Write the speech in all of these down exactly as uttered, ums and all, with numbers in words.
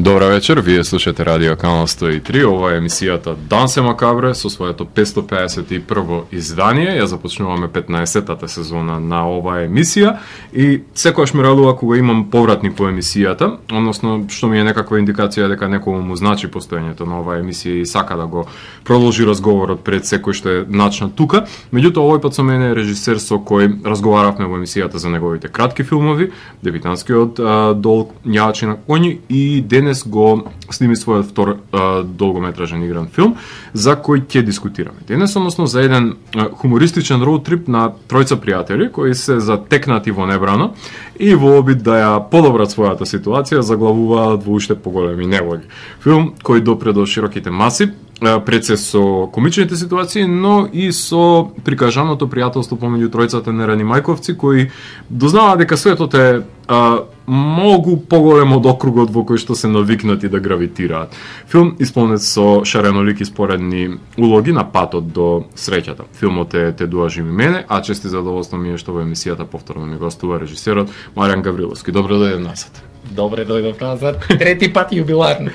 Добра вечер, вие слушате Радио Канал сто и три, ова е емисијата Дансе Макабре со своето петстотини педесет и прво издание. Ја започнуваме петнаесеттата сезона на оваа емисија и секогаш ме радува кога имам повратник по емисијата, односно што ми е некаква индикација дека некому му значи постоењето на оваа емисија и сака да го продолжи разговорот пред секој што е начнат тука. Меѓутоа овој пат со мене е режисер со кој разговаравме во емисијата за неговите кратки филмови, дебитантскиот Долг Јачи на коњи и денес го сними својот втор а, долгометражен игран филм за кој ќе дискутираме денес, односно за еден а, хумористичен роуд трип на тројца пријатели кои се затекнати во небрано и во обид да ја подобрат својата ситуација заглавуваат во уште поголеми неволји. Филм кој допре до широките маси, пред се со комичните ситуации, но и со прикажаното пријателство помеѓу тројцата нерани мајковци кои дознаваат дека светот е а, многу поголем од округот во кој што се навикнати да гравитираат. Филм исполнет со шаренолики споредни улоги на патот до среќата. Филмот е Те дуажи ми мене, а чести задоволство ми е што во емисијата повторно ми гостува режисерот Маријан Гавриловски. Добро дојдов назад. Добре дојдов назад. Трети пат јубиларно.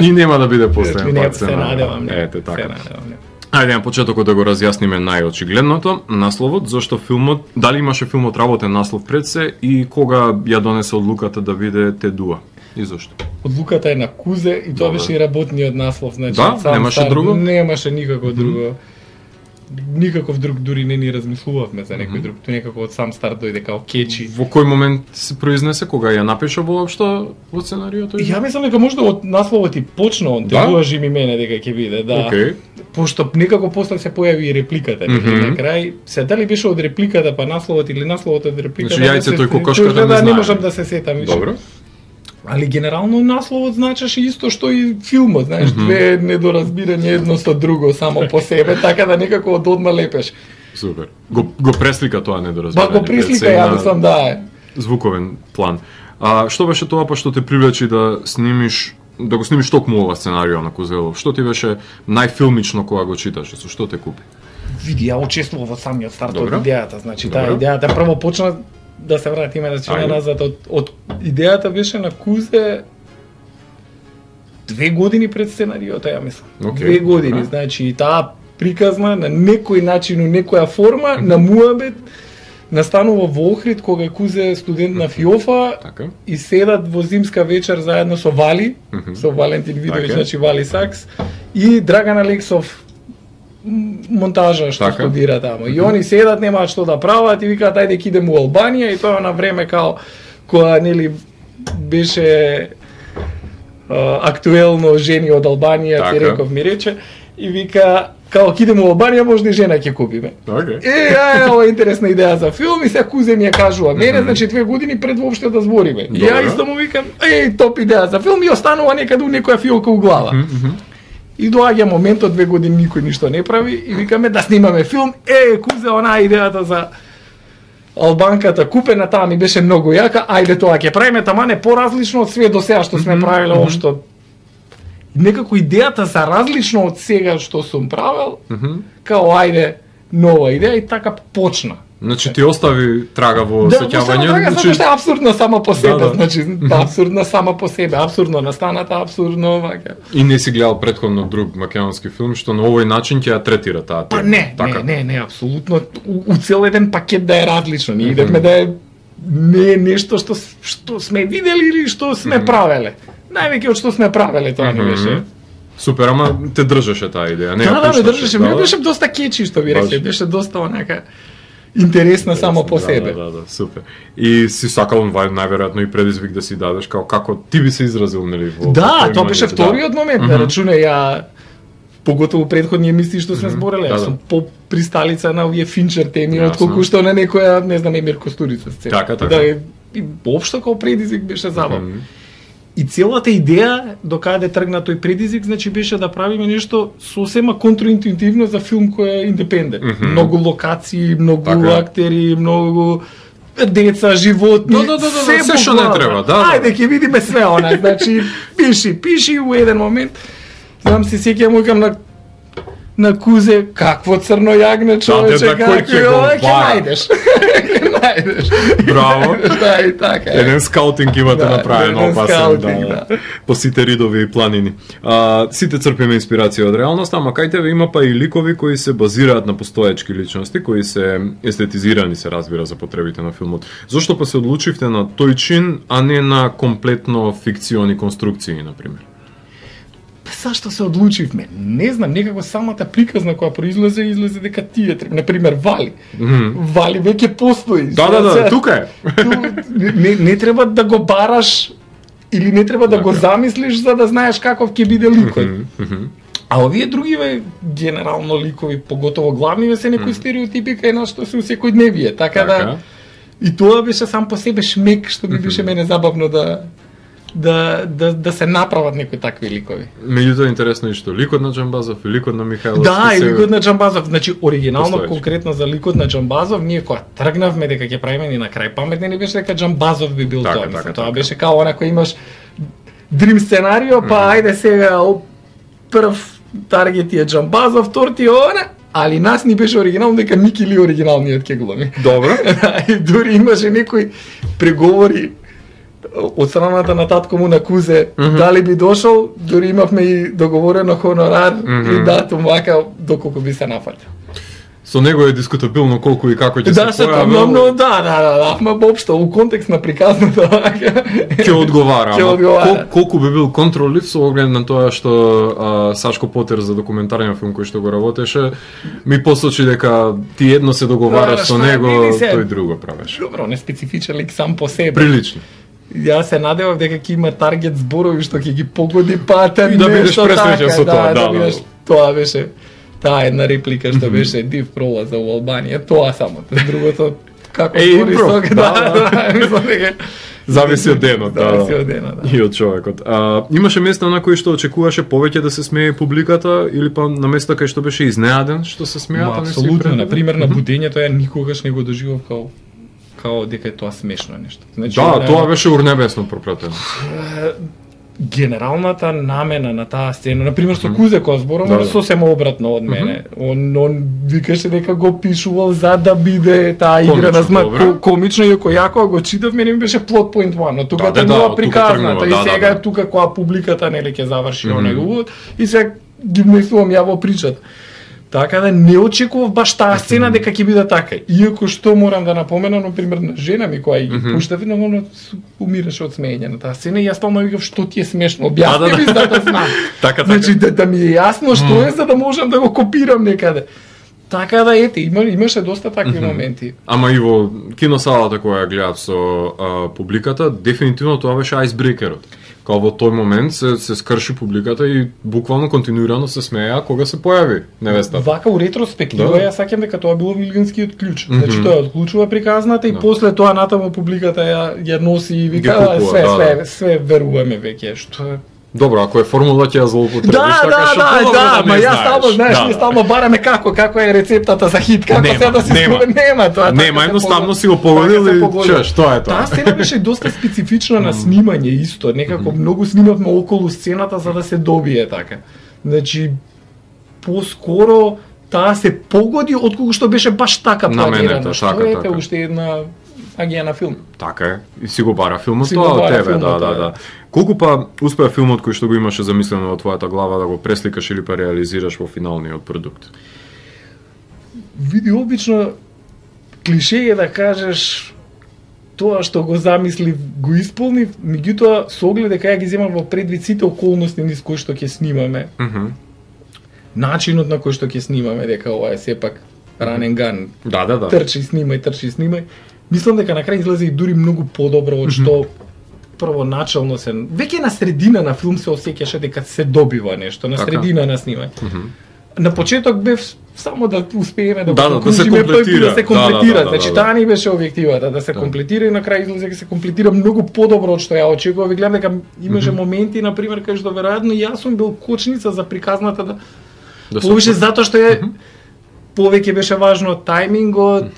И нема да биде последен не, пат. Се надевам. Ете така. Се надевам. Ајде на почетокот да го разјасниме најочигледното, насловот, зашто филмот, дали имаше филмот работен наслов пред се и кога ја донесе одлуката да биде Те дуа? И зашто? Одлуката е на Кузе и тоа беше и работниот наслов, значи да? сам Немаше стар, друго? Немаше никако mm-hmm. друго. Никаков друг дури не ни размислувавме за некој mm-hmm. друг, тоа некако од сам старт дојде као кечи. Во кој момент се произнесе, кога ја напиша воопшто во сценариото? Ја мислам дека можда од насловот и почна он, Те да? дуажи ми мене дека ќе биде, да. Okay. Пошто некако после се појави и репликата, mm-hmm. на крај, се дали беше од репликата па насловот или насловот од репликата. Значи јајцето и кокошката да, не знаеме. Не можам да се сетам више. Добро. Али генерално насловот значеше исто што и филмот, знаеш, mm-hmm. две недоразбирања едно со друго само по себе, така да некако од одма лепеш. Супер. Го, го преслика тоа недоразбирање. Ба го преслика, ја мислам да е. Звуковен план. А што беше тоа па што те привлечи да снимиш, да го снимиш токму ова сценарио на Кузелов? Што ти беше најфилмично кога го читаше? Со што те купи? Види, ја учествував во самиот старт од идејата, значи Добро. таа идејата прво почна да се вратиме да чина назад од, од идејата беше на Кузе две години пред сценариото, ја мислам. Okay. Две години, Добре. значи и таа приказна на некој начин, у некоја форма, mm-hmm. на муабет, настанува во Охрид кога Кузе студент на ФИОФа така. И седат во зимска вечер заедно со Вали, mm-hmm. со Валентин Видович, така. значи Вали Сакс и Драган Алексов монтажа што така. Студира таму. И они седат, немаат што да прават и викаат ајде ќе идеме во Албанија и тоа на време као кога нели беше а, актуелно жени од Албанија, така. ти реков ми рече и вика као ќе идеме во Албанија може и жена ќе купиме. Okay. Е, ај, ова е интересна идеја за филм и сега Кузе ми ја кажува мене, mm-hmm. значи две години пред воопште да збориме. И ја исто му викам, еј, топ идеја за филм и останува некаде у некоја фиолка у глава. Mm-hmm. И доаѓа моментот, две години никој ништо не прави и викаме да снимаме филм. Е, Кузе, онаа идејата за Албанката купена, таа ми беше многу јака. Ајде тоа ќе правиме, тама не поразлично од све до сега што сме правиле општо. Некако идејата за различно од сега што сум правил, као ајде нова идеја и така почна. Значи ти остави трага во да, сеќавање, да, значи затоа што е апсурдно само по себе, да, да. значи апсурдно само по себе, апсурдно настаната, апсурдно вака. И не си гледал претходно друг македонски филм што на овој начин ќе ја третира таа тема. Па не, така. не, не, не, апсолутно у, у цел еден пакет да е различно. Ние идевме да е не е нешто што што сме видели или што сме mm-hmm. правеле. Највеќе од што сме правеле тоа не беше. Супер, ама те држеше таа идеја, не ја Да, да, ме пушташе, држеше, ми беше доста кечи што ви рече, беше доста онака интересна само по себе. Да, да, да, супер. И си сакал најверојатно и предизвик да си дадеш као како ти би се изразил нели во да, тоа беше вториот момент, да рачуне ја поготово претходни емисии што сме збореле, јас сум по присталица на овие Финчер теми отколку што на некоја, не знам, Емир Костурица сцена. Така, така. Да, и воопшто како предизвик беше забавно. И целата идеја до каде тргна тој предизвик, значи беше да правиме нешто сосема контраинтуитивно за филм кој е индепендент. Mm-hmm. Многу локации, многу така. Актери, многу деца, животни, да, да, да, да, се што не треба, да. Ајде ќе видиме све она, значи пиши, пиши у еден момент. Знам се сеќавам викам на на Кузе, какво црно јагне човече, да, како ќе го ќе најдеш. Браво. Да, и така. Еден скаутинг имате Да, направен еден опасен, скаутинг, да, по сите ридови и планини. А, сите црпиме инспирација од реалноста, ама кај тебе има па и ликови кои се базираат на постоечки личности, кои се естетизирани, се разбира, за потребите на филмот. Зошто па се одлучивте на тој чин, а не на комплетно фикциони конструкции, например? Зашто се одлучивме? Не знам, некако самата приказна која произлезе, излезе дека тие треба. Например, Вали. Mm -hmm. Вали веќе постои. Да, да, да, тука е. не, не треба да го бараш или не треба да го замислиш за да знаеш каков ќе биде ликот. Mm -hmm. А овие другиве генерално ликови, поготово главниве, се некои mm -hmm. стереотипи кај нас што се у секојдневие, така, така да и тоа беше сам по себе шмек што ми беше мене забавно да да да да се направат некои такви ликови. Меѓутоа интересно е што ликот на Џамбазов и ликот на Михајловски. Да, и се... ликот на Џамбазов, значи оригинално Постоечки. конкретно за ликот на Џамбазов, ние кога тргнавме дека ќе правиме ни на крај паметни, не беше дека Џамбазов би бил така, тоа, така, мислам, така, тоа така. беше као она кој имаш дрим сценарио, па mm-hmm. ајде сега прв таргет е Џамбазов, втор ти е она, али нас ни беше оригинално дека Мики Ли оригиналниот ќе глуми. Добро. И дури имаше некои преговори од страната на татко му на Кузе, mm -hmm. дали би дошол, дури имавме и договорено хонорар mm -hmm. и датум вака доколку би се нафатил. Со него е дискутабилно колку и како ќе Да, се се појави. но, но, да, да, да, да, ма општо у контекст на приказната вака ќе одговара. Ќе ама одговара. Кол, колку би бил контролив со оглед на тоа што а, Сашко Потер за документарниот филм кој што го работеше, ми посочи дека ти едно се договараш Да, со што е, него, види се. тој друго правеше. Добро, не специфичен лик сам по себе. Прилично. Јас се надевав дека ќе има таргет зборови што ќе ги погоди пата И да бидеш нешто пресреќен така, со тоа, да, да, бидеш, да. тоа беше таа една реплика што беше див пролаз за Албанија, тоа само, другото како Е, збори импров, со да, да, да, мислам дека Зависи од денот, да. Зависи од денот, да. И од човекот. А, имаше места на кои што очекуваше повеќе да се смее публиката или па на места кај што беше изненаден што се смеа, Ма, па не си апсолутно, предвидел? на пример на будењето ја никогаш не го доживав као као дека е тоа смешно нешто. Значи, Да, на- тоа беше урнебесно пропратено. генералната намена на таа сцена, на пример со Кузе кога зборувам, Да, да. сосема обратно од мене. Он, он викаше дека го пишувал за да биде таа игра Комично, на зма добро. ко, комично и ако јако го читав, мене ми беше плот поинт едно, но тука Да, да, тргнува да, тука приказната тргнува, и да, да, сега да. тука кога публиката нели ќе заврши Мгм. онај увод и сега ги внесувам ја во причата. Така да не очекував баш таа сцена дека ќе биде така. Иако што морам да напоменам, на пример на жена ми која ги Мгм. пуштав, но она су- умираше од смеење на таа сцена и јас стално викав што ти е смешно, Да, да, објасни да. ми за да знам. Така, така. Значи да, да ми е јасно што е за да можам да го копирам некаде. Така да ете, има, имаше доста такви Мгм. моменти. Ама и во киносалата која ја гледав со а, публиката, дефинитивно тоа беше ајсбрекерот. Као во тој момент се, се скрши публиката и буквално континуирано се смеја кога се појави невестата. Вака у ретроспектива Да. ја саќам дека тоа било вилгинскиот клjuč. Мгм. Значи тоа отклучува приказната и Да. после тоа натаму публиката ја ја носи и вика Ги купува, «А, све да, све да. све веруваме веќе што е. Добро, ако е формула ќе ја злоупотребиш, Да, така да, што да, подобро да, не ма јас знаеш. стално, знаеш, Да, ние да. стално бараме како, како е рецептата за хит, како Нема, се да се нема. спомне, нема тоа. така Нема, се едноставно погоди. си го погодил Така се и погоди. чуеш, тоа е тоа. Таа сцена беше доста специфична на снимање исто, некако многу снимавме околу сцената за да се добие така. Значи поскоро таа се погоди отколку што беше баш така Наменето, планирано. Што така, е така. уште една агија на филм. Така е. И си го бара филмот Си го тоа од бара тебе, филмот, да, да, да. да. Колку па успеа филмот кој што го имаше замислено во твојата глава да го пресликаш или па реализираш во финалниот продукт? Види, обично клише е да кажеш тоа што го замислив го исполнив, меѓутоа со оглед дека ја ги земам во предвид сите околности низ кои што ќе снимаме, Мгм. начинот на кој што ќе снимаме, дека ова е сепак run and gun, Да, да, да. трчи, снимај, трчи, снимај. Мислам дека на крај излезе и дури многу подобро од што првоначално се веќе на средина на филм се осеќаше дека се добива нешто, на Така. средина на снимање. Мгм. На почеток бев само да успееме да, Да, го да, да се закружиме, па комплетира. да се Да, комплетира. да, да, Значи да, да. таа ни беше објективата, да се Да. комплетира и на крај излезе дека се комплетира многу подобро од што ја очекував. И гледам дека имаше моменти на пример кај што веројатно јас сум бил кочница за приказната да Да се повише отвори. затоа што е повеќе беше важно тајмингот,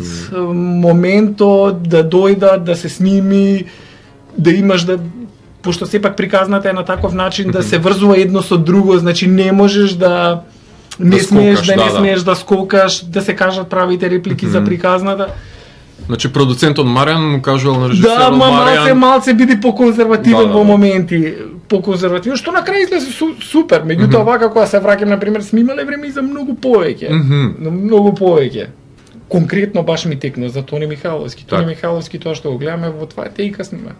моментот да дојдат, да се сними, да имаш да пошто сепак приказната е на таков начин да се врзува едно со друго, значи не можеш да не Да смееш скокаш, да не да, да. смееш да скокаш, да се кажат правите реплики за приказната. Значи продуцентот Маријан му кажувал на режисерот да, ма, Маријан. малце малце биди поконзервативен да, да, во да. моменти, поконзервативен, што на крај излезе су, супер. Меѓутоа mm -hmm. вака кога се враќам на пример снимале време и за многу повеќе. Mm -hmm. Многу повеќе. Конкретно баш ми текно за Тони Михайловски. Тони Так. Михайловски тоа што го гледаме во два тейка снима.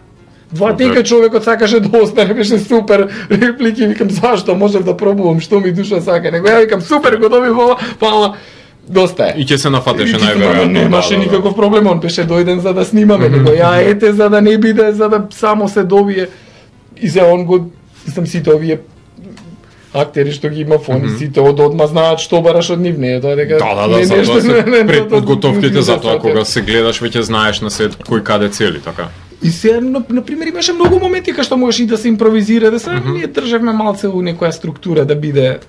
Два тейка човекот сакаше да остане, беше супер реплики, викам зашто можев да пробувам, што ми душа сака. Него ја викам супер го доби во, па доста е. И ќе се нафатеше И ќе се најверојатно. Немаше да, да, никаков проблем, он беше дојден за да снимаме, него ја ете за да не биде, за да само се добие. И се он го, мислам сите овие актери што ги има фони, Мгм. сите од одма знаат што бараш од нив, не е тоа дека Да, да, не да, е за нешто тоа се не- не- пред тоа- подготовките, затоа тоа- кога се гледаш веќе знаеш на сет кој каде цели, така. И се, на, на пример, имаше многу моменти кај што можеш и да се импровизира, да се mm -hmm. ние држевме малце у некоја структура да биде.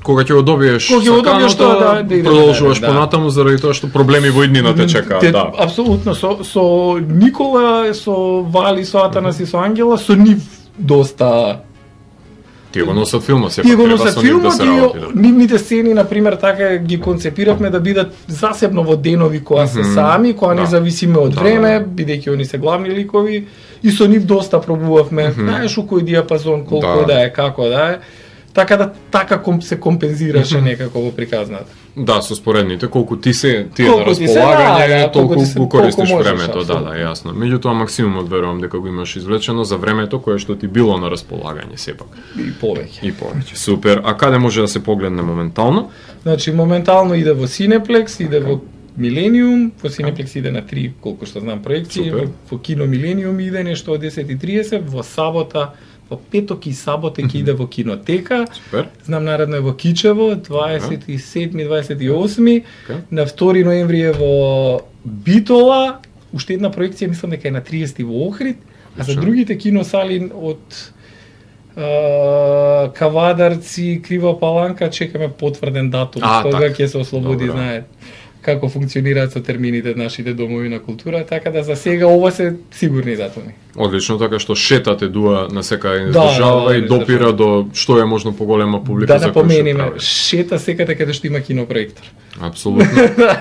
Кога ќе го добиеш Кога ќе го добиеш саканото, тоа, да, да иде продолжуваш напред, да. понатаму заради тоа што проблеми во иднина те чекаат, Те- да. Апсолутно, со, со Никола, со Вали, со Атанас и со Ангела, со нив доста. Тие го носат филмот, сепак Тие го треба носат со нив да филмот се и работи. да. нивните сцени, например, така ги концепиравме да бидат засебно во денови која се Мгм. сами, која Да. не зависиме од Да, време, да. бидејќи они се главни ликови, и со нив доста пробувавме, знаеш у кој диапазон, колку Да. да е, како да е, така да така ком, се компензираше некако во приказната. Да, со споредните, колку ти се ти е Колку на ти се, располагање, да, да, толку колку ти се- го користиш колку можеш, времето, да, да, апсолутно. јасно. Меѓутоа максимумот верувам дека го имаш извлечено за времето кое што ти било на располагање сепак. И повеќе. И повеќе. Супер. А каде може да се погледне моментално? Значи, моментално иде во Cineplex, иде во Милениум, во Cineplex иде на три, колку што знам, проекции, Супер. во, во Кино Милениум иде нешто од десет и тридесет, во сабота, во петок и сабота ќе иде во Кинотека, Супер. знам наредно е во Кичево, дваесет и седми, дваесет и осми, Okay. на втори ноември е во Битола, уште една проекција, мислам дека е на триесети во Охрид, а за Одлично. другите киносали од Uh, Кавадарци, Крива Паланка, чекаме потврден датум, А, кога така. ќе се ослободи, Добро. знаете како функционираат со термините нашите домови на култура, така да за сега ова се сигурни датуми. Одлично, така што шетате дуа на секај Да, држава да, и да, допира да. до што е можно поголема публика Да за кој напомениме, што прави. шета секаде каде што има кинопроектор. Апсолутно.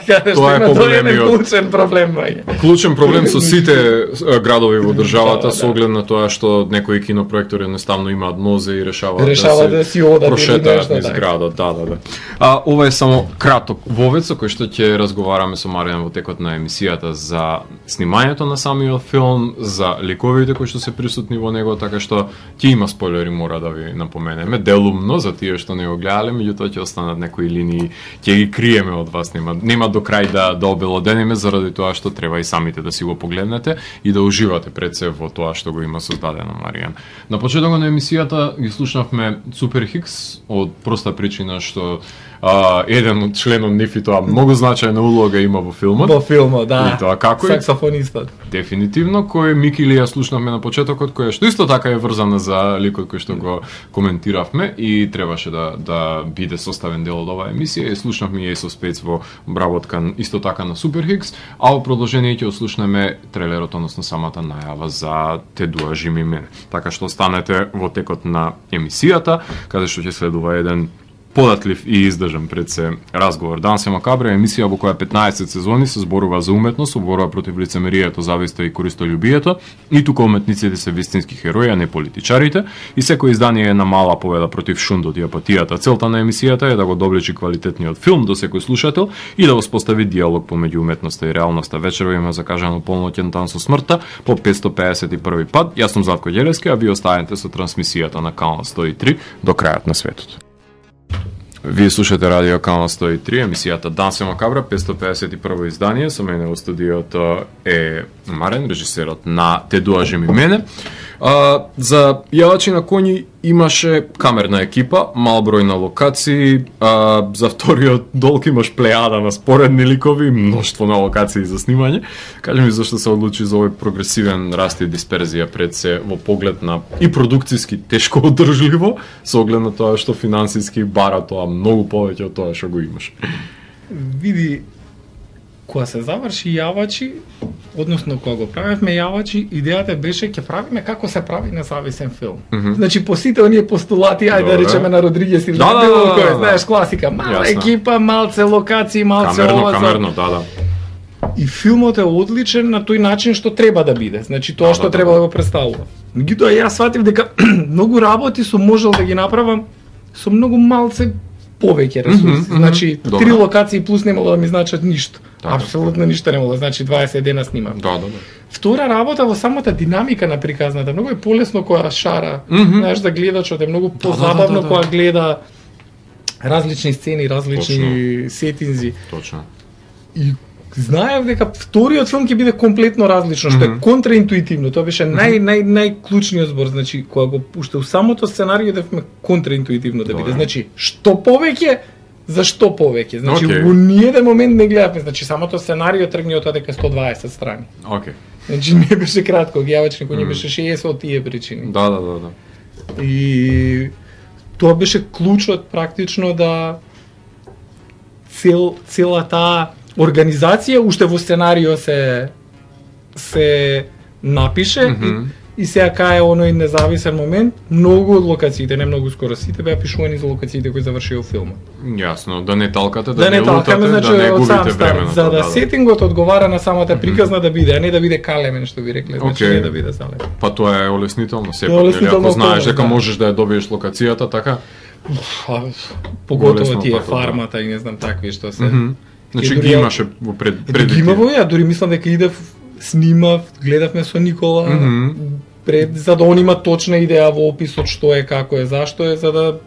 Каде што Тоа е има поголемиот- тоа е клучен проблем, баѓа. Клучен проблем со сите е, градови во државата Да, со да. оглед на тоа што некои кинопроектори едноставно имаат нозе и решаваат Решава да си одат или прошетаат нешто низ така. градот, да, да, да. А ова е само краток вовед со кој што ќе разговараме со Маријан во текот на емисијата за снимањето на самиот филм, за ликовите кои што се присутни во него, така што ќе има спойлери, мора да ви напоменеме, делумно за тие што не го гледале, меѓутоа ќе останат некои линии, ќе ги криеме од вас, нема нема до крај да да обелодениме заради тоа што треба и самите да си го погледнете и да уживате пред се во тоа што го има создадено Маријан. На почетокот на емисијата ги слушнавме Супер Хикс од проста причина што а, еден од членот нив и тоа многу значајна улога има во филмот. Во филмот, да. И тоа како е? Саксофонистот. Дефинитивно, кој Мики ли ја слушнавме на почетокот, која што исто така е врзана за ликот кој што го коментиравме и требаше да да биде составен дел од оваа емисија и слушнавме и Ace of Spades во обработка исто така на Супер Хикс, а во продолжение ќе слушнеме трейлерот, односно самата најава за Те дуажи ми мене. Така што останете во текот на емисијата, каде што ќе следува еден податлив и издржан пред се разговор. Данс е макабре, емисија во која петнаесет сезони се зборува за уметност, борба против лицемерието, зависта и користолюбието, и тука уметниците се вистински херои, а не политичарите, и секој издание е една мала победа против шундот и апатијата. Целта на емисијата е да го доблечи квалитетниот филм до секој слушател и да воспостави диалог помеѓу уметноста и реалноста. Вечерва има закажано полноќен тан со смртта по петсто пеесет и први пат. Јас сум Златко Ѓелевски, а ви останете со трансмисијата на канал сто и три до крајот на светот. Вие слушате Радио Канал сто и три, емисијата Данс е макабра, петсто пеесет и прво издание. Со мене во студиото е Марен, режисерот на Те дуажи ми мене. А, за јавачи на коњи имаше камерна екипа, мал број на локации, а, за вториот долг имаш плејада на споредни ликови, мноштво на локации за снимање. Кажи ми зашто се одлучи за овој прогресивен раст и дисперзија пред се во поглед на и продукциски тешко одржливо, со оглед на тоа што финансиски бара тоа многу повеќе од тоа што го имаш. Види, кога се заврши јавачи, односно кога го правевме јавачи, идејата беше ќе правиме како се прави независен филм. Mm -hmm. Значи по сите оние постулати, ајде да Добре. речеме на Родригес или Да, на да, било да, кој, да, знаеш да. класика, мала Јасно. екипа, малце локации, малце Камерно, ова. за- камерно, да, да. И филмот е одличен на тој начин што треба да биде. Значи тоа Да, што да, треба да. да го представува. Меѓутоа јас сватив дека многу работи сум можел да ги направам со многу малце повеќе ресурси. Мгм, Значи мгм, три добро. локации плюс немало да ми значат ништо. Така, Апсолутно ништо немало да значи дваесет дена снимам. Да, да, да. Втора работа во самата динамика на приказната. Многу е полесно кога шара. Мгм. Знаеш, за гледачот е многу Да, да, позабавно да, да, да. кога гледа различни сцени, различни Точно. сетинзи. Точно. И знаев дека вториот филм ќе биде комплетно различно, што Мгм. е контраинтуитивно. Тоа беше нај нај најклучниот збор, значи кога го уште у самото сценарио девме контраинтуитивно да биде. Добре. Значи, што повеќе, зашто повеќе? Значи, Океј. во ниеден момент не гледавме, значи самото сценарио тргни од тоа дека сто дваесет страни. Океј. Значи не беше кратко, гјавачник, кој не Мм. беше шеесет од тие причини. Да, да, да, да. И тоа беше клучот практично да цел цела таа организација уште во сценарио се се напише Мгм. и, и сега кај оној независен момент многу од локациите, не многу скоро сите беа пишувани за локациите кои завршија филмот. Јасно, да не талкате, да, Да не лутате, талкаме, значи да не од сам губите старт, времето. за да, да. сетингот одговара на самата приказна да биде, а не да биде калемен што ви рекле, значи Океј. не да биде залемен. Па тоа е олеснително, сепак, Тоа е нели, олеснително ако знаеш околност, дека да. можеш да ја добиеш локацијата, така? А, поготово Болесно тие патот, да. фармата и не знам такви што се. Мгм. Значи И дури ги ја- имаше во пред Е, пред ги има во ја, дури мислам дека идев, снимав, гледавме со Никола, Мгм. пред, за да он има точна идеја во описот што е, како е, зашто е, за да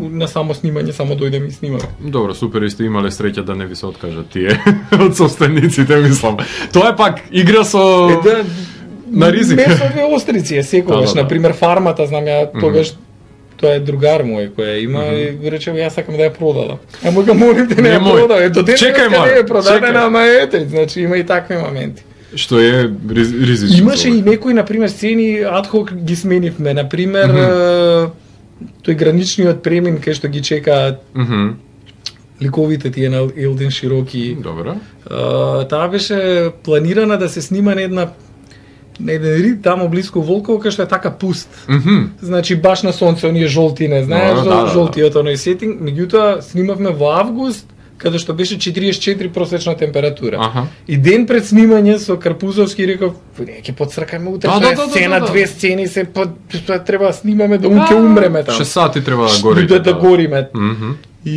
на само снимање само дојдеме и снимаме. Добро, супер, и сте имале среќа да не ви се откажат тие од собствениците, мислам. Тоа е пак игра со Е, да, на ризик. Месове острици е секогаш, Да, да, да. на пример фармата, знам ја тогаш тоа е другар мој кој ја има Мгм. и рече јас сакам да ја продадам. Ама га молим те не ја Немој. продавај. До ден Чекај, не мале, е продадена, чекај. ама ете, значи има и такви моменти. што е риз, ризично. Имаше и некои, на пример, сцени адхок ги сменивме, на пример, Мгм. е, тој граничниот премин кај што ги чекаат Мгм. ликовите тие на Елден Широки. Добро. Uh, таа беше планирана да се снима на една на еден рид тамо блиску Волково кај што е така пуст. Мгм. Значи баш на сонце, оние жолтине, знаеш, Да, да, да, жолтиот оној сетинг. Меѓутоа снимавме во август, каде што беше четириесет и четири просечна температура. Аха. И ден пред снимање со Карпузовски реков, не ќе подсркаме утре, Да, тоа да, е да, да, сцена, да, да. две сцени се под тоа треба да снимаме да ќе умреме таму. шест сати треба да гори. Да, да гориме. Мгм. И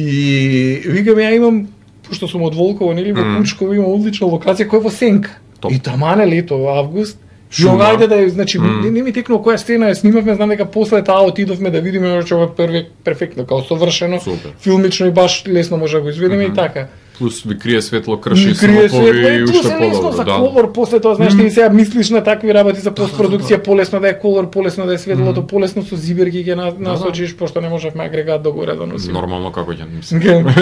викам ја имам, пошто сум од Волково, нели, во Мм. Кучково има одлична локација која е во сенка. Топ. И тамане лето, август, Шума. Шума. Ајде да ја, значи, Мм. не, не ми текнува која сцена ја снимавме, знам дека после таа отидовме да видиме, че ова е први перфектно, као совршено, Супер. филмично и баш лесно може да го изведеме Мгм. и така. Плюс ви крие светло, крши Ми крие светло снопови и и плюс уште е лесно подобро. за Да. колор, после тоа знаеш ти сега мислиш на такви работи за постпродукција, да. полесно да е колор, полесно да е светлото, полесно со зиберки ќе на- насочиш, пошто не можевме агрегат до горе да носиме. Нормално како ќе мислам.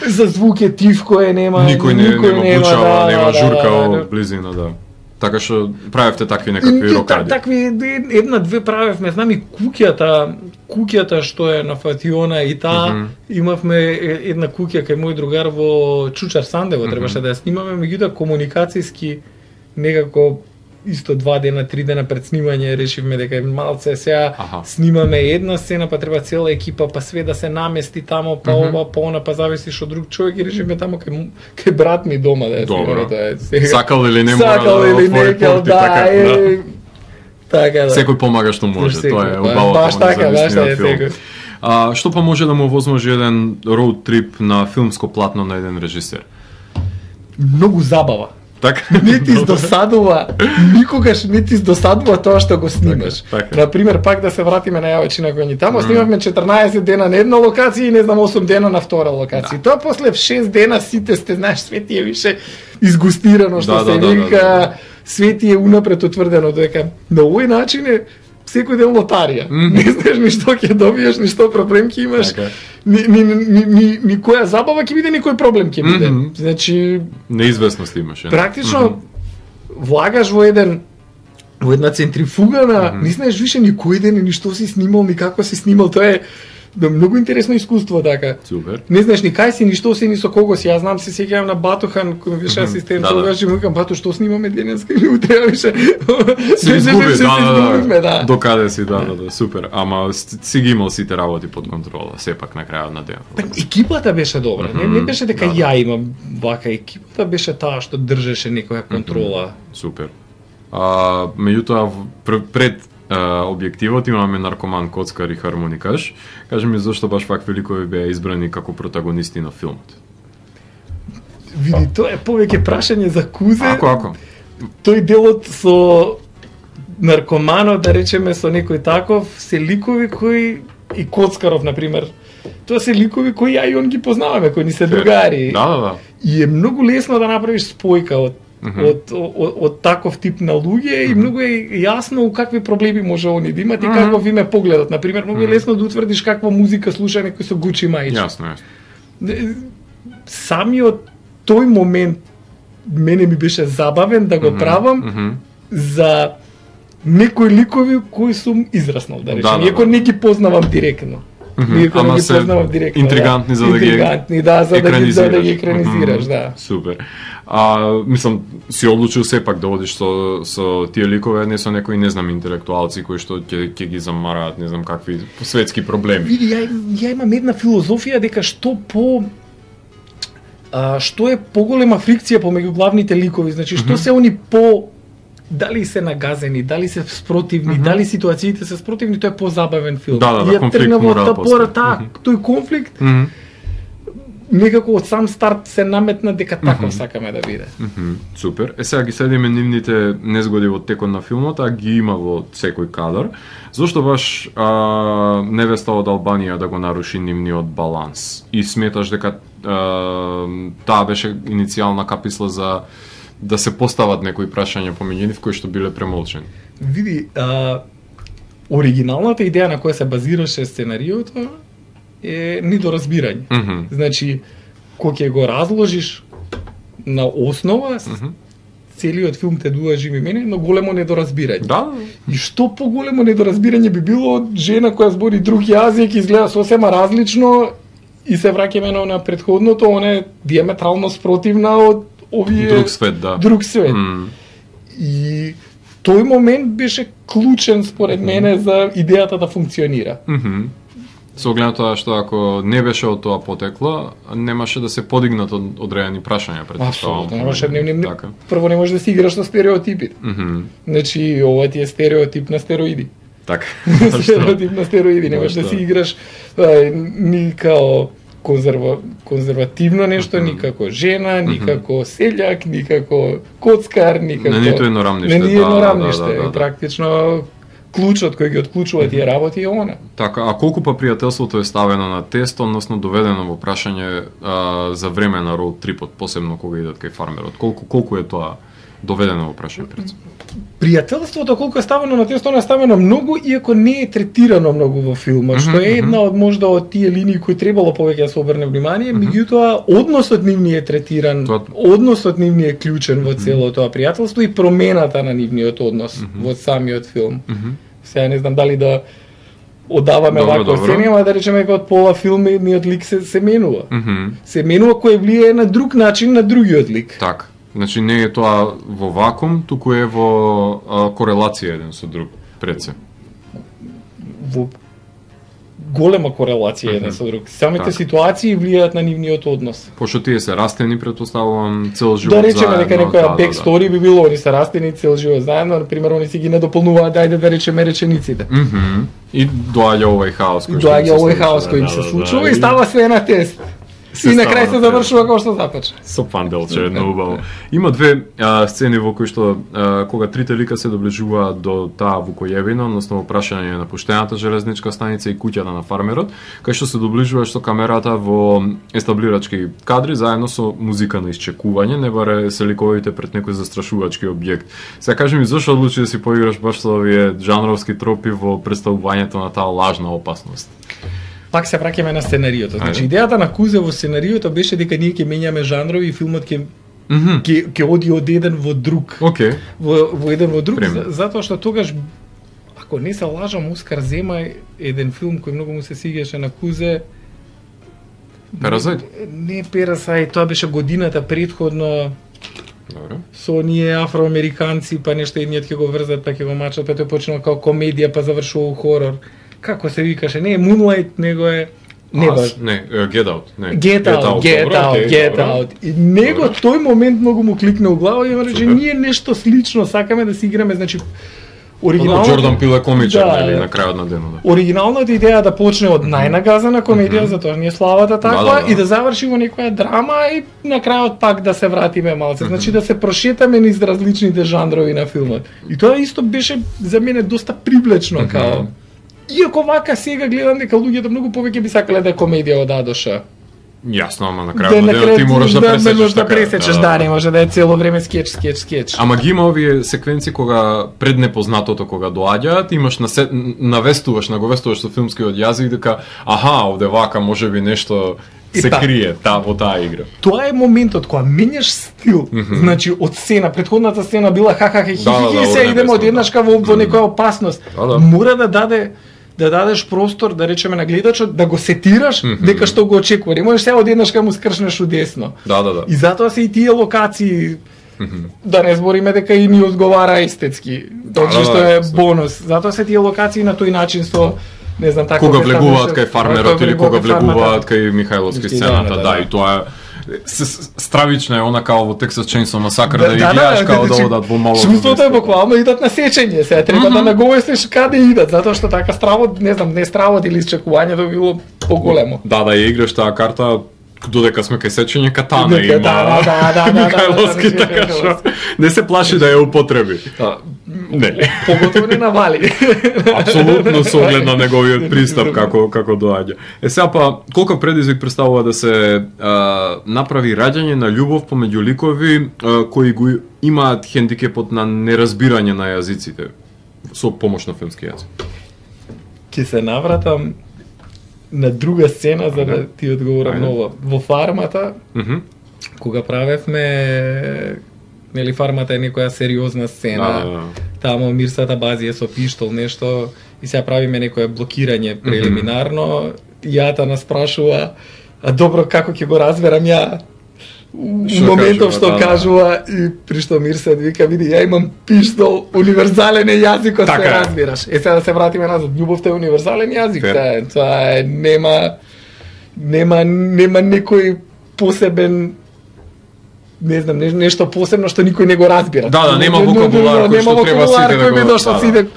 За звук е тивко е, нема, Никој не нема бучава, да, нема да, журка да, да. од близина, да. Така што правевте такви И, некакви и, та- рокади. такви една две правевме, знам и куќата, куќата што е на Фатиона и таа Мгм. имавме е- една куќа кај мој другар во Чучар Сандево, Мгм. требаше да ја снимаме, меѓутоа комуникацијски некако исто два дена, три дена пред снимање решивме дека е малце сега Аха. снимаме една сцена, па треба цела екипа, па све да се намести тамо, па Мгм. ова, па она, па зависиш од друг човек и решивме тамо кај, му- кај брат ми дома да ја Добро. снимаме. Тоа е сега. Сакал или не мора Сакал да или отвори не, као, порти, да, така, е, да. така да. Секој помага што може, Секој, тоа е ба- убавото баш во така, баш независниот така е, филм. секој. А, што па може да му возможи еден роуд трип на филмско платно на еден режисер? Многу забава. Така? Не ти издосадува, никогаш не ти издосадува тоа што го снимаш. Така, така. Например, пак да се вратиме на Јавачина кој ни тамо, снимавме четрнаесет дена на една локација и не знам осум дена на втора локација. Да. Тоа после шест дена сите сте, знаеш, све ти е више изгустирано, што Да, се да, да, вика, да, да. све ти е унапред утврдено, дека на овој начин е секој ден лотарија. Мгм. Не знаеш ни што ќе добиеш, ни што проблем ќе имаш. Така. Ни, ни, ни, ни, ни која забава ќе биде, ни кој проблем ќе биде. Мгм. Значи, Неизвестност имаше. практично Мгм. влагаш во еден во една центрифуга на Мгм. не знаеш више ни кој ден, ни што си снимал, ни како си снимал, тоа е Да, многу интересно искуство, така. Супер. Не знаеш ни кај си, ни што си, ни со кого си. Јас знам се сеќавам на Батохан, кој ми беше асистент, да, тогаш и му викам, Бато, што снимаме денеска или утре, беше. Се изгуби, да, да, да. До каде си, да, да, да, супер. Ама си ги имал сите работи под контрола, сепак на крајот на денот. Екипата беше добра, не, не беше дека да, да. ја имам вака, екипата беше таа што држеше некоја контрола. Супер. А, меѓутоа пред Uh, објективот имаме наркоман, коцкар и хармоникаш. Кажи ми зошто баш вакви ликови беа избрани како протагонисти на филмот? Види, тоа е повеќе прашање за Кузе. Ако, ако. Тој делот со наркоманот, да речеме, со некој таков, се ликови кои и Коцкаров, например. Тоа се ликови кои ја и он ги познаваме, кои ни се другари. Да, да, да. И е многу лесно да направиш спојка од Mm -hmm. од, од, од таков тип на луѓе mm -hmm. и многу е јасно у какви проблеми може они да имат и mm -hmm. каков им е погледот. Например, многу е лесно да утврдиш каква музика слуша некој со Гучи мајче. Јасно, јасно. Самиот тој момент мене ми беше забавен да го mm -hmm. правам mm -hmm. за некои ликови кои сум израснал, да речем, да, иако да, не ги познавам директно. Mm -hmm. Иако не ги познавам директно. Интригантни да. за да ги интригантни, да, за да ги, за да ги екранизираш, mm -hmm. да. Супер. А, мислам, си одлучил сепак да одиш со, со тие ликове, не со некои, не знам, интелектуалци кои што ќе ќе ги замараат, не знам какви светски проблеми. Види, ја, ја имам една филозофија дека што по а, што е поголема фрикција помеѓу главните ликови, значи што mm -hmm. се они по дали се нагазени, дали се спротивни, mm -hmm. дали ситуациите се спротивни, тоа е позабавен филм. Да, да, да, конфликт мора да постои. Таа, mm -hmm. тој конфликт mm -hmm. некако од сам старт се наметна дека таков mm -hmm. сакаме да биде. Mm -hmm. Супер. Е сега ги следиме нивните незгоди во текот на филмот, а ги има во секој кадар. Зошто баш а, невеста од Албанија да го наруши нивниот баланс? И сметаш дека а, таа беше иницијална каписла за да се постават некои прашања помеѓу нив кои што биле премолчени? Види, а, оригиналната идеја на која се базираше сценариото е недоразбирање. Mm -hmm. Значи, кога ќе го разложиш на основа, mm -hmm. целиот филм те дуажи ми мене, но големо недоразбирање. Да. И што поголемо недоразбирање би било од жена која збори друг јазик, изгледа сосема различно и се враќаме на претходното, она е диаметрално спротивна од овие друг свет, да. Друг свет. Mm. И тој момент беше клучен според мене за идејата да функционира. Mm -hmm. Со оглед на тоа што ако не беше од тоа потекло, немаше да се подигнат од одредени прашања пред тоа. Апсолутно, немаше не, не, не, прво не можеш да си играш со стереотипите. Mm -hmm. Значи, ова ти е стереотип на стероиди. Така. Стереотип на стероиди, не можеш да си играш а, ни као конзерва, конзервативно нешто, mm -hmm. никако жена, никако селјак, никако коцкар, никако... На нито едно рамниште. На нито едно да, рамниште. да, да, да. Практично клучот кој ги отклучува тие работи е она. Така, а колку па пријателството е ставено на тест, односно доведено во прашање а, за време на роуд трипот, посебно кога идат кај фармерот? Колку колку е тоа доведено во прашање пред? Пријателството колку е ставено на тест, она е ставено многу, иако не е третирано многу во филма, mm -hmm, што е една од можда од тие линии кои требало повеќе да се обрне внимание, mm -hmm. меѓутоа односот нивни е третиран, тоа... односот нивни е клучен во цело тоа пријателство и промената на нивниот однос mm -hmm. во самиот филм. Mm -hmm. Сега не знам дали да одаваме вако оценија, да речеме дека од пола филм едниот лик се, се менува. Mm -hmm. Се менува кој влијае на друг начин на другиот лик. Така. Значи не е тоа во вакуум, туку е во а, корелација еден со друг пред се. Во голема корелација mm -hmm. еден со друг. Самите так. ситуации влијаат на нивниот однос. Пошто тие се растени, претпоставувам, цел живот заедно. Да речеме дека некоја да, бекстори да, да. би било, они се растени цел живот заедно, на пример, они си ги надополнуваат, ајде да речеме речениците. Mm -hmm. И доаѓа овој хаос кој доаѓа овој хаос кој им се случува да, и става све на тест. И на крај се завршува како што започна. Со панделче, едно убаво. Има две а, сцени во кои што а, кога трите лика се доближуваат до таа Вукојевина, односно во прашање на пуштената железничка станица и куќата на фармерот, кај што се доближуваш со камерата во естаблирачки кадри заедно со музика на исчекување, не баре се ликовите пред некој застрашувачки објект. Сега кажи ми зошто одлучи да си поиграш баш со овие жанровски тропи во представувањето на таа лажна опасност? Пак се враќаме на сценариото. Значи Ајде. Идејата на Кузе во сценариото беше дека ние ќе менјаме жанрови и филмот ќе mm -hmm. ќе ќе оди од еден во друг. Okay. Во во еден во друг за, затоа што тогаш ако ако не се лажам, Оскар зема еден филм кој многу му се сигаше на Кузе. Паразайт? Не, не Паразайт, тоа беше годината предходно. Добро. Со оние афроамериканци, па нешто едниот ќе го врзат, па ќе го мачат, па тој почнува како комедија, па завршува у хорор. Како се викаше? Не е Moonlight, него е не баш. Не, Get Out, не. Get Out, Get Out, Get Out. И него тој момент многу му кликна у глава и му рече ние нешто слично сакаме да си играме, значи оригиналното Джордан Пил е комичар, нели, на крајот на денот. Оригиналната идеја да почне од најнагазана комедија, затоа ни е славата таква, и да заврши во некоја драма и на крајот пак да се вратиме малце. Значи да се прошетаме низ различните жанрови на филмот. И тоа исто беше за мене доста привлечно као. Иако вака сега гледам дека луѓето многу повеќе би сакале да е комедија од А до Ш. Јасно, ама на крајот на денот ти мораш да пресечеш да пресечеш, да, не може да е цело време скеч, скеч, скеч. Ама ги има овие секвенци кога пред непознатото кога доаѓаат, имаш на навестуваш, наговестуваш со филмскиот јазик дека аха, овде вака можеби нешто се та, крие та во таа игра. Тоа е моментот кога менјаш стил. Mm -hmm. Значи од сцена, претходната сцена била ха-ха хи хи да, хи, да, се идеме од еднашка во, во некоја опасност. Да, да. Мора да даде да дадеш простор, да речеме на гледачот, да го сетираш mm -hmm. дека што го очекува. Не можеш сега од еднашка му скршнеш удесно. Да, да, да. И затоа се и тие локации, mm -hmm. да не збориме дека и ни одговара естетски, тоа да, што е да, бонус. Затоа се тие локации на тој начин со не знам така кога влегуваат кај фармерот или кога влегуваат кај Михајловски сцената, да, да, и тоа е стравична е она као во Texas Chainsaw Massacre да, да, да гледаш да, као да одат во мало. Чувството е буквално идат на сечење, сега треба mm -hmm. да наговестиш каде идат, затоа што така стравот, не знам, не стравот или изчекувањето било поголемо. Да, да ја играш таа карта додека сме кај сечење катана има. Да, да, да, да, Михајловски така што не се плаши да ја употреби. Не. Поготово не навали. Апсолутно со оглед на неговиот пристап како како доаѓа. Е сега па колку предизвик представува да се а, направи раѓање на љубов помеѓу ликови а, кои го имаат хендикепот на неразбирање на јазиците со помош на филмски јазик. Ќе се навратам на друга сцена за да ти одговорам ново. Во фармата, mm -hmm. кога правевме, нели фармата е некоја сериозна сцена, да, да, да. Тамо Мирсата Бази е со пиштол нешто и сега правиме некое блокирање прелиминарно, mm -hmm. Јата нас прашува, а добро како ќе го разберам ја у моментов што да, кажува и при што Мирсат вика види ја имам пиштол, универзален е јазикот, се разбираш. Е сега да се вратиме назад, љубовта е универзален јазик, тоа е, тоа е нема нема нема некој посебен не знам, не, нешто посебно што никој не го разбира. Да, да, нема вокабулар кој што треба сите да го дошло сите.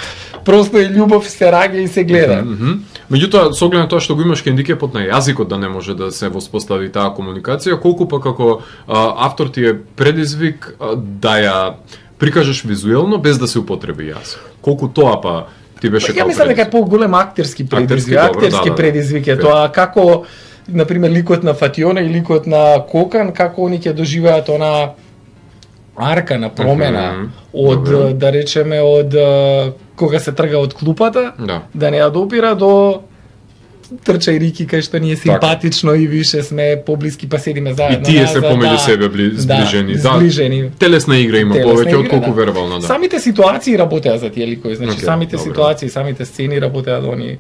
Просто е љубов, се раѓа и се гледа. Mm -hmm. Меѓутоа, со оглед на тоа што го имаш хендикепот на јазикот да не може да се воспостави таа комуникација, колку па како а, автор ти е предизвик а, да ја прикажеш визуелно без да се употреби јазик. Колку тоа па ти беше како? Ја мислам дека е поголем актерски предизвик, актерски, актерски да, предизвик е да, тоа како например ликот на Фатиона и ликот на Кокан, како они ќе доживеат она арка на промена mm -hmm. од Добре. да речеме од кога се трга од клупата, да, да не ја допира до трчај Рики кај што ни е симпатично така. И више сме поблиски па седиме заедно. И тие се помеѓу да, себе бли, зближени. Да, зближени. Да, телесна игра има повеќе од колку да. вербална, да. Самите ситуации работеа за тие ликови, значи okay, самите добре. ситуации, самите сцени работеа да они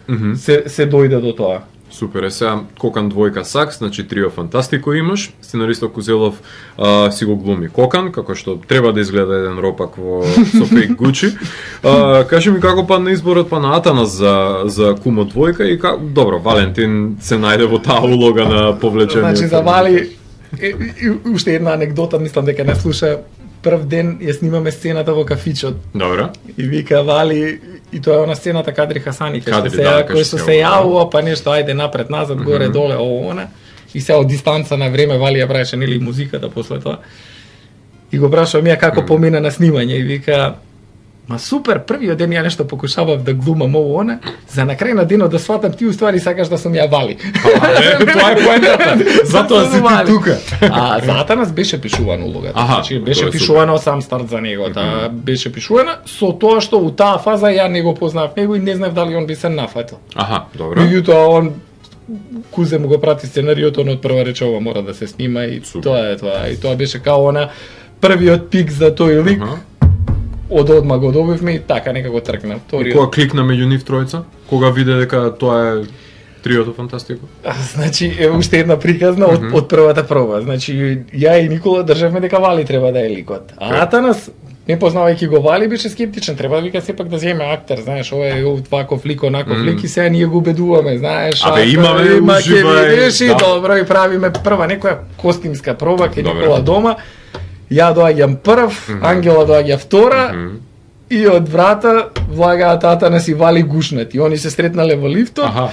mm -hmm. се се дојде до тоа. Супер, е сега Кокан двојка Сакс, значи трио фантастико имаш, сценаристот Кузелов а, си го глуми Кокан, како што треба да изгледа еден ропак во со фейк Гучи. А, кажи ми како падна изборот па на Атанас за за Кумо двојка и как добро, Валентин се најде во таа улога на повлечение. Значи за Вали и, и, уште една анекдота, мислам дека не слуша. Прв ден ја снимаме сцената во кафичот. Добро. И вика Вали, и тоа е она сцената Кадри Хасани, кај што се, да, кој што се јавува, па нешто, ајде напред, назад, горе, mm -hmm. доле, ово, она. И се од дистанца на време Вали ја правеше нели музиката после тоа. И го прашува мија како mm -hmm. помина на снимање и вика ма супер, првиот ден ја нешто покушавав да глумам ово она, за на крај на денот да сватам ти уствари сакаш да сум ја Вали. Тоа е поентата. Затоа си ти тука. А за Атанас беше пишувана улогата. Значи беше пишувано сам старт за него, таа беше пишувана со тоа што у таа фаза ја не го познав него и не знав дали он би се нафатил. Аха, добро. Меѓутоа он Кузе му го прати сценариото, он од прва рече ова мора да се снима и Супер. Тоа е тоа. И тоа беше као она првиот пик за тој лик. Uh -huh. од одма го добивме и така некако тркна. И кога кликна меѓу нив тројца, кога виде дека тоа е триото фантастико? Значи, е уште една приказна од, mm -hmm. од првата проба. Значи, ја и Никола државме дека Вали треба да е ликот. А Атанас, не познавајќи го Вали, беше скептичен. Треба да вика сепак да земе актер, знаеш, ова е ваков лик, онаков mm -hmm. лик и сега ние го убедуваме, знаеш. Абе, имаме, уживај. Да. Добро, и правиме прва некоја костимска проба кај Никола дома. Ја доаѓам прв, mm -hmm. Ангела доаѓа втора, mm -hmm. и од врата влагаат Атанас и Вали гушнати. Они се сретнале во лифтот, ага.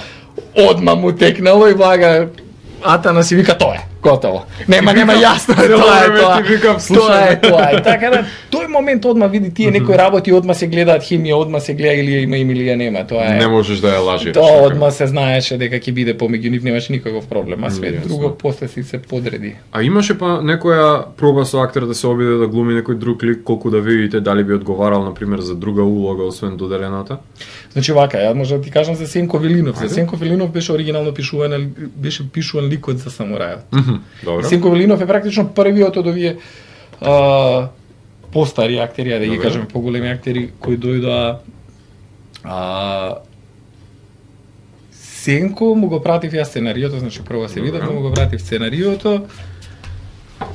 Одма му текнало и влага Атанас и вика тоа е, готово. Нема, нема јасно, тоа е тоа. Тоа е тоа. И така да, тој момент одма види тие некои работи, одма се гледаат химија, одма се гледа или има или ја нема, тоа е. Не можеш да ја лажиш. Тоа одма се знаеше дека ќе биде помеѓу нив, немаше никаков проблем, а све друго после си се подреди. А имаше па некоја проба со актер да се обиде да глуми некој друг лик, колку да видите дали би одговарал на пример за друга улога освен доделената? Значи вака, ја може да ти кажам за Сенко Велинов. За Сенко Велинов беше оригинално пишуван, беше пишуван ликот за самурајот. Mm -hmm. Добро. Сенко Велинов е практично првиот од овие а, постари актери, да ги кажеме поголеми актери кои дојдоа. А, Сенко му го пратив ја сценариото, значи прво се видовме, му го пратив сценариото.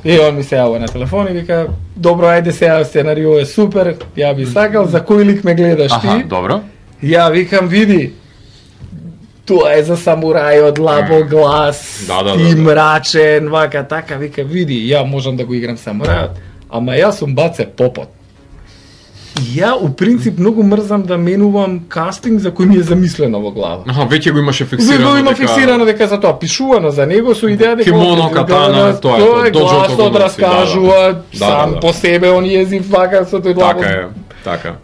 И он ми се јава на телефон и вика: "Добро, ајде сега, сценарио е супер, ја би сакал, за кој лик ме гледаш ти?" Аха, добро. Ја викам: "Види, тоа е за самурајот, лабо глас, да, да, ти да, мрачен, вака така", вика: "Види, ја можам да го играм самурајот, ама јас сум Баце Попот." И ја, у принцип, многу мрзам да менувам кастинг за кој ми е замислено во глава. Аха, веќе го имаше фиксирано. Го има дека... фиксирано дека за тоа пишувано за него со идеја дека кимоно, катана, тоа е тоа. Гласот раскажува сам да, да. По себе, он језив вака со тој лабо. Така е, така.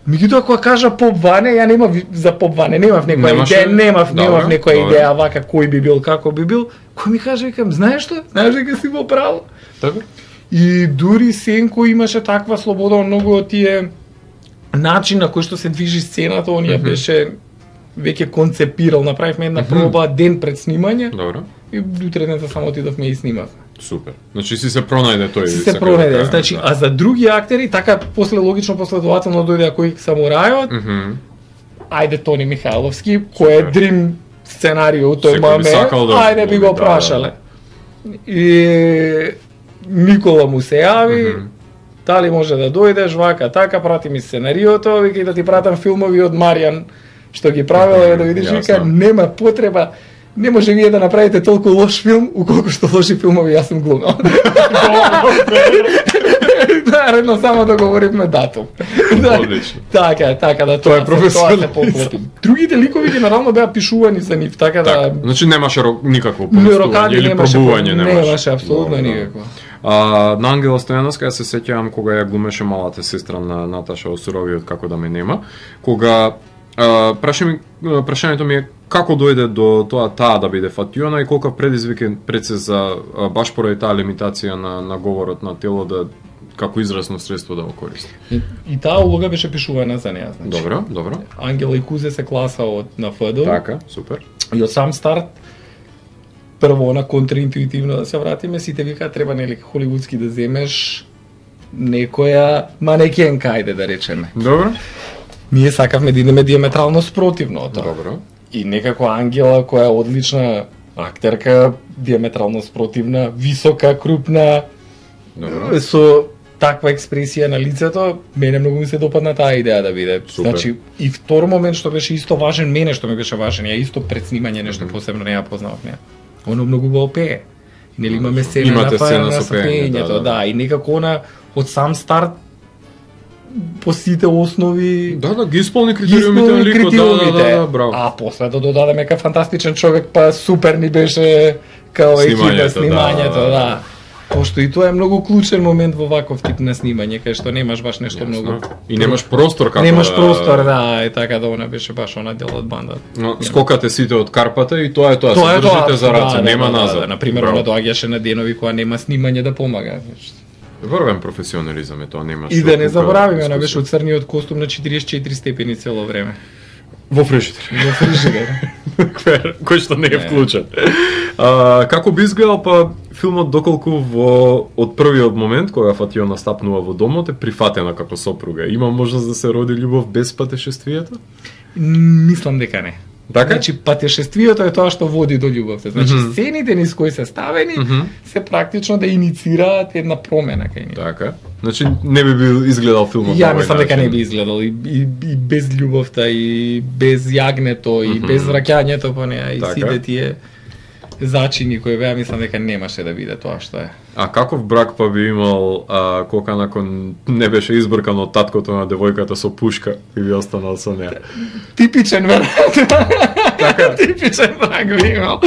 Меѓутоа кога кажа Поп Ване, ја немав за Поп Ване, немав некоја Немаше... идеја, немав, добре, немав некоја добре. идеја вака кој би бил, како би бил. Кој ми каже, викам, знаеш што? Знаеш дека си во право? Така. И дури Сенко имаше таква слобода, многу од тие начин на кој што се движи сцената, он ја mm -hmm. беше веќе концепирал, направивме една проба mm -hmm. ден пред снимање. Добро. И утредната само отидовме и снимавме. Супер. Значи си се пронајде тој. Си се пронајде. Да, значи, да. А за други актери така после логично последователно дојде кој самурајот. Mm -hmm. Ајде Тони Михайловски, кој е дрим сценарио у тој момент. Да, ајде би го прашале. Да, да. И Никола му се јави. Mm -hmm. Дали може да дојдеш, вака, така, прати ми сценариото, вика, да ти пратам филмови од Маријан, што ги правила, да видиш, вика, нема потреба, не може вие да направите толку лош филм, уколку што лоши филмови јас сум глумел. Наредно само договоривме датум. Одлично. Така, така, да тоа е професионално. Другите ликови генерално беа пишувани за нив, така да... Значи немаше никакво поместување или пробување, немаше. Немаше, апсолутно никакво. А, на Ангела Стојановска ја се сеќавам кога ја глумеше малата сестра на Наташа Осуровиот како да ме нема, кога а, прашање, прашањето ми е како дојде до тоа таа да биде Фатиона и колку предизвик е пред се за баш поради таа лимитација на, на говорот на тело да како изразно средство да го користи. И, и таа улога беше пишувана за неа, значи. Добро, добро. Ангела и Кузе се класа од на ФД. Така, супер. И од сам старт прво на контраинтуитивно да се вратиме, сите вика треба нели холивудски да земеш некоја манекенка, ајде да речеме. Добро. Ние сакавме да идеме диаметрално спротивно од тоа. Добро. И некако Ангела, која е одлична актерка, диаметрално спротивна, висока, крупна, добро, со таква експресија на лицето, мене многу ми се допадна таа идеја да биде. Супер. Значи, и втор момент што беше исто важен, мене што ми беше важен, ја исто пред снимање нешто mm -hmm. посебно не ја познавав неа. Оно многу го опее. Нели имаме сцена Имате на сцена на со пеење, да, да. да, и некако она од сам старт по сите основи да, да, ги исполни критериумите на ликот, да, да, да, да, браво. А после да додадеме кај фантастичен човек, па супер ни беше као екипа снимањето, да. да. Пошто и тоа е многу клучен момент во ваков тип на снимање, кај што немаш баш нешто Ясно. многу. И немаш простор како Немаш простор, да, и така да она беше баш она дел од бандата. Но скокате сите од Карпата и тоа е тоа, тоа се држите за раце, да, нема да, назад. Да, да, на пример, она доаѓаше на денови кога нема снимање да помага. Врвен професионализам е тоа, немаш. И да не заборавиме, она беше од црниот костум на четириесет и четири степени цело време. Во фрижидер. Во фрижидер. Кој што не е вклучен. А, како би изгледал па филмот доколку во од првиот момент кога Фатиона стапнува во домот е прифатена како сопруга. Има можност да се роди љубов без патешествието? Мислам дека не. Така? Значи патешествието е тоа што води до љубовта. Значи mm-hmm. сцените низ кои се ставени mm-hmm. се практично да иницираат една промена кај нив. Така. Значи не би бил изгледал филмот. Ја мислам дека не би изгледал и, и, и без љубовта и без јагнето и mm-hmm. без враќањето по неа и така. Сите тие зачини кои беа, мислам дека немаше да биде тоа што е. А каков брак па би имал а, кога након не беше избркан од таткото на девојката со пушка и би останал со неа? Типичен веројатно. Така, типичен брак би имал.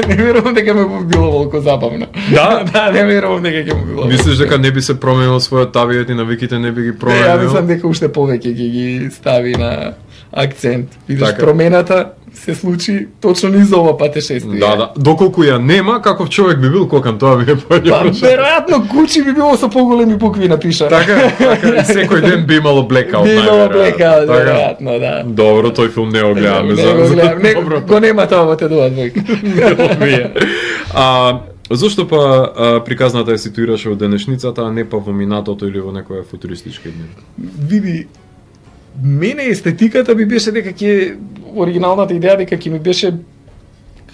Не верувам дека ме би било волку забавно. Да, да, не верувам дека ќе му било. Мислиш дека не би се променил својот табијат и навиките не би ги променил? Не, ја мислам дека уште повеќе ќе ги стави на акцент. Видиш, така. Промената се случи точно низ ова патешествие. Да, да. Доколку ја нема, каков човек би бил Кокан, тоа би е појаѓа. Па, веројатно кучи би било со поголеми букви напишано. Така, така, и секој ден би имало блекаут. Би имало блекаут, веројатно, да. Добро, тој филм не го гледаме. Не го гледам, не, го нема тоа во Т два двојка. А, зошто па а, приказната е ситуираше во денешницата, а не па во минатото или во некоја футуристички дни? Види, мене естетиката би беше дека ќе оригиналната идеја дека ќе ми беше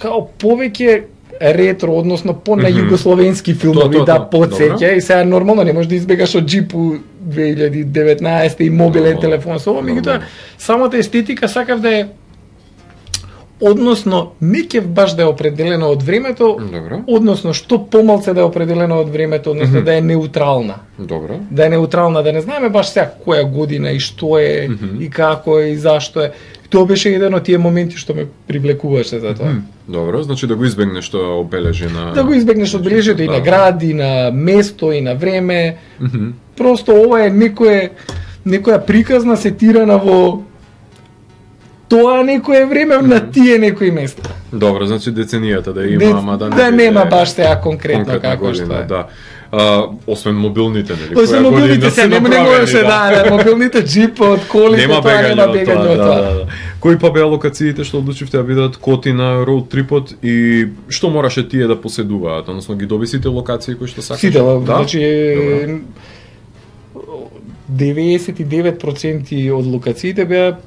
као повеќе ретро, односно по на југословенски филмови, да потсеќа и сега нормално не можеш да избегаш од джипу две илјади и деветнаесета и мобилен no, телефон со ова, меѓутоа самата естетика сакав да е односно не ќе баш да е определено од времето, Добро. Односно што помалце да е определено од времето, односно mm-hmm. да е неутрална. Добро. Да е неутрална, да не знаеме баш сега која година и што е mm-hmm. и како е и зашто е. Тоа беше еден од тие моменти што ме привлекуваше за тоа. Mm-hmm. Добро, значи да го избегнеш тоа обележи на... Да го избегнеш одбележието и на град, и на место, и на време. Mm-hmm. Просто ова е некое, некоја приказна сетирана во тоа некое време mm-hmm. на тие некои места. Добро, значи деценијата да има, Де, ама да не да биде, нема баш сега конкретно, конкретно како година, што е. Да. А, освен мобилните, нели? Освен мобилните се не можеше да, да, мобилните джипот, колите, нема тоа бегање нема од бегање тоа. од тоа. Да, да, да. Кои па беа локациите што одлучивте да бидат Котина, роуд трипот и што мораше тие да поседуваат? Односно ги доби сите локации кои што сакаш? Сите, да? Значи деветдесет и девет проценти од локациите беа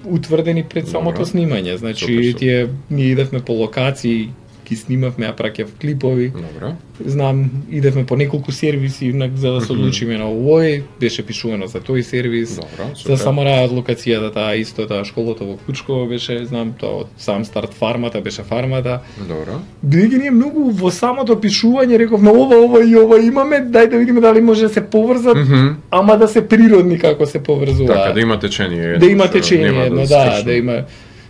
утврдени пред самото Добро. Снимање. Значи супер, супер. Тие ние идевме по локации, ги снимавме, ја праќав клипови. Добро. Знам, идевме по неколку сервиси за да се одлучиме на овој, беше пишувано за тој сервис. Добро, за саморајот локацијата таа исто, таа школата во Клучково беше, знам, тоа од сам старт фармата беше фармата. Добро. Бидејќи ние многу во самото пишување рековме ова, ова и ова имаме, дај да видиме дали може да се поврзат, mm -hmm. ама да се природни како се поврзуваат. Така, да има течение. Да има течение, едно, да, да има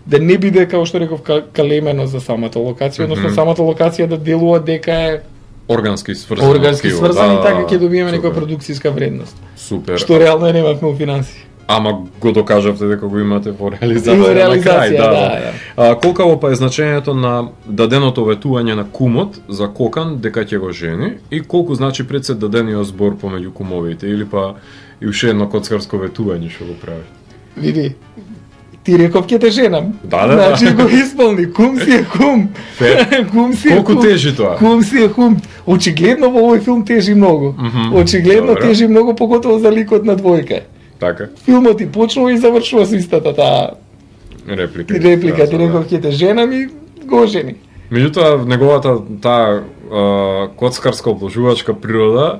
да не биде како што реков калемено за самата локација, односно mm -hmm. самата локација да делува дека е органски сврзана. Органски сврзана да, и така ќе добиеме супер. некоја продукцијска вредност. Супер. Што реално немавме у финанси. Ама го докажавте дека го имате во реализација, во реализација на крај, да. да, да. А, колкаво па е значењето на даденото ветување на кумот за Кокан дека ќе го жени и колку значи пред се дадениот збор помеѓу кумовите или па и уште едно коцкарско ветување што го прави? Види, ти реков ќе те женам. Да, да, значи да. го исполни, кум си е кум. Кум си е Колку кум. тежи тоа? Кум си е кум. Очигледно во овој филм тежи многу. Mm -hmm. Очигледно Добре. тежи многу, поготово за ликот на двојка. Така. Филмот и почнува и завршува со истата таа реплика. реплика. Да, Ти да. реков ќе те женам и го жени. Меѓутоа, неговата таа а, коцкарска обложувачка природа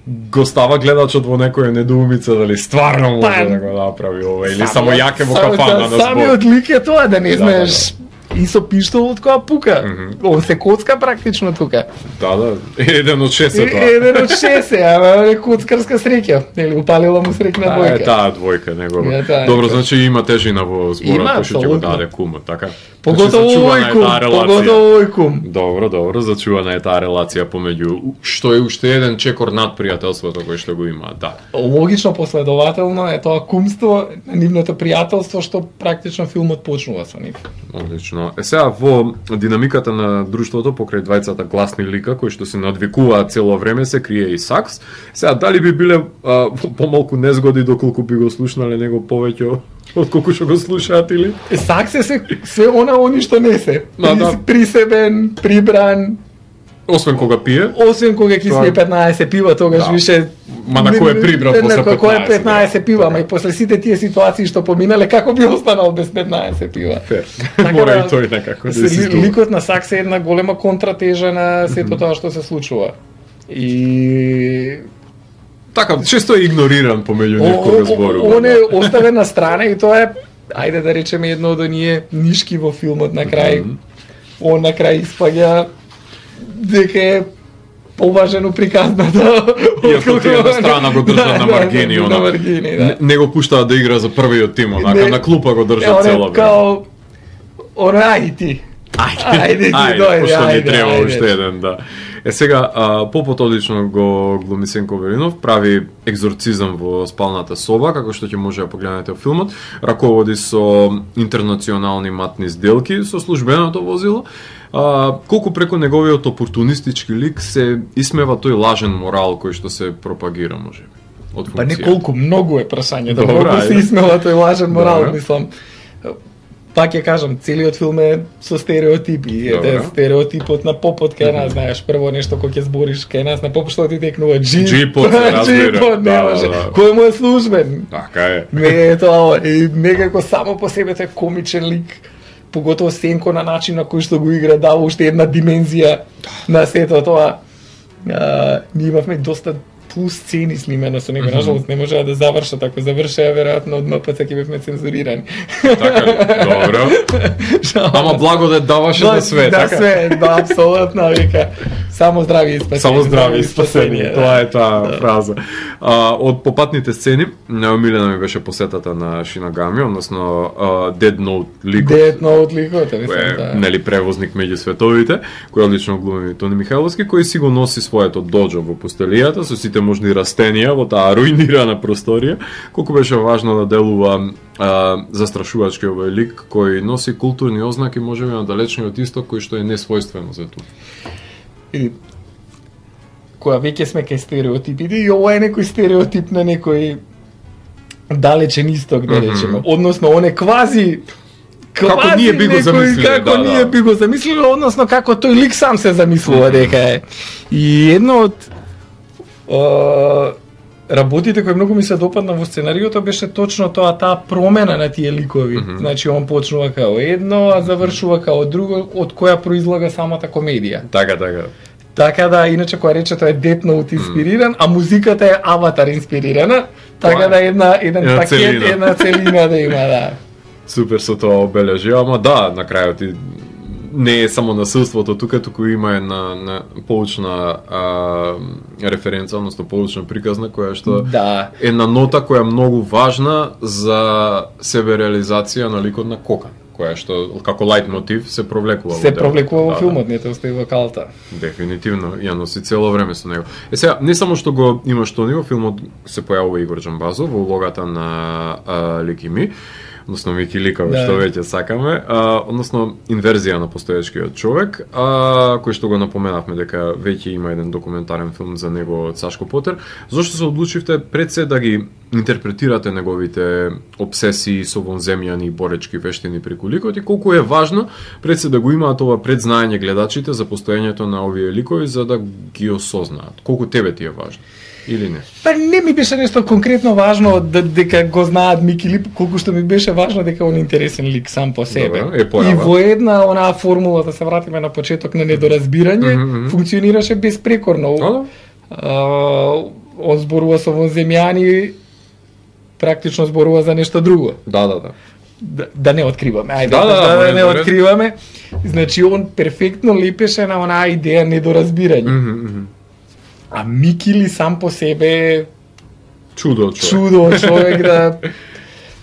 го става гледачот во некоја недоумица дали стварно може Па, да го направи ова или Самиот- само јаке во самиот- кафана на збор. Самиот лик е тоа, да не Да, знаеш и со пиштолот која пука. Мгм. Он се коцка практично тука. Да, да, еден од шест е Е, тоа. Еден од шест е, ама е коцкарска среќа. Нели упалила му среќна Таа двојка. е таа двојка негова. Е, таа е Добро, тоа. значи има тежина во зборот Има, кој што ќе го апсолутно. даде кумот, така? Поготово Значи, зачувана овој е кум, таа релација. поготово овој кум. Добро, добро, зачувана е таа релација помеѓу што е уште еден чекор над пријателството кој што го има, да. Логично последователно е тоа кумство, нивното пријателство што практично филмот почнува со нив. Одлично. Е сега во динамиката на друштвото покрај двајцата гласни лика кои што се надвикуваат цело време се крие и сакс. Сега дали би биле а, помалку незгоди доколку би го слушнале него повеќе од колку што го слушаат или? Сакс е се, се она они што не се. Ма, При, да. Присебен, прибран, Освен кога пие. Освен кога ќе спие петнаесет пива, тогаш да. више Ма на кој е прибрал после петнаесет? Кој е петнаесет пива, ама и после сите тие ситуации што поминале, како би останал без петнаесет пива? Фер. Мора и тој некако да се ли, ликот на Сакс е една голема контратежа на сето тоа што се случува. И така често е игнориран помеѓу нив кога зборува. Он е оставен на страна и тоа е, ајде да речеме, едно од оние нишки во филмот на крај. Mm -hmm. Он на крај испаѓа дека е поважено приказната. Иако тие на страна го држат на маргини, да, она. На маргини, да. Не, не го пуштаат да игра за првиот тим, онака на клупа го држат цела време. Као ора ајде ти. Ајде, ајде, ајде, дојде, пошто ни ајде, треба ајде. уште еден, да. Е сега, а, Попот одлично го глуми Сенко Велинов, прави екзорцизам во спалната соба, како што ќе може да погледнете во филмот, раководи со интернационални матни сделки со службеното возило. А, колку преку неговиот опортунистички лик се исмева тој лажен морал кој што се пропагира, може би, од функција. Па не колку, многу е прашањето, Добра, многу се ајде. исмела тој лажен морал, Добра. мислам. Пак ќе кажам, целиот филм е со стереотипи. Ете, стереотипот на Попот кај нас, знаеш, прво нешто кој ќе збориш кај нас на Попот, што ти текнува джип. Джипот, се разбира. Джипот, не Да, може. да, да. Кој му е службен? Така е. Не е тоа, и некако само по себе тој комичен лик, поготово Сенко на начин на кој што го игра, дава уште една димензија на сето тоа. А, ние имавме доста плюс сцени снимено со него, нажалост не можеа да завршат, ако завршеа веројатно од ем пе це ќе бевме цензурирани. Така ли? Добро. Ама благодат даваше за све, да, така? све, да, апсолутно, вика. Само здравје и спасение. Само здравје и спасение. да. Тоа е таа Да. фраза. А, од попатните сцени, најомилена ми беше посетата на Шинагами, односно а, Dead Note ликот. Dead Note ликот, мислам, Кој е, да. нели, превозник меѓу световите, кој одлично глуми Тони Михайловски, кој си го носи своето доџо во постелијата со сите можни растенија во таа руинирана просторија. Колку беше важно да делува а, застрашувачки овој лик кој носи културни ознаки можеби на далечниот исток кој што е несвојствено за тоа. И која веќе сме кај стереотипите, и ова е некој стереотип на некој далечен исток, да речеме. Mm -hmm. Односно, он е квази Како ние би го некој, замислиле, како да, ние да. би го замислиле, односно како тој лик сам се замислува Mm -hmm. дека е. И едно од е, работите кои многу ми се допадна во сценариото беше точно тоа, таа промена на тие ликови. Mm -hmm. Значи он почнува као едно, а завршува као друго, од која произлага самата комедија. Така, така. Така да, иначе која рече тоа е Death Note инспириран, а музиката е Аватар инспирирана, така да една еден една пакет, целина. една целина да има, да. Супер со тоа обележи, ама да, на крајот и не е само насилството тука, туку има една, една поучна а, референца, односно поучна приказна која што Да. една нота која е многу важна за себе реализација на ликот на Кокан, која што како лајт мотив се провлекува во Се делот. провлекува во Да, филмот, не те остави во калта. Дефинитивно, ја носи цело време со него. Е сега, не само што го има што него, филмот се појавува Игор Џамбазов во улогата на а, Лики Ми, односно Мики Ликаве, Да. што веќе сакаме, а, односно инверзија на постоечкиот човек, а, кој што го напоменавме дека веќе има еден документарен филм за него од Сашко Потер. Зошто се одлучивте пред се да ги интерпретирате неговите обсесии со вонземјани и боречки вештини преку ликот и колку е важно пред се да го имаат ова предзнаење гледачите за постоењето на овие ликови за да ги осознаат? Колку тебе ти е важно? Или не? Па не ми беше нешто конкретно важно да, дека го знаат Мики Лип, колку што ми беше важно дека он интересен лик сам по себе. Добра, е појава. И во една онаа формула, да се вратиме на почеток на недоразбирање, Мгм, мгм. функционираше безпрекорно. Да, да. А, он зборува со вонземјани, практично зборува за нешто друго. Да, да, да. Да, да не откриваме, ајде, Да, да, да, да, може, не може. откриваме. Значи он перфектно лепеше на онаа идеја недоразбирање. Мгм, мгм. А Мики ли сам по себе Чудо од човек. чудо човек да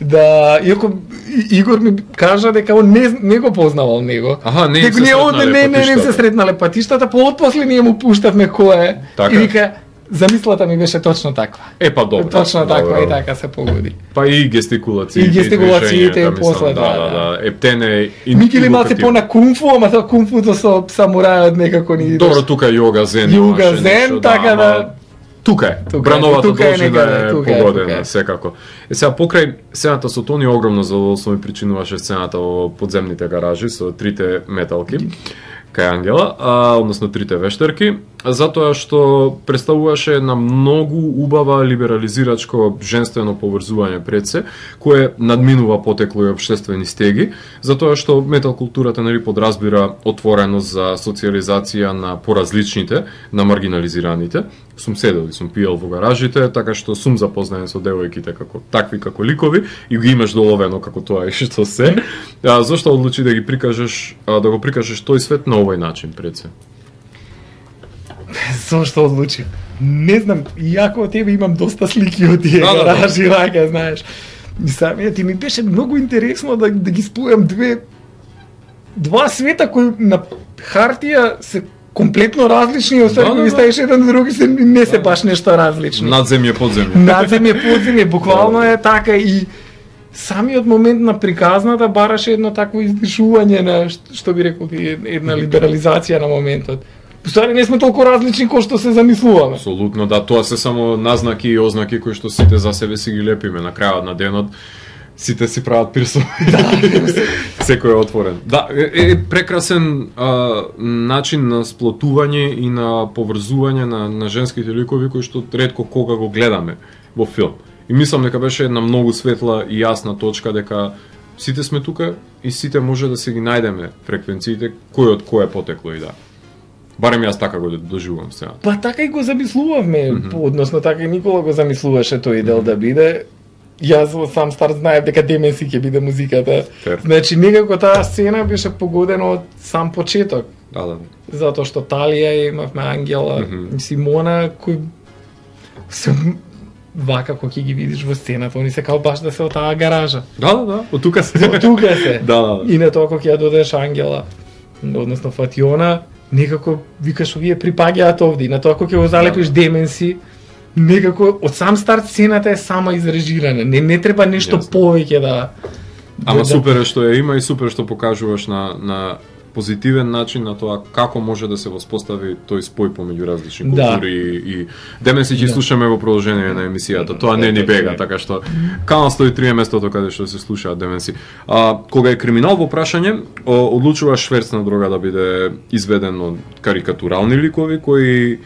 да иако И- Игор ми кажа дека он не не го познавал него. Аха, не им дека се ние он сретнале не не не им се патиштата. сретнале патиштата, поотпосле ние му пуштавме кој е. Така. И вика замислата ми беше точно таква. Е, па добро. Точно добро. таква и така се погоди. Па и гестикулациите. И гестикулациите движењата, и после, мислам, да, да, да, да. Ептене и Мики ли малце индукативно. по на кунфу, ама тоа кунфуто со самурајот некако ни Добро, тука е јога зен. Јога имаше зен, нешто, така да- ама Тука е. Тука е, Брановата тука е должина некаде, е тука е, погодена, тука е. секако. Е сега покрај сцената со Тони огромно задоволство ми причинуваше сцената во подземните гаражи со трите металки. кај Ангела, а, односно трите вештерки, затоа што представуваше една многу убава либерализирачко женствено поврзување пред се, кое надминува потекло и општествени стеги, затоа што метал културата нели подразбира отвореност за социализација на поразличните, на маргинализираните. Сум седел и сум пиел во гаражите, така што сум запознаен со девојките како такви како ликови и ги имаш доловено како тоа и што се. А, зошто одлучи да ги прикажеш, а, да го прикажеш тој свет на овој начин пред се? Зошто одлучи? Не знам, иако од тебе имам доста слики од тие да, гаражи, да, да. знаеш. И самиот ти ми беше многу интересно да, да ги спојам две два света кои на хартија се комплетно различни, освен да, кога да, ги ставиш еден други се не се баш нешто различни. Надземје, подземје. Надземје, подземје, буквално е така и самиот момент на приказната бараше едно такво издишување на што би рекол ти една либерализација на моментот. Постојано не сме толку различни кој што се замислуваме. Апсолутно, да, тоа се само назнаки и ознаки кои што сите за себе си ги лепиме на крајот на денот. Сите си прават пирсови. Да, секој е отворен. Да, е, е прекрасен а, начин на сплотување и на поврзување на, на женските ликови кои што ретко кога го гледаме во филм. И мислам дека беше една многу светла и јасна точка дека сите сме тука и сите може да се ги најдеме фреквенциите кој од кој е потекло и да. Барем јас така го доживувам сега. Па така и го замислувавме, mm -hmm. односно така и Никола го замислуваше тој дел mm -hmm. да биде. Јас во сам старт знаев дека Деменси ќе биде музиката. Fair. Значи некако таа сцена беше погодена од сам почеток. Да, да. Затоа што Талија имавме Ангела, mm -hmm. Симона кој се вака кога ќе ги видиш во сцената, они се као баш да се од таа гаража. Да, да, да. Од тука се. Од тука се. Да, да. И на тоа кога ќе ја додеш Ангела, односно Фатиона, некако викаш овие припаѓаат овде. И на тоа кога ќе го залепиш да. Деменси, некако од сам старт сцената е само изрежирана. Не не треба нешто Jasne. повеќе да. Ама да, супер е што ја има и супер што покажуваш на на позитивен начин на тоа како може да се воспостави тој спој помеѓу различни култури да. и Деменси ќе да. слушаме во продолжение на емисијата. Тоа не ни бега, така што Канал сто и три е местото каде што се слушаат Деменси. А кога е Криминал во прашање, одлучува шверцна дрога да биде изведен од карикатурални ликови кои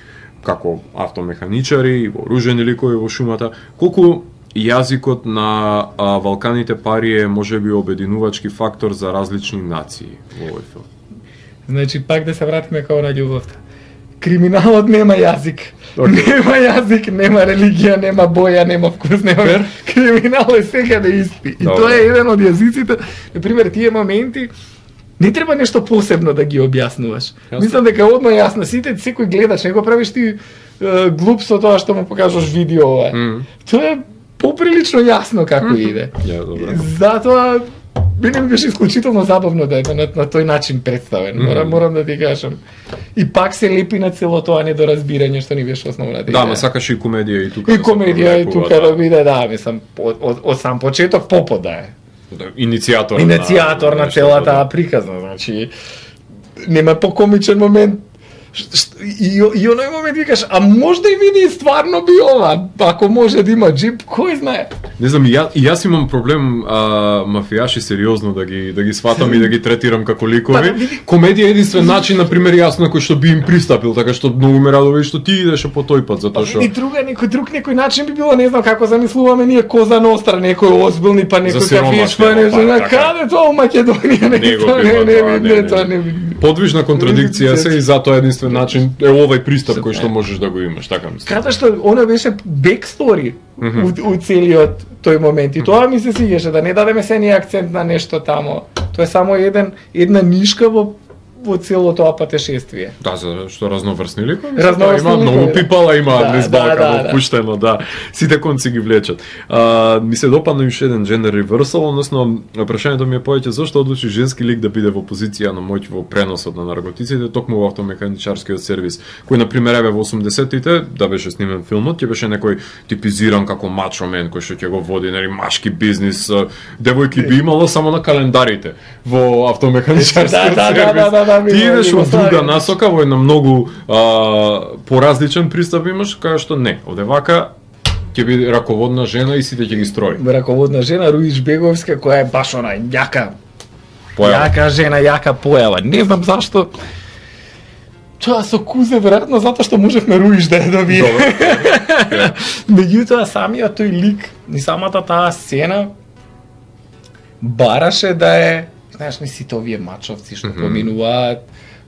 како автомеханичари и вооружени ликови во шумата. Колку јазикот на а, Валканите пари е можеби обединувачки фактор за различни нации во овој филм? Значи, пак да се вратиме као на љубовта. Криминалот нема јазик. Okay. Нема јазик, нема религија, нема боја, нема вкус, нема... Fair. Криминал е секаде исти. И Добре. Тоа е еден од јазиците. Например, тие моменти не треба нешто посебно да ги објаснуваш. Јасно. Мислам дека одма јасно, сите секој гледач, не го правиш ти е, глуп со тоа што му покажаш видео. Mm. Тоа е поприлично јасно како mm. иде. Yeah, добре. Затоа мене ми беше исклучително забавно да е на, на тој начин представен. Mm. Морам, морам да ти кажам. И пак се лепи на цело тоа недоразбирање што ни беше основната идеја. Да, ма сакаш и комедија и тука. И комедија и тука да биде, да, мислам, од, од, од сам почеток попот да е. Иницијатор, Иницијатор на, на целата да. приказна, значи нема покомичен момент. И, и оној момент викаш, а можда и види стварно би ова, ако може да има джип, кој знае? Не знам, и, ја, и јас имам проблем а, мафијаши сериозно да ги да ги сватам и да ги третирам како ликови. Па, види... Комедија е единствен начин, на пример, јас на кој што би им пристапил, така што многу ме радува што ти идеше по тој пат, затоа што. И друга некој друг некој начин би било, не знам како замислуваме ние Коза Ностра, некој озбилни па некој кафиш, па не знам каде тоа у Македонија, не не не тоа не подвижна контрадикција се и затоа единствен начин е овој пристап кој што можеш да го имаш, така мислам. Ката што она беше бекстори mm -hmm. у, у целиот тој момент и тоа ми се свиѓаше, да не дадеме се ни акцент на нешто тамо. Тоа е само еден една нишка во во цело тоа патешествие. Да, за што разноврсни ликови. Разноврсни има многу да. пипала, има да, низ Балкан да, да, опуштено, да. Сите конци ги влечат. А, ми се допадна уште еден джендер реверсал, односно прашањето ми е повеќе зошто одлучи женски лик да биде во позиција на моќ во преносот на наркотиците, токму во автомеханичарскиот сервис, кој на пример еве во осумдесеттите да беше снимен филмот, ќе беше некој типизиран како мачо мен кој што ќе го води нели машки бизнис, девојки би имало само на календарите во автомеханичарскиот да, сервис. Да, да, да. Ти идеш во друга насока, во една многу а, поразличен пристап имаш, кај што не, овде вака ќе биде раководна жена и сите ќе ги строи. Раководна жена Руич Беговска која е баш она јака. Појава. Јака жена, јака појава. Не знам зашто Тоа со Кузе веројатно затоа што можевме Руиш да ја добие. Меѓутоа самиот тој лик и самата таа сцена бараше да е, знаеш, не сите овие мачовци што mm -hmm. поминуваат,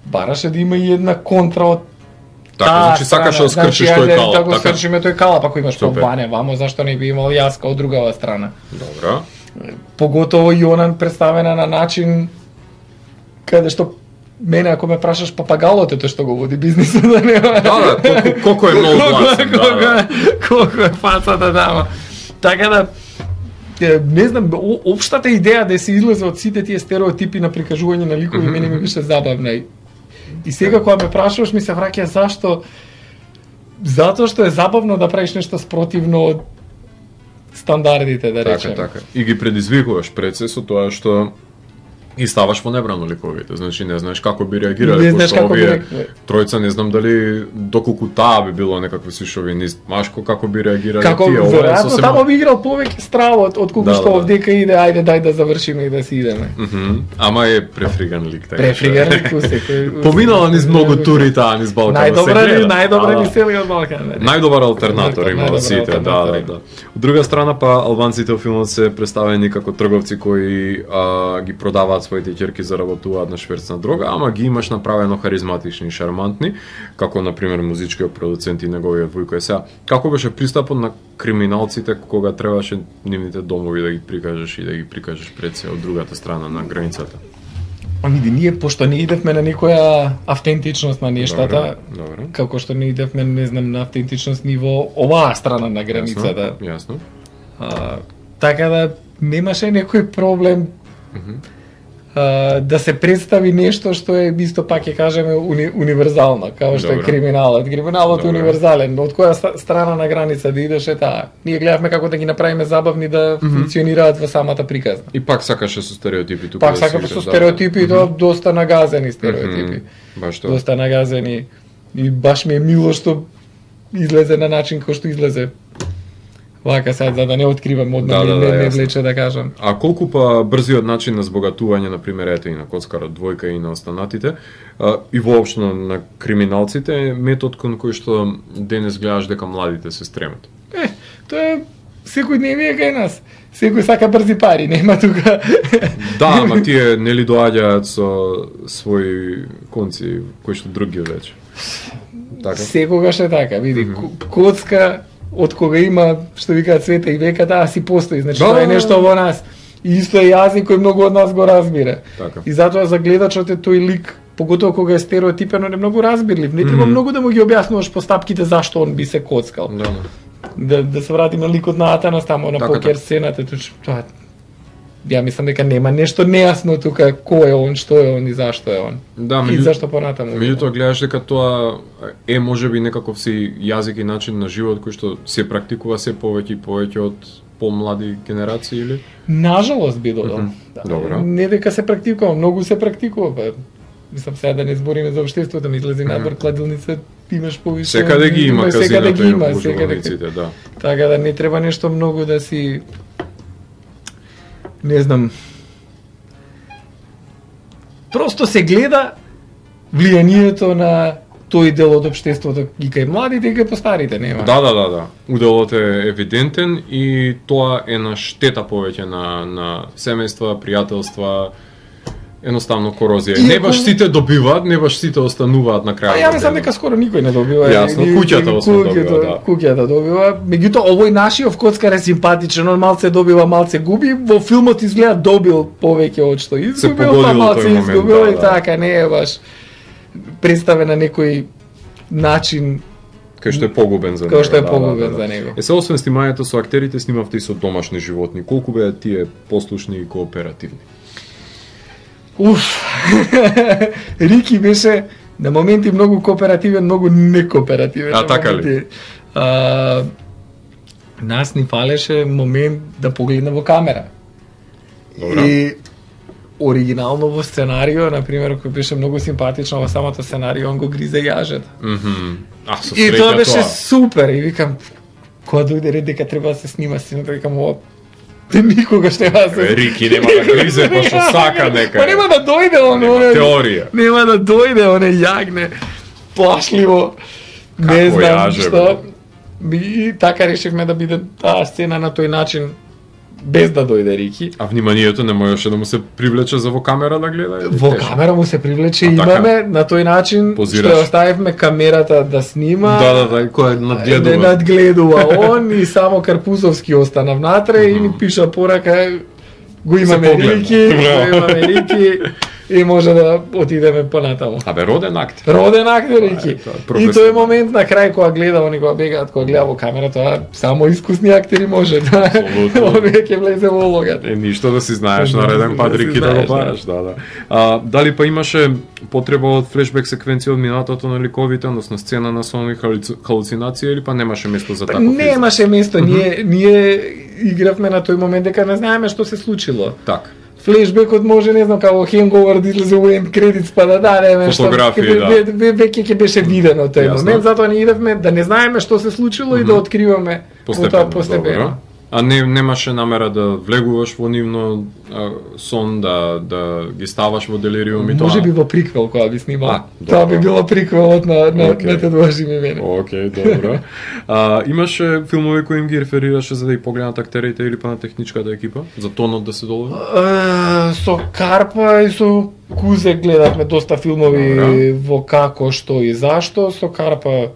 бараше да има и една контра од така, значи сакаш да скршиш тој кала. Да го скршиме тој кала, па ако имаш побане, вамо зашто не би имал јаска од другава страна. Добро. Поготово и она представена на начин каде што мене ако ме прашаш папагалот е тој што го води бизнисот, да не. Да, да, колку, колку е многу гласен, да, да. Колку е фацата тама. Така да не знам, општата идеја да се излезе од сите тие стереотипи на прикажување на ликови, mm -hmm. мене ми беше забавна. И, и сега кога ме прашуваш ми се враќа зашто затоа што е забавно да правиш нешто спротивно од стандардите, да речеме. Така, така. И ги предизвикуваш пред се со тоа што и ставаш во небрано ликовите, значи не знаеш како би реагирале, пошто овие тројца не знам дали доколку таа би било некакво шовинист, машко како би реагирале како, тие, ова е сосема... Тамо би играл повеќе стравот од колку да, што да, овдека иде, ајде дај да завршиме и да си идеме. Mm -hmm. Ама е префриган лик, така. Префриган лик секој. Поминала низ многу тури таа низ Балкан. Најдобра ни, најдобра ни сели од Балкан. Најдобар алтернатор има во сите, да, да, да. Од друга страна па албанците во филмот се представени како трговци кои а, ги продаваат своите ќерки за работуваат на шверцна дрога, ама ги имаш направено харизматични и шармантни, како на пример музичкиот продуцент и неговиот Војко Есеа. Како беше пристапот на криминалците кога требаше нивните домови да ги прикажеш и да ги прикажеш пред се од другата страна на границата? Види, ние пошто не идевме на никоја автентичност на нештата, добре, добре. како што не идевме, не знам, на автентичност ниво оваа страна на границата. Јасно, јасно. А, така да немаше некој проблем mm -hmm. Uh, да се представи нешто што е исто пак ќе кажеме уни, универзално, како што Добре. е криминалот. Криминалот Добре. е универзален, од која страна на граница да идеш е таа. Ние гледавме како да ги направиме забавни да mm -hmm. функционираат во самата приказна. И пак сакаше со стереотипи тука. Пак да сакаше со стереотипи и тоа доста нагазени стереотипи. Mm -hmm. Баш тоа. Доста нагазени. И баш ми е мило што излезе на начин кој што излезе. Вака сад, за да не откривам одма, да, да, не, да, не влече да кажам. А колку па брзиот начин на збогатување, на пример, ете и на коцкарот двојка и на останатите, а, и воопшто на криминалците, е метод кон кој што денес гледаш дека младите се стремат? Е, тоа е секој дневие кај нас. Секој сака брзи пари, нема тука. Да, ама тие нели доаѓаат со своји конци кои што други веќе. Така. Секогаш е така, види, mm -hmm. коцка од кога има, што викаат света и века, таа си постои, значи да, тоа е нешто во нас. И исто е јазик кој многу од нас го разбира. Така. И затоа за гледачот е тој лик, поготово кога е стереотипен, он е многу разбирлив. Не треба mm -hmm. многу да му ги објаснуваш постапките зашто он би се коцкал. Да, да, да се вратиме на ликот на Атанас тамо на така, покер сцената, тоа ја мислам дека нема нешто нејасно тука кој е он, што е он и зашто е он. Да, и зашто понатаму. Меѓутоа гледаш дека тоа е можеби некаков си јазик и начин на живот кој што се практикува се повеќе и повеќе од помлади генерации или? Нажалост би додал. Mm -hmm. Да, добро. Не дека се практикува, многу се практикува. Па. Мислам сега да не збориме за општеството, ми излези mm -hmm. надвор кладилница, имаш повише. Секаде ги има казината ги има, и секаде да. Така да не треба нешто многу да си не знам. Просто се гледа влијанието на тој дел од општеството и кај младите и кај постарите, нема. Да, да, да, да. Уделот е евидентен и тоа е на штета повеќе на на семејства, пријателства, едноставно корозија. Не баш сите добиваат, не баш сите остануваат на крајот. А ја мислам дека скоро никој не добива. Јасно, куќата освен добива, да. Куќата добива. Меѓутоа овој нашиот коцкар е симпатичен, он малце добива, малце губи. Во филмот изгледа добил повеќе од што изгубил, па малце изгубил и така, не е баш представен на некој начин кај што е погубен за него. Кај што е погубен за него. Е се освен снимањето со актерите, снимавте и со домашни животни. Колку беа тие послушни и кооперативни? Уф, Рики беше на моменти многу кооперативен, многу некооперативен. А така ли? А, нас ни фалеше момент да погледне во камера. Добра. И оригинално во сценарио, на пример, кој беше многу симпатично во самото сценарио, он го гризе јажето. Mm -hmm. А, со и тоа беше тоа. Супер. И викам, кога дојде ред дека треба да се снима сцената, викам, ова те никогаш нема да се... Рики нема да гризе, па што сака нека. Па нема да дојде он, нема оне... Теорија. Нема да дојде, оне јагне. плашливо. Не Како знам јаже, што. И така решивме да биде таа сцена на тој начин, без да дојде Рики. А вниманието не можеше да му се привлече за во камера да гледа? или Во тешко? камера му се привлече, А, имаме така? на тој начин Позираш. што ја оставивме камерата да снима. Да, да, да, кој надгледува. Не надгледува он и само Карпузовски остана внатре и ни пиша порака, го имаме погледна. Рики, го Браво. имаме Рики и може да отидеме понатаму. Абе, роден актер. Роден актер Рики. е, тоа е И професионално. тој момент на крај кога гледа, они кога бегаат, кога гледа во камера, тоа само искусни актери може да. Апсолутно. Он веќе влезе во улогата. Е, ништо да си знаеш Да, нареден да пат си Рики да го знаеш, да. бараш, да, да. А, дали па имаше потреба од флешбек секвенција од минатото на ликовите, односно сцена на сонови халуцинација или па немаше место за таков избор? Немаше место, ние ние игравме на тој момент дека не знаеме што се случило. Так. Флешбекот може, не знам, како Hangover да излезе у end credits па да дадеме Фотографии, што, да. ве- ве- веќе ќе беше видено тој Јасно. момент, затоа ние идевме да не знаеме што се случило и да откриваме Постепено, тоа постепено. добро. А не немаше намера да влегуваш во нивно а, сон, да да ги ставаш во делириум и тоа? Може би во приквел кога би снимал. А, Тоа би добро. било приквелот на на Окей. на Те длъжи ми мене. Океј, добро. А, имаше филмови кои им ги реферираше за да ги погледнат актерите или па на техничката екипа? За тонот да се долови? Е, со Карпа и со Кузе гледавме доста филмови Добра. во како, што и зашто. Со Карпа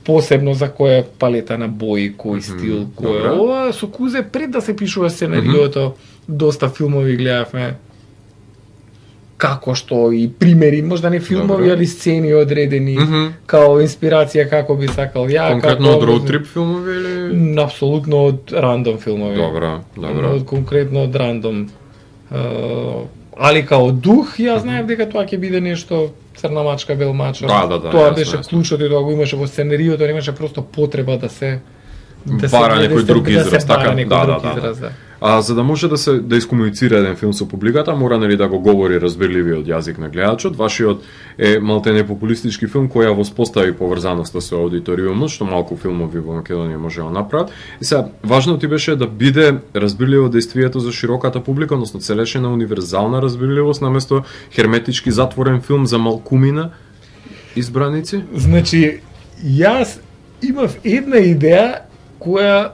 посебно за која палета на бои, кој стил, кој добра. ова. Со Кузе пред да се пишува сценариото, доста филмови гледавме. Како што и примери, можда не филмови, Добра. али сцени одредени, Мгм. као инспирација како би сакал ја. Конкретно како- од роуд трип филмови или? Апсолутно од рандом филмови. Добро, добро. Од конкретно од рандом. Е, али као дух, ја знаев дека тоа ќе биде нешто црна мачка, бел мачо. Да, да, да, Тоа јасно, беше јасно. клучот и тоа го имаше во сценариото, немаше просто потреба да се Бара да некој се- друг да израз, се така? бара некој Да, друг да, да. израз, да. А за да може да се да искомуницира еден филм со публиката, мора нели да го говори разбирливиот јазик на гледачот. Вашиот е малтене популистички филм кој ја воспостави поврзаноста со аудиториумот, што малку филмови во Македонија може да направат. И сега важно ти беше да биде разбирливо действието за широката публика, односно целешена универзална разбирливост наместо херметички затворен филм за малкумина избраници. Значи, јас имав една идеја која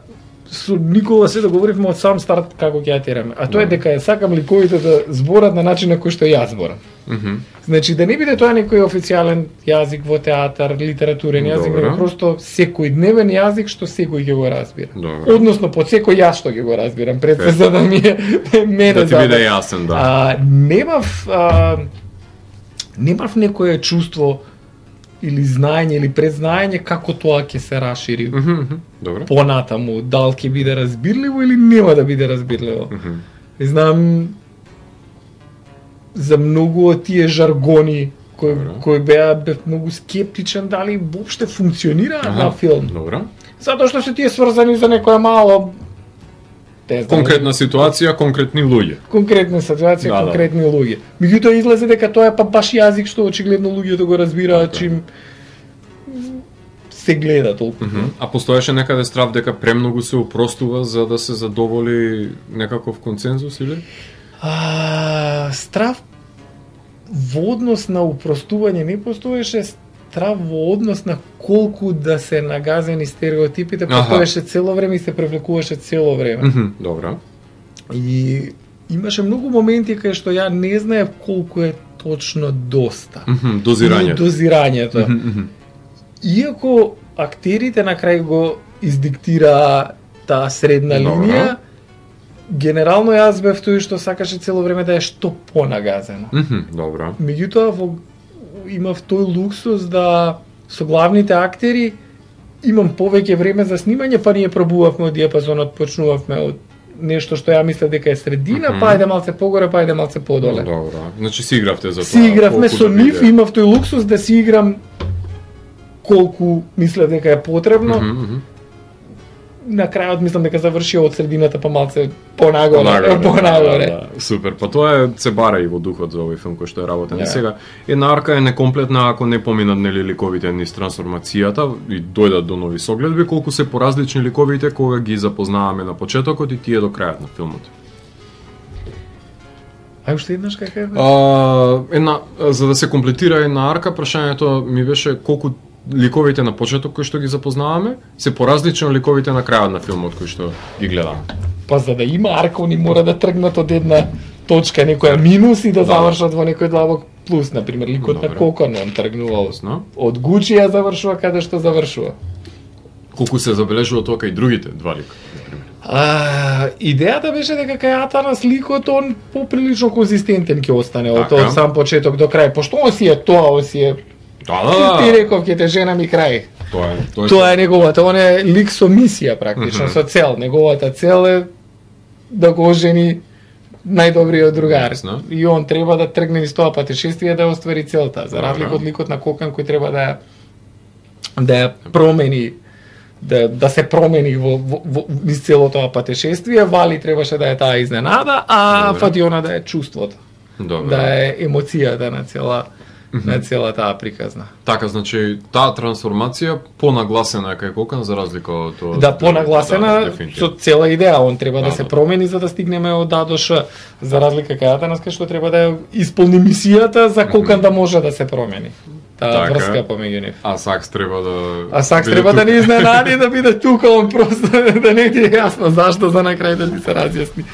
со Никола се договоривме од сам старт како ќе ја тераме. А тоа е Да. дека ја сакам ликовите да зборат на начин на кој што јас зборам. Мгм. Значи да не биде тоа некој официјален јазик во театар, литературен јазик, Добро. него просто секојдневен јазик што секој ќе го разбира. Добро. Односно под секој јас што ќе го разбирам, пред се Е. за да ми е мене Да ти забавно. биде јасен, да. А, немав а, немав некое чувство или знаење или предзнаење како тоа ќе се расшири Мгм, мгм. Добро. понатаму, дал ќе биде разбирливо или нема да биде разбирливо. Мгм. И знам за многу од тие жаргони кои Добро. кои беа бев многу скептичен дали воопште функционираат Аха, на филм. Добро. Затоа што се тие сврзани за некоја мало те знам, Конкретна ситуација, конкретни луѓе. конкретна ситуација, Да, да. конкретни луѓе. Меѓутоа излезе дека тоа е па баш јазик што очигледно луѓето го разбираат Така е. чим се гледа толку. Мгм. А постоеше некаде страв дека премногу се упростува за да се задоволи некаков консензус или? А, страв во однос на упростување не постоеше, страв во однос на колку да се нагазени стереотипите, Аха. постоеше цело време и се превлекуваше цело време. Мгм. Добро. И имаше многу моменти кај што ја не знаев колку е точно доста. Мгм. И Дозирање. дозирањето. Мгм, мгм. Иако актерите на крај го издиктира таа средна Добро. линија, генерално јас бев тој што сакаше цело време да е што понагазено. Мгм. Добро. Меѓутоа во имав тој луксус да со главните актери имам повеќе време за снимање, па ние пробувавме од диапазонот, почнувавме од нешто што ја мислев дека е средина, Мгм. па ајде малце погоре, па ајде малце подоле. Добро. Значи си игравте за тоа. Си игравме колку со да нив, биде. имав тој луксус да си играм колку мислев дека е потребно. Мгм, мгм. На крајот мислам дека завршија од средината па малце понагоре, Понагоре, понагоре. да, да. Супер, па тоа е се бара и во духот за овој филм кој што е работен. Да. И сега една арка е некомплетна ако не поминат нели ликовите низ трансформацијата и дојдат до нови согледби, колку се поразлични ликовите кога ги запознаваме на почетокот и тие до крајот на филмот. Ај уште еднаш кака е? А, една, за да се комплетира една арка, прашањето ми беше колку ликовите на почеток кои што ги запознаваме се поразлични од ликовите на крајот на филмот кои што ги гледаме. Па за да има арка, они мора да тргнат од една точка, некоја минус и да, да. завршат во некој длабок плюс. Например, ликот Добре. на Кокон, он тргнува од Гучи, а завршува каде што завршува. Колку се забележува тоа кај другите два лика, например? А, идејата беше дека кај Атанас ликот он поприлично конзистентен ќе остане од така. од сам почеток до крај, пошто он си е тоа, он си е Да, да, да. Ти реков ќе те жена ми крај. Тоа е, тоа е. Тоа е неговата, он е лик со мисија практично, mm -hmm. со цел. Неговата цел е да го ожени најдобриот другар. Ясно. И он треба да тргне низ тоа патешествие да оствари целта, за разлика од ликот на Кокан кој треба да ја да ја промени, да да се промени во, во, во низ целото тоа патешествие. Вали требаше да е таа изненада, а Добре. Фатиона да е чувството. Добре. Да е емоцијата на цела на цела таа приказна. Така, значи, таа трансформација понагласена е кај Кокан за разлика од тоа. Да, понагласена да, со цела идеја, он треба да, да се да. промени за да стигнеме од А до Ш, за разлика кај Атанас кај што треба да ја исполни мисијата за Кокан да може да се промени. Таа така, врска помеѓу нив. А Сакс треба да А Сакс треба тук. Да не изненади да биде тука, он просто да не ти е јасно зашто за на крај да ти се разјасни.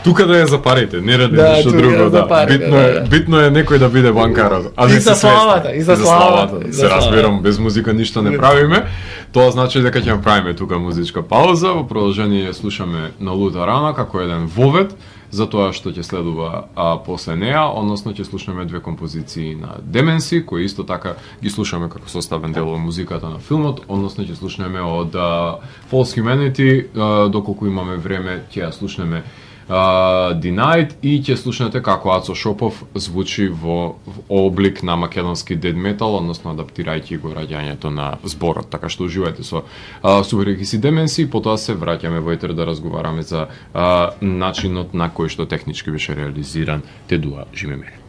Тука да ја запарите, не ради да, ништо друго, да. Запари, битно да, е, да. битно е некој да биде банкарот. А и за славата, и за славата. Се разбирам, без музика ништо не правиме. Тоа значи дека ќе направиме тука музичка пауза, во продолжение слушаме на Лута Рана како еден вовед за тоа што ќе следува а, после неа, односно ќе слушаме две композиции на Деменси, кои исто така ги слушаме како составен дел од музиката на филмот, односно ќе слушнеме од а, False Humanity, а, доколку имаме време ќе ја слушнеме Uh, Denied и ќе слушнете како Ацо Шопов звучи во, во облик на македонски дед метал, односно адаптирајќи го раѓањето на зборот. Така што уживајте со uh, Super X и Деменси, потоа се враќаме во етер да разговараме за uh, начинот на кој што технички беше реализиран Тедуа Живи мене.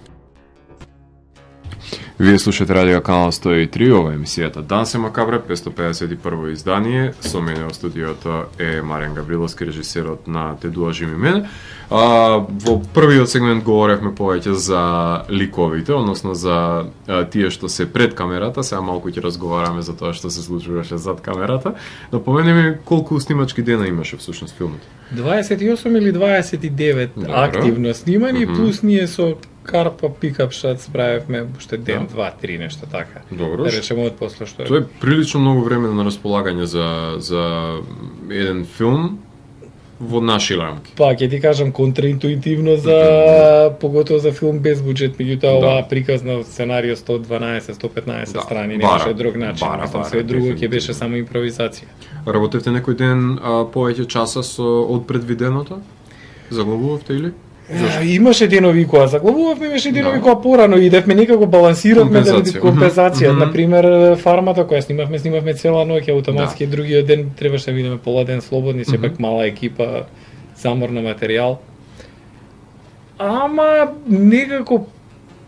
Вие слушате радио канал сто и три, ова е емисијата Дансе Макабре, петстотини педесет и прво издание. Со мене во студиото е Маријан Гавриловски, режисерот на Тедуа Живи мене. А, во првиот сегмент говоревме повеќе за ликовите, односно за а, тие што се пред камерата, сега малку ќе разговараме за тоа што се случуваше зад камерата. Да поменеме колку снимачки дена имаше всушност филмот. дваесет и осум или дваесет и девет Добро. Активно снимани, mm -hmm. плюс ние со Карпа Пикап Шат справевме уште ден, да. два, три, нешто така. Добро. Да речеме од после што е. Тоа е прилично многу време на располагање за за еден филм во наши рамки. Па, ќе ти кажам контраинтуитивно за mm-hmm. поготово за филм без буџет, меѓутоа да. оваа приказна сценарио сто дванаесет до сто петнаесет да. страни, немаше друг начин, бара, бара, све друго ќе беше само импровизација. Работевте некој ден а, повеќе часа со од предвиденото? Заглавувавте или? Зашто? Имаше денови која заглавувавме, имаше денови да. која порано идевме, некако балансиравме да компензација. Mm -hmm. Например, Фармата која снимавме, снимавме цела ноќ, автоматски да. другиот ден требаше да видиме пола ден слободни, сепак mm -hmm. мала екипа, замор на материјал. Ама некако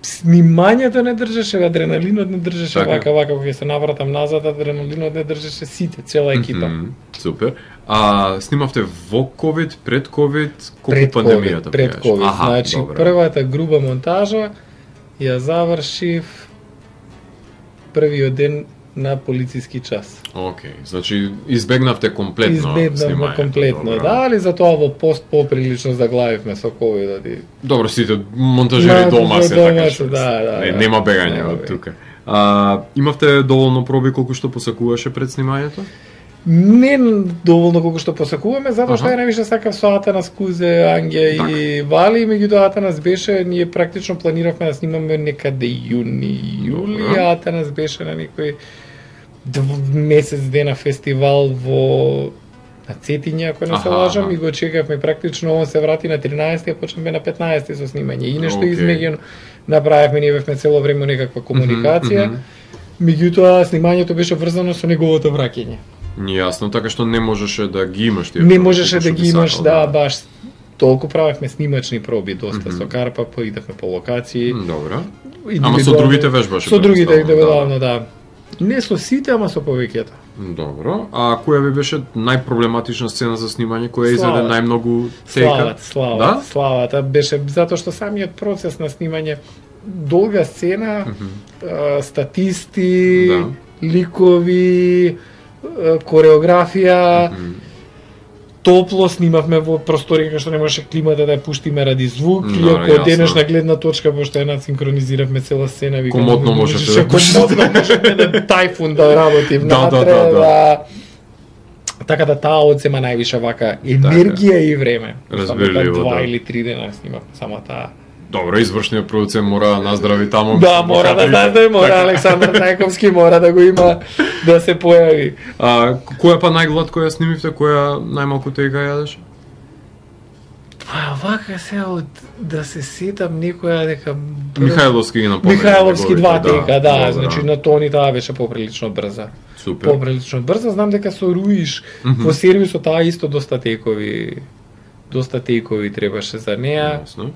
снимањето не држеше, адреналинот не држеше така. вака вака кога се навратам назад, адреналинот не држеше сите, цела екипа. Mm -hmm. Супер. А снимавте во ковид, пред ковид, колку пред пандемијата? Пред ковид, значи добре. Првата груба монтажа ја завршив првиот ден на полициски час. Океј, okay. значи избегнавте комплетно Избегнавме снимањето. комплетно, добре. Да, али затоа во пост поприлично заглавивме со ковидот и... Добро, сите монтажери дома се, така што да, да, не, да, нема бегање од тука. А, имавте доволно проби колку што посакуваше пред снимањето? Не доволно колку што посакуваме, затоа што ја највише сакав со Атанас, Кузе, Ангја так. и Вали, меѓутоа Атанас беше, ние практично планиравме да снимаме некаде јуни, јули, а Атанас беше на некој месец дена фестивал во на Цетиња, ако не се лажам, и го чекавме практично, он се врати на тринаесети, а почнеме на петнаесети со снимање. И нешто okay. измеѓу направивме, ние бевме цело време некаква комуникација, mm -hmm. меѓутоа снимањето беше врзано со неговото враќање. Јасно, така што не можеше да ги имаш тие. Не можеше да ги имаш, сакал, да, баш толку правевме снимачни проби, доста mm -hmm. со Карпа, поидевме по локации. Добро. Ама со другите вежбаше? Со другите, индивидуално, да. Не со сите, ама со повеќето. Добро. А која ви беше најпроблематична сцена за снимање, која изеде најмногу тека? Славата, славата, да? славата беше затоа што самиот процес на снимање, долга сцена, mm -hmm. статисти, да. ликови, кореографија, mm -hmm. топло снимавме во простори кај што не можеше климата да ја пуштиме ради звук, no, или ако од денешна гледна точка, пошто една синхронизиравме цела сцена, викам, комотно можеше да комотно можеше да тајфун да работи внатре, да, да, да, да. Така да таа одзема највише вака енергија така. И време. Разбирливо, два да. или три дена снимав само таа. Добро, извршниот продуцент мора да наздрави таму. Да, мора да наздрави, мора така. Александар Најковски мора да го има да се појави. А која па најглад која снимивте, која најмалку тека јадеше? Па вака се од да се сетам некоја дека Михајловски ги напомена. Михајловски два тека, да, да, значи на Тони таа беше поприлично брза. Супер. Поприлично брза, знам дека со Руиш mm -hmm. во сервисот таа исто доста текови доста текови требаше за неа. Ясно.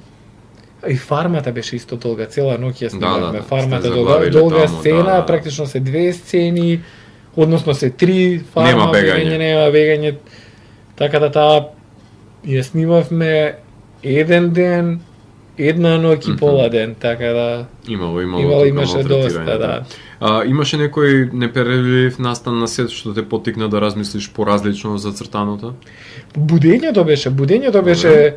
И фармата беше исто долга, цела ноќ ја снимавме. Да, да, да. Фармата долга, долга таму, сцена, да, да. практично се две сцени, односно се три фарма, нема бегање, нема бегање. Така да таа ја снимавме еден ден, една ноќ и mm -hmm. пола ден, така да имало имало, имало имаше доста, да. да. А, имаше некој непереливив настан на сет што те поттикна да размислиш поразлично за цртаното? Будењето беше, будењето беше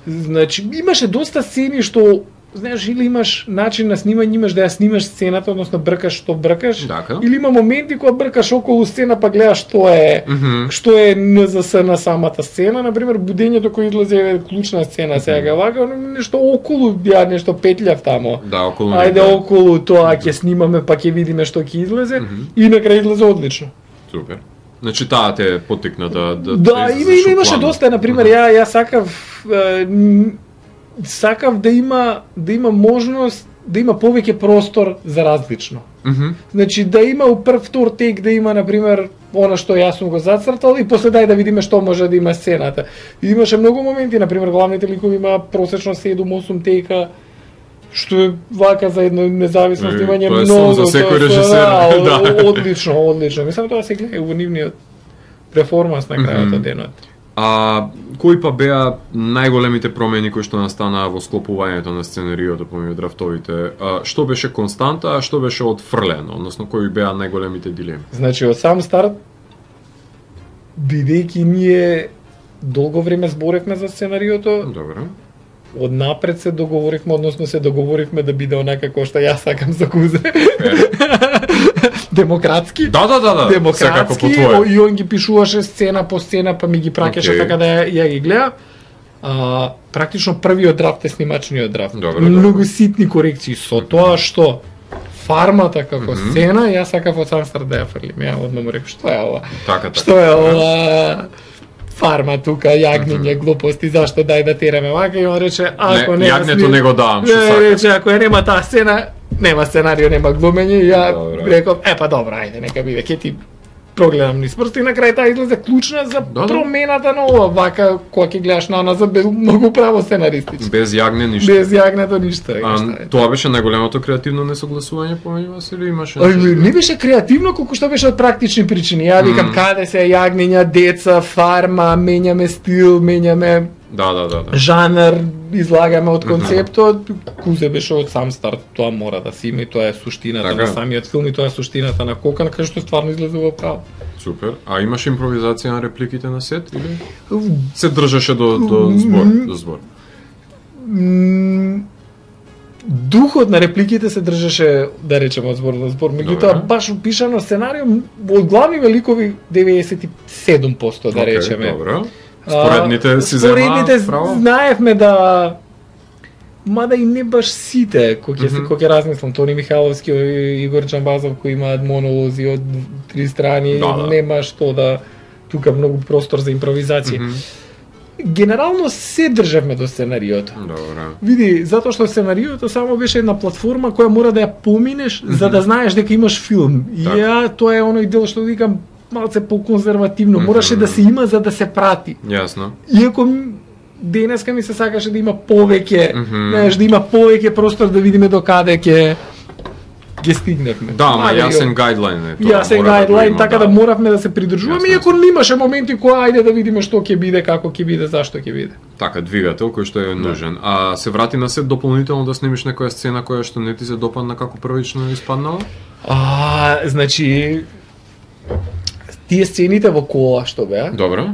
значи имаше доста сцени што знаеш, или имаш начин на снимање, имаш да ја снимаш сцената, односно бркаш што бркаш, Дака. или има моменти кога бркаш околу сцена па гледаш што е, mm -hmm. што е ен зе ес на самата сцена, например будењето кој излезе е клучна сцена, сега mm -hmm. вака нешто околу, ја нешто петлјав тамо. Да, околу. Ајде да. околу тоа ќе снимаме па ќе видиме што ќе излезе mm -hmm. и на крај излезе одлично. Супер. Значи таа те поттикна да да Да, има има имаше доста, например, ја ја сакав е, сакав да има да има можност да има повеќе простор за различно. Mm -hmm. Значи да има у прв втор тек да има например она што јас сум го зацртал и после дај да видиме што може да има сцената. И имаше многу моменти, например главните ликови има просечно седум-осум тека, што е вака за едно независно снимање многу за секој режисер. Да, да. Одлично, одлично. Мислам тоа се гледа во нивниот перформанс на крајот mm -hmm. денот. А кои па беа најголемите промени кои што настанаа во склопувањето на сценариото помеѓу драфтовите? А, што беше константа, а што беше отфрлено, односно кои беа најголемите дилеми? Значи од сам старт, бидејќи ние долго време зборевме за сценариото, добро. Од напред се договоривме, односно се договоривме да биде онака кој што јас сакам за Кузе. Демократски. Да, да, да, да. Демократски, и он ги пишуваше сцена по сцена, па ми ги праќаше okay. така да ја, ја ги гледа. А, практично првиот драфт е снимачниот драфт. Добро, Многу добро. ситни корекции со тоа што фармата како mm -hmm. сцена, јас сакав од сам старт да ја фрлим. Ја одма му реков, што е ова? Така, така. Што е ова? Фарма тука, јагниње, mm -hmm. глупости, зашто дај да тераме вака, и он рече, ако не, не јагнето не го давам, што сакаш. Рече, ако ја нема таа сцена, нема сценарио, нема глумење, и ја добро. реков, е па добро, ајде, нека биде, ќе ти прогледам низ прсти, и на крај таа излезе клучна за да, промената на ова, вака, кога ќе гледаш на назад, без многу право сценаристички. Без јагне ништо. Без јагнето ништо. А, тоа беше најголемото креативно несогласување помеѓу вас или имаше? Ај, не беше креативно, колку што беше од практични причини. Ја викам, mm. каде се јагнења, деца, фарма, менјаме стил, менјаме да, да, да, да. жанр, излагаме од концептот. Mm -hmm. Кузе беше од сам старт, тоа мора да си има и тоа е суштината така на самиот филм и тоа е суштината на Кокан, кај што стварно излезува право. Супер. А имаше импровизација на репликите на сет или се држеше до до збор, до збор? Духот на репликите се држеше, да речеме, од збор до збор. Меѓутоа баш упишано сценарио од главни великови деветдесет и седум проценти да речеме. Okay, добро. Споредните си зема Споредните право? Знаевме да мада и не баш сите, кој ќе mm -hmm. кој ќе размислам, Тони Михайловски и Игор Джамбазов кои имаат монолози од три страни, да, да. нема што да тука многу простор за импровизација. Mm -hmm. Генерално се држевме до сценариото. Добро. Види, затоа што сценариото само беше една платформа која мора да ја поминеш mm -hmm. за да знаеш дека имаш филм. И так. ја тоа е оној дел што викам малце по-конзервативно, мораше mm -hmm. да се има за да се прати. Јасно. Иако денеска ми се сакаше да има повеќе, mm -hmm. знаеш, да има повеќе простор да видиме до каде ќе ги стигнавме. Да, ама Ајде, јасен ја- гајдлайн е тоа. Јасен мора да го гајдлайн, има, така да моравме да се придржуваме, Јасно, иако имаше моменти кои ајде да видиме што ќе биде, како ќе биде, зашто ќе биде. Така, двигател кој што е нужен. А се врати на сет дополнително да снимиш некоја сцена која што не ти се допадна како првично испаднала? А, значи тие сцените во кола што беа, Добро.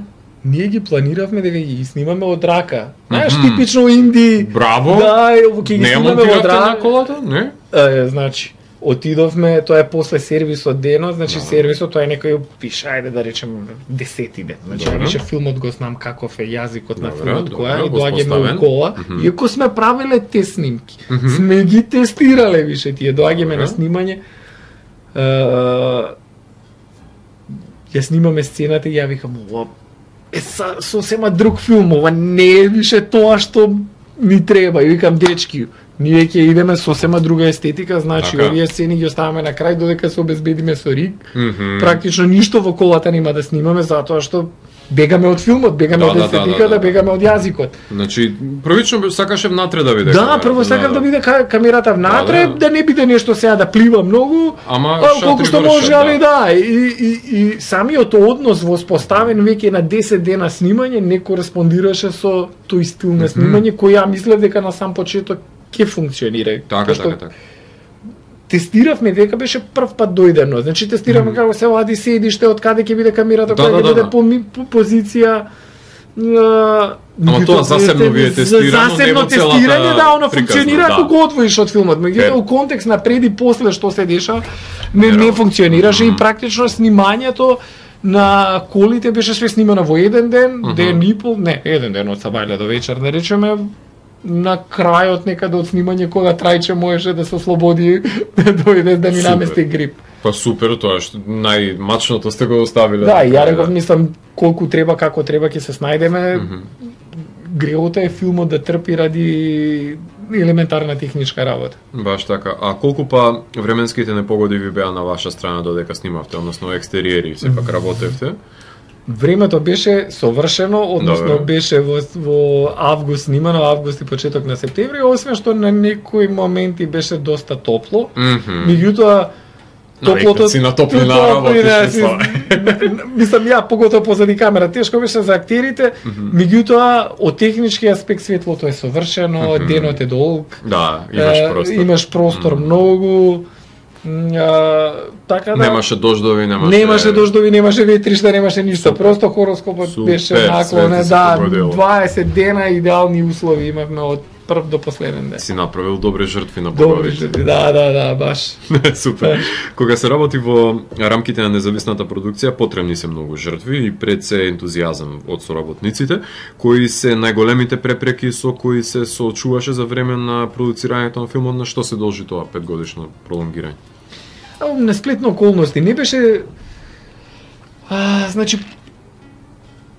ние ги планиравме дека ги снимаме од рака. Знаеш, Мгм. типично инди. Браво. Да, ќе ги Не ја снимаме од монтиравте на рака. колата? Не? Е, значи, отидовме, тоа е после сервисот денот, значи Да. сервисот тоа е некој пише, ајде да речем десети ден. Значи, Добро. више филмот го знам каков е јазикот на Добро, филмот, добро, која и го доаѓаме споставен. у кола, Мгм. иако сме правеле те снимки. Мгм. Сме ги тестирале више тие, доаѓаме Добро. на снимање. Е, ја снимаме сцената и ја викам, ова е са, сосема друг филм, ова не е више тоа што ни треба. И викам, дечки, ние ќе идеме сосема друга естетика, значи Така. овие сцени ги оставаме на крај додека се обезбедиме со риг. Мгм. Практично ништо во колата нема да снимаме затоа што бегаме од филмот, бегаме Да, од да, да, естетиката, да, да. бегаме од јазикот. Значи, првично сакаше внатре да биде. Да, камерата, прво сакав да биде ка- камерата внатре, Да, да, да. не биде нешто сега да плива многу, Ама а, колку шатри што вршат, може, да. али да, и, и, и самиот однос воспоставен веќе на десет дена снимање не кореспондираше со тој стил на снимање кој ја мислев дека на сам почеток ќе функционира. Така, Тоа што така, така. Тестиравме дека беше прв пат дојдено. Значи тестиравме како се вади седиште, од каде ќе биде камерата, Да, која да, ќе да, биде да. по, ми- по позиција. А, Ама тоа засебно ви е тестирано, не засебно во целата тестирање, да, оно приказна, функционира да. ако го одвоиш од филмот. Фер. Меѓутоа у контекст на пред и после што се деша не, Не не работи. функционираше Мгм. и практично снимањето на колите беше све снимано во еден ден, Мгм. ден и пол, не, еден ден од сабајле до вечер, да речеме, на крајот некаде од снимање кога Трајче можеше да се ослободи да дојде да ни Супер. намести грип. Па супер, тоа што најмачното сте го оставиле. Да, и ја крај, реков, мислам, колку треба, како треба ќе се снајдеме. Мгм. Греота е филмот да трпи ради елементарна техничка работа. Баш така. А колку па временските непогоди ви беа на ваша страна додека снимавте, односно екстериери, сепак работевте? Времето беше совршено, односно Добро. беше во, во август снимано, август и почеток на септември, освен што на некои моменти беше доста топло. Мгм. Меѓутоа, топлото... си на топлина топлина, работиш, си- мислам. Мислам, ја, поготово позади камера, тешко беше за актерите, меѓутоа, од технички аспект светлото е совршено, Мгм. денот е долг, Да, имаш е, простор. имаш простор многу, м, а, така да... Немаше дождови, немаше... Немаше дождови, немаше ветришта, немаше ништо. Супер. Просто хороскопот Супер, беше све наклонен. ти се Да, погодило. дваесет дена идеални услови имавме од прв до последен ден. Си направил добри жртви на Добри боговите. жртви, да, да, да, баш. Супер. Кога се работи во рамките на независната продукција, потребни се многу жртви и пред се ентузијазам од соработниците, кои се најголемите препреки со кои се соочуваше за време на продуцирањето на филмот, на што се должи тоа петгодишно пролонгирање? А, на сплетни околности не беше а, значи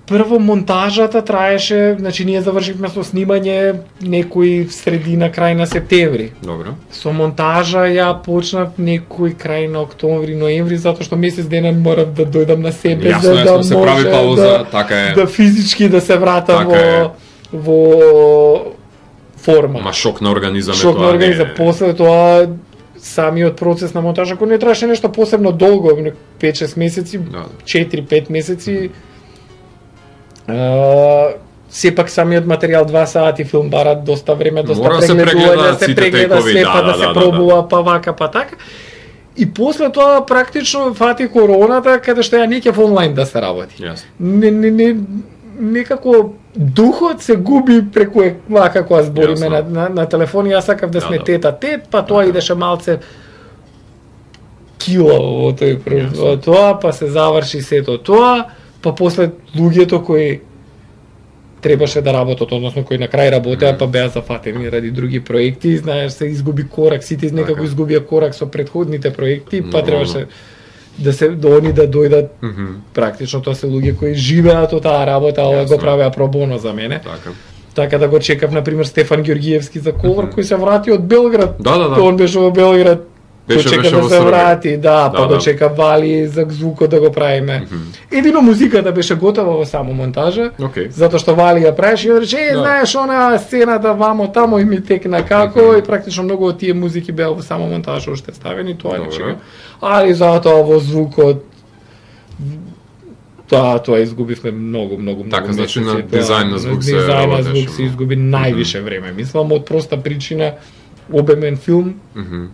прво монтажата траеше, значи ние завршивме со снимање некој средина крај на септември. Добро. Со монтажа ја почнав некој крај на октомври, ноември, затоа што месец дена морав да дојдам на себе Јасно, за да јасно, се прави може пауза, да, така е. да физички да се вратам Така е. во во форма. Ма шок на организам е Шок на тоа. организам. не- После тоа самиот процес на монтажа кој не траше нешто посебно долго, пет-шест месеци, Да. четири-пет месеци. А, сепак самиот материјал два сати филм бара доста време, доста Мора да се прегледување, прегледаат да се сите прегледа текови, се, да, па да, да, се да, пробува, па вака, па така. И после тоа практично фати короната, каде што ја не ќе онлайн да се работи. Јасно. Не, не, не, некако духот се губи преку е- вака кога збориме на, Јасно. на, на телефон. Јас сакав да Да, сме да. тета тет, па тоа идеше малце кила во тој прв, Јасно. во тоа, па се заврши сето тоа, па после луѓето кои требаше да работат, односно кои на крај работеа, па беа зафатени ради други проекти, знаеш, се изгуби корак, сите некако Така. изгубија корак со претходните проекти, па Нормално. требаше да се да они да дојдат. Мгм. Практично тоа се луѓе кои живеат од таа работа, ова го Јасно. правеа пробоно за мене. Така. Така да го чекав, например, Стефан Ѓоргиевски за Колор, кој се врати од Белград. Да, да, да. Тоа он беше во Белград Беше, Дочека беше да во се Србија. врати, да, па Да, да. дочека Вали за звукот да го правиме. Мгм. Едино музиката беше готова во само монтажа, Океј. затоа што Вали ја правеше и рече, е, Да. знаеш, она сцената вамо тамо и ми текна како, Мгм. и практично многу од тие музики беа во само монтажа уште ставени, тоа Добро. нечега. Али затоа во звукот Тоа, тоа изгубивме многу, многу, многу Така, значи, на месеци, тоа, дизајн на звук се дизајн на работеше звук се многу. изгуби највише време. Мислам од проста причина обемен филм, Мгм.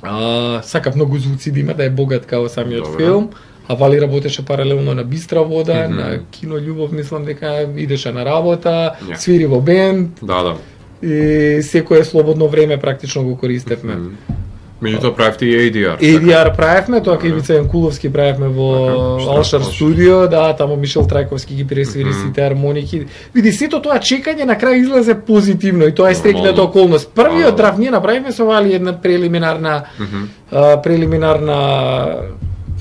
а, сакав многу звуци да има, да е богат као самиот Добро. филм. А Вали работеше паралелно на Бистра вода, Мгм. на Кино Љубов, мислам дека идеше на работа, Ја. свири во бенд Да, да. и секое слободно време практично го користевме. Мгм. Меѓутоа правите и A D R. A D R правевме, тоа кај Вица Јанкуловски правевме во Така, што? Алшар Алшар. студио, да, таму Мишел Трајковски ги пресвири Мгм. сите армоники. Види, сето тоа чекање на крај излезе позитивно и тоа е стрекната Нормално. околност. Првиот А, драфт ние направивме со Вали една прелиминарна Мгм. а, прелиминарна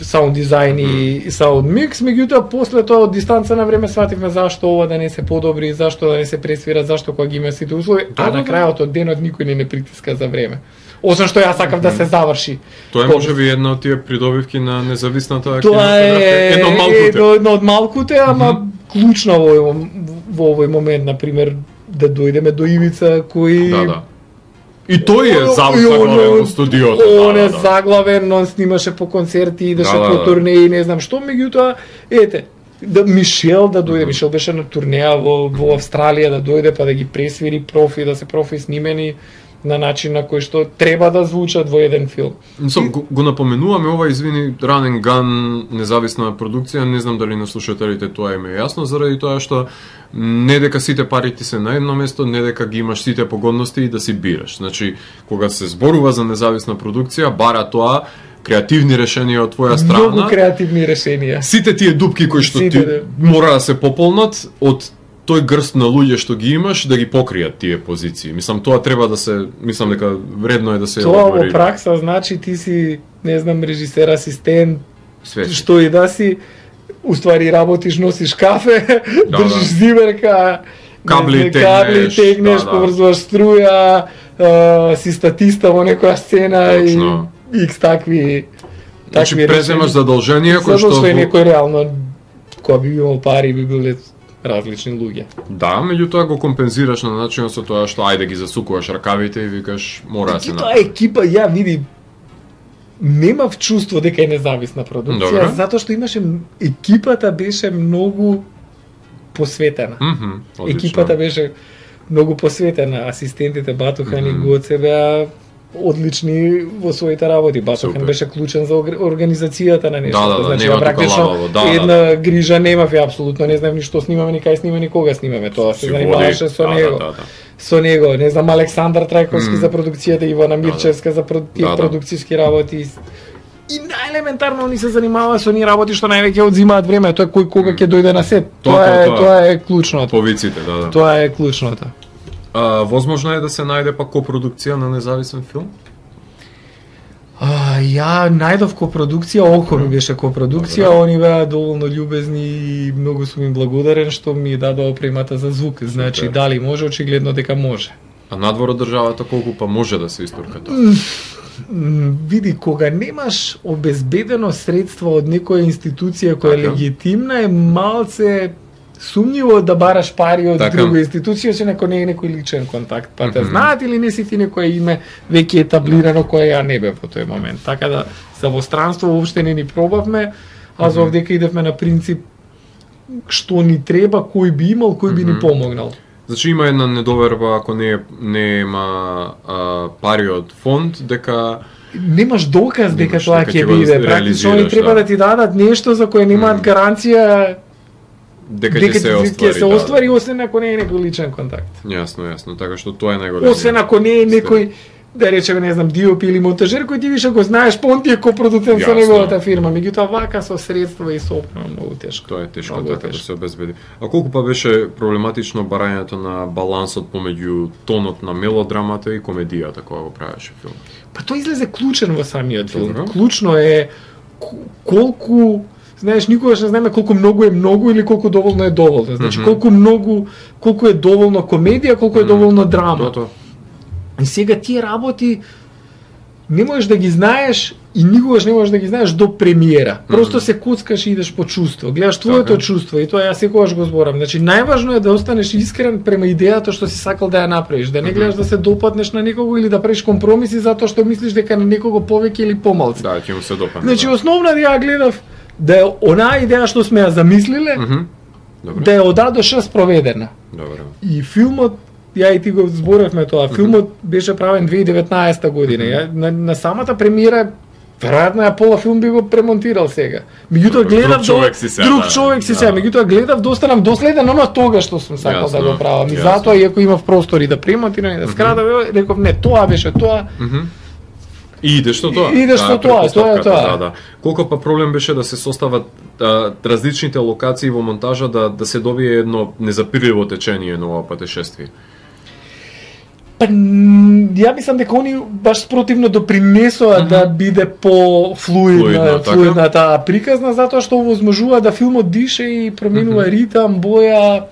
саунд дизајн и саунд микс, меѓутоа после тоа од дистанца на време свативме зашто ова да не се подобри, зашто да не се пресвира, зашто кога ги има сите услови, Да, а да, на да. крајот од денот никој не не притиска за време. Освен што јас сакав да се заврши. Тоа е можеби една од тие придобивки на независната Тоа е кинематографија, едно малкуте. едно, едно од малкуте, ама клучно во овој, во овој момент, на пример, да дојдеме до Ивица кој Да, да. И тој е И заглавен он- во студиото. Он да, е да, да. заглавен, он снимаше по концерти, идеше Да, да, по да. турнеи, не знам што, меѓутоа, ете, да Мишел да дојде, Мишел беше на турнеја во, во Австралија, да дојде па да ги пресвири профи, да се профи снимени на начин на кој што треба да звучат во еден филм. Мислам, го, го напоменуваме ова, извини, Ранен Ган, независна продукција, не знам дали на слушателите тоа им е јасно, заради тоа што не дека сите пари ти се на едно место, не дека ги имаш сите погодности и да си бираш. Значи, кога се зборува за независна продукција, бара тоа креативни решенија од твоја страна. Многу креативни решенија. Сите тие дупки кои што Сите, ти да. мора да се пополнат од тој грст на луѓе што ги имаш да ги покријат тие позиции. Мислам тоа треба да се, мислам дека вредно е да се Тоа во елаборира. пракса значи ти си, не знам, режисер, асистент, Све си. што и да си, уствари работиш, носиш кафе, Да, држиш да. зиверка, Кабли не знам, тегнеш, кабли тегнеш, да, да. поврзуваш струја, а, си статиста во некоја сцена Точно. и икс такви Значи такви преземаш решенија. задолженија кои Затоа што што е во- некој реално кога би имал пари би биле различни луѓе. Да, меѓутоа го компензираш на начин со тоа што ајде ги засукуваш ракавите и викаш мора да се И тоа направи. екипа, ја види, немав чувство дека е независна продукција, Добро. затоа што имаше екипата беше многу посветена. Мгм, одлично. Екипата беше многу посветена, асистентите Батухан и Мгм. Гоце беа одлични во своите работи. Батухан Супер. беше клучен за орг- организацијата на нештото. Да, да, да, значи, нема ја тука практично лабаво, да, една грижа немав, ја апсолутно не знам ни што снимаме, ни кај снимаме, ни кога снимаме. Тоа се Си занимаваше води, со да, него. Да, да, да. Со него, не знам, Александар Трајковски Мм. за продукцијата, Ивана Мирчевска за про- тие Да, да. продукцијски работи. И најелементарно они се занимаваа со оние работи што највеќе одзимаат време, тоа е кој кога ќе дојде на сет. Тоа, Тоа е тоа, тоа. тоа е клучното. Повиците, да, да. Тоа е клучното. А, возможно е да се најде пак копродукција на независен филм? А, ја најдов копродукција, Око ми беше копродукција, Добро. они беа доволно љубезни и многу сум им благодарен што ми дадоа опремата за звук. Значи, Супер. дали може, очигледно дека може. А надвор од државата колку па може да се истурка тоа? М, Види, кога немаш обезбедено средство од некоја институција која е Така. легитимна, е малце сумњиво да бараш пари од Така. друга институција, освен ако не е некој личен контакт. Па те Мгм. знаат или не си ти некој име веќе етаблирано кое ја не бе во тој момент. Така да за во странство воопште не ни пробавме, а за Мгм. овдека идевме на принцип што ни треба, кој би имал, кој би ни Мгм. помогнал. Значи има една недоверба ако не е- нема а, пари од фонд дека Немаш доказ дека Немаш, тоа дека ќе ќе го биде. Практично они реализираш, треба да. да ти дадат нешто за кое немаат Мм. гаранција дека ќе дека се ќе оствари. се да, оствари, освен ако не е некој личен контакт. Јасно, јасно, така што тоа е најголемиот. Освен ако не е некој, да речеме, не знам, диоп или монтажер кој ти више го знаеш, па он ти е копродуцент со Јасно. неговата фирма. Меѓутоа вака со средства и со опрема многу тешко. Тоа е тешко Многу така да тешко. се обезбеди. А колку па беше проблематично барањето на балансот помеѓу тонот на мелодрамата и комедијата кога го правеше филм? Па тој излезе клучен во самиот филм. Добро. Клучно е к- колку, знаеш, никогаш не знаеме колку многу е многу или колку доволно е доволно. Значи, Мгм. колку многу, колку е доволно комедија, колку е Мм. доволно драма. Тоа тоа. И сега тие работи не можеш да ги знаеш и никогаш не можеш да ги знаеш до премиера. Просто се коцкаш и идеш по чувство. Гледаш твоето Така. чувство и тоа ја секогаш го зборам. Значи најважно е да останеш искрен према идејата што си сакал да ја направиш, да не гледаш да се допатнеш на некого или да правиш компромиси затоа што мислиш дека на некого повеќе или помалку. Да, ќе му се допадне. Значи да. основна ја гледав да е онаа идеја што сме ја замислиле, Мгм. Добро. да е од А до Ш спроведена. Добро. И филмот, ја и ти го зборевме тоа, филмот беше правен две илјади и деветнаесета година. Ја, на, на самата премиера, веројатно ја пола филм би го премонтирал сега. Меѓутоа Друг гледав човек си се, друг да. човек си Да. се, меѓутоа гледав да останам доследен оно тога што сум сакал да Јасно, го правам. И јасно. затоа иако имав простори да премонтирам и да скрадам, реков не, тоа беше тоа. Мгм. И идеш со тоа. И идеш со Таа тоа, тоа е претпоставката, тоа. Да, да. Колку па проблем беше да се состават а, различните локации во монтажа да да се добие едно незапирливо течение на ова патешествие. Па, н- ја мислам дека они баш спротивно допринесоа да биде по Флуидно, флуидна, така? флуидна таа приказна, затоа што овозможува да филмот дише и променува ритам, боја,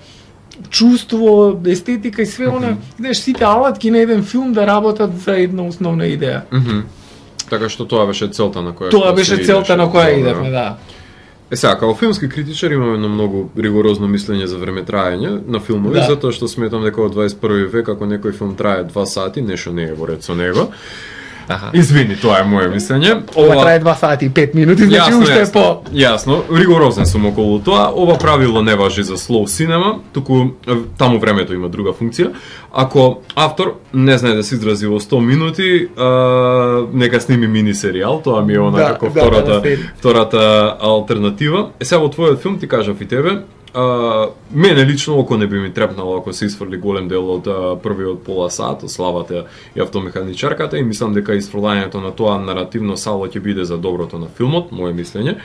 чувство, естетика и све она, знаеш, сите алатки на еден филм да работат за една основна идеја. Мгм. Така што тоа беше целта на која Тоа што беше се целта идеше. на која Добро. идевме, да. Е сега, као филмски критичар имаме едно многу ригорозно мислење за времетраење на филмови, Да. затоа што сметам дека во дваесет и први век ако некој филм трае два сати, нешто не е во ред со него. Аха. Извини, тоа е моје мислење. Ова трае два сати и пет минути, значи Јасно, уште е јасно, по... Јасно, ригорозен сум околу тоа. Ова правило не важи за слоу синема, туку е, таму времето има друга функција. Ако автор не знае да се изрази во сто минути, а, нека сними мини серијал, тоа ми е она Да, како да, втората, да, да. втората алтернатива. Е сега во твојот филм ти кажав и тебе, а, мене лично око не би ми трепнало ако се изфрли голем дел од а, првиот пола сат, од славата и автомеханичарката, и мислам дека изфрлањето на тоа наративно сало ќе биде за доброто на филмот, моје мислење.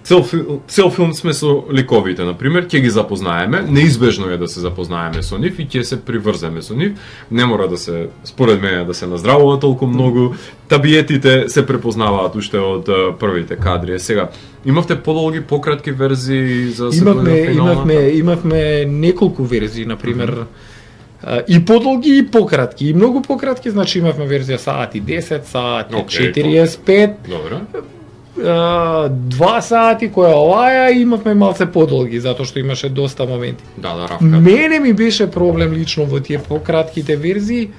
Цел, фил- цел филм сме со ликовите, например, ќе ги запознаеме, неизбежно е да се запознаеме со нив и ќе се приврземе со нив. Не мора да се, според мене, да се наздравува толку многу. Табиетите се препознаваат уште од а, првите кадри. Е, сега, имавте подолги, пократки верзии за се Имавме, дојде до финалната? имавме, имавме неколку верзии, на пример, а, и подолги и пократки. И многу пократки, значи имавме верзија саат и десет, саат и Океј, четириесет и пет, Добро. а, два сати која оваја, и имавме малце подолги, затоа што имаше доста моменти. Да, да, равка. Мене ми беше проблем лично во тие пократките верзии,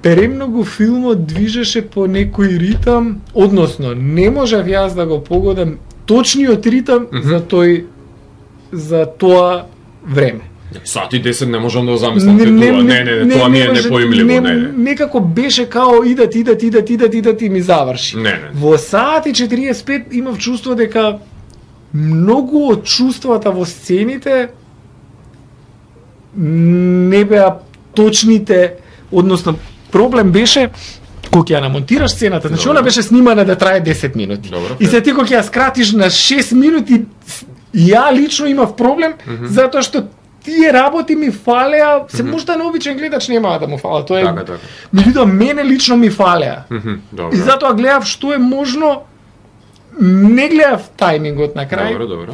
премногу филмот движеше по некој ритам, односно не можев јас да го погодам точниот ритам Мгм. за тој за тоа време. Сат и десет не можам да го замислам те тоа. Не, не, не, тоа ми е може- непоимливо, не, не. Некако беше као идат, идат, идат, идат, идат и ми заврши. Не, не. Во саат и четириесет и пет имав чувство дека многу од чувствата во сцените не беа точните, односно проблем беше кога ќе ја намонтираш сцената, значи Добро. она беше снимана да трае десет минути. Добро, И се ти кога ќе ја скратиш на шест минути, ја лично имав проблем, затоа што тие работи ми фалеа, се можда на обичен гледач нема да му фала, тоа е. Така, така. Меѓутоа мене лично ми фалеа. Мгм, Добро. И затоа гледав што е можно, не гледав тајмингот на крај, Добро, добро.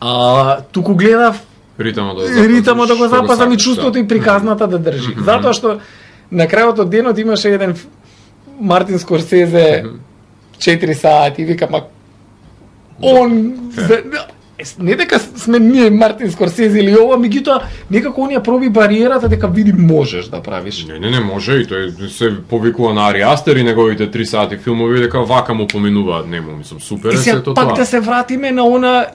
а туку гледав Ритамот да го запазиш, ритамот да го што запазам и сакаш, чувството да. и приказната да држи. Затоа што на крајот од денот имаше еден ф- Мартин Скорсезе четири сати и вика, ма он за, не дека сме ние Мартин Скорсезе или ова, меѓутоа некако он ја проби бариерата дека види можеш да правиш. Не, не, не може, и тој се повикува на Ари Астер и неговите три сати филмови дека вака му поминуваат, нему, мислам, супер И е сега сето пак тоа. да се вратиме на она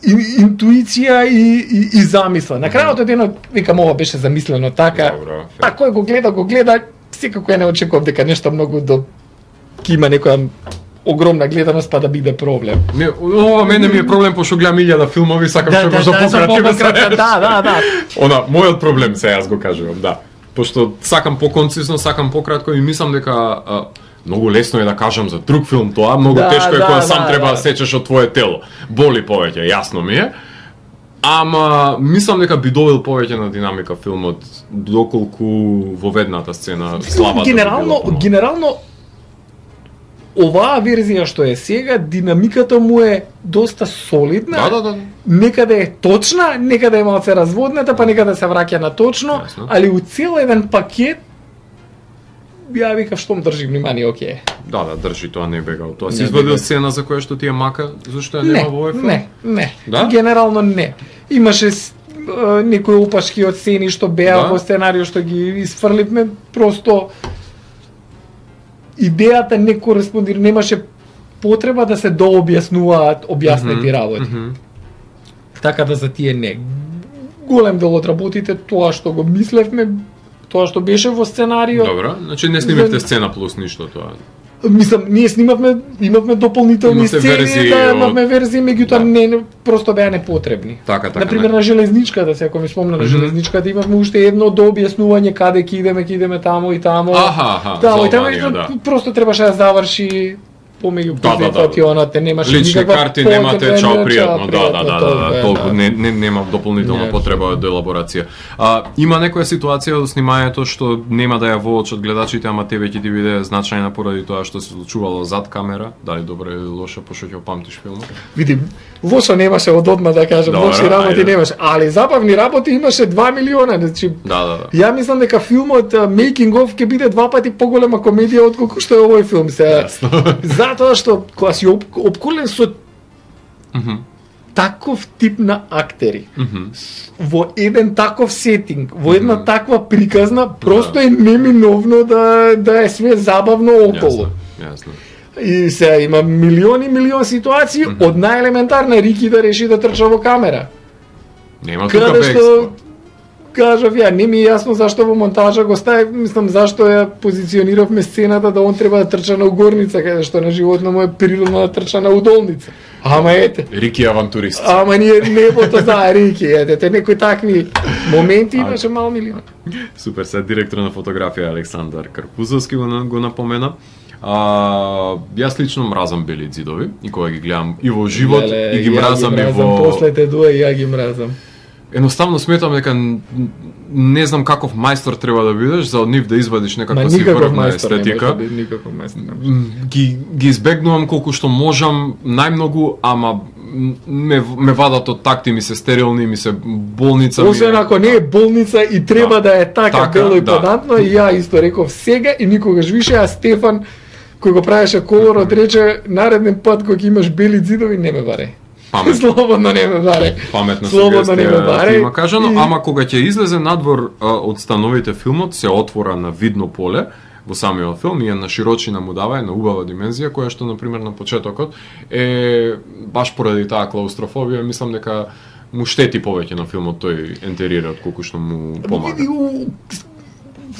ин- интуиција и, и, и замисла. На крајот од денот, викам, ова беше замислено така. Добро, фе. А кој го гледа, го гледа, секако ја не очекував дека нешто многу до ќе има некоја огромна гледаност па да биде проблем. Не, ова мене ми е проблем пошто гледам илјада филмови, сакам што може за пократки да пократка, се. да, да, да. Она, мојот проблем се јас го кажувам, да. Пошто сакам поконцизно, сакам пократко и мислам дека а, многу лесно е да кажам за друг филм тоа, многу Да, тешко е да, кога сам да, треба да да. сечеш од твое тело. Боли повеќе, јасно ми е. Ама мислам дека би добил повеќе на динамика филмот доколку во ведната сцена славата. би Генерално, била помалку. генерално оваа верзија што е сега, динамиката му е доста солидна. Да, да, да. Некаде е точна, некаде е малце разводната, па некаде се враќа на точно, Јасно. али у цел еден пакет ја викав штом држи внимание, окей. Да, да, држи, тоа не бега од тоа. Си Не извадил бега. сцена за која што ти е мака, зашто ја Не, нема во овој филм? не, не. Да? Генерално не. Имаше с- е, некои опашки од сцени што беа Да? во сценарио што ги изфрливме, просто идејата не кореспондира, немаше потреба да се дообјаснуваат објаснети Мгм, работи. мгм. Така да за тие не. Голем дел од работите, тоа што го мислевме, тоа што беше во сценарио, Добро, значи не снимивте За- сцена плюс ништо тоа. мислам, ние снимавме, имавме дополнителни Имавте сцени, верзии да, од- имавме верзии, меѓутоа Да. не, не, просто беа непотребни. Така, така. Например, на железничката, се ако ми спомна на Мгм. железничката, имавме уште едно дообјаснување каде ќе идеме, ќе идеме тамо и тамо. Аха, аха, Тамо за и тамо, Албанија, и да. просто требаше да заврши помеѓу Да, да, да. позиционите, немаше Лични никаква карти потреба, немате, не, чао, чао, пријатно, да, да, да, да, толку да, е, толку да. не, не нема дополнителна Не, потреба од елаборација. А, има некоја ситуација од снимањето што нема да ја воочат гледачите, ама тебе ќе ти биде значајна поради тоа што се случувало зад камера, дали добро или лошо, пошто ќе памтиш филмот? Види, лошо немаше од одма да кажам, Добро, лоши работи ајде. немаше, али забавни работи имаше два милиона, значи Да, да, да. ја мислам дека филмот uh, Making of ќе биде два пати поголема комедија отколку што е овој филм се. Затоа што кога си об, обколен со Мгм, таков тип на актери, мгм. во еден таков сетинг, во една Мгм. таква приказна, просто е неминовно да да е све забавно околу. Јасно, јасно. И се има милиони милион ситуации, Мгм. од најелементарна Рики да реши да трча во камера. Нема тука Каде бегство. што кажав ја, не ми е јасно зашто во монтажа го ставив, мислам зашто ја позициониравме сцената да он треба да трча на угорница, каде што на животно му е природно да трча на удолница. Ама ете, Рики авантурист. ама ние небото за Рики, ете, те некои такви моменти имаше мал милион. Супер, се директор на фотографија Александар Карпузовски го, на- го напомена. А, јас лично мразам бели ѕидови и кога ги гледам и во живот Леле, и ги ја мразам и во После те дуа и ја ги мразам. Едноставно сметам дека н- не знам каков мајстор треба да бидеш за од нив да извадиш Ма некаква си никаков врвна мајстор не може естетика. да биде, никаков мајстор не може. М, Ги ги избегнувам колку што можам, најмногу, ама м, ме ме вадат од такти, ми се стерилни, ми се болница ми е- Освен ако не е болница и треба Да. да, е така, Така, бело и да. подантно, и ја исто реков сега и никогаш више, а Стефан кој го правеше колорот рече нареден пат кога ќе имаш бели ѕидови не ме баре. Паметно. Слободно не ме баре. Паметна Слободно не ме сугестија баре. ти има кажано, И- ама кога ќе излезе надвор а, од становите филмот, се отвора на видно поле во самиот филм и една широчина му дава една убава димензија која што на пример на почетокот е баш поради таа клаустрофобија, мислам дека му штети повеќе на филмот тој ентерира отколку што му помага. Види, у-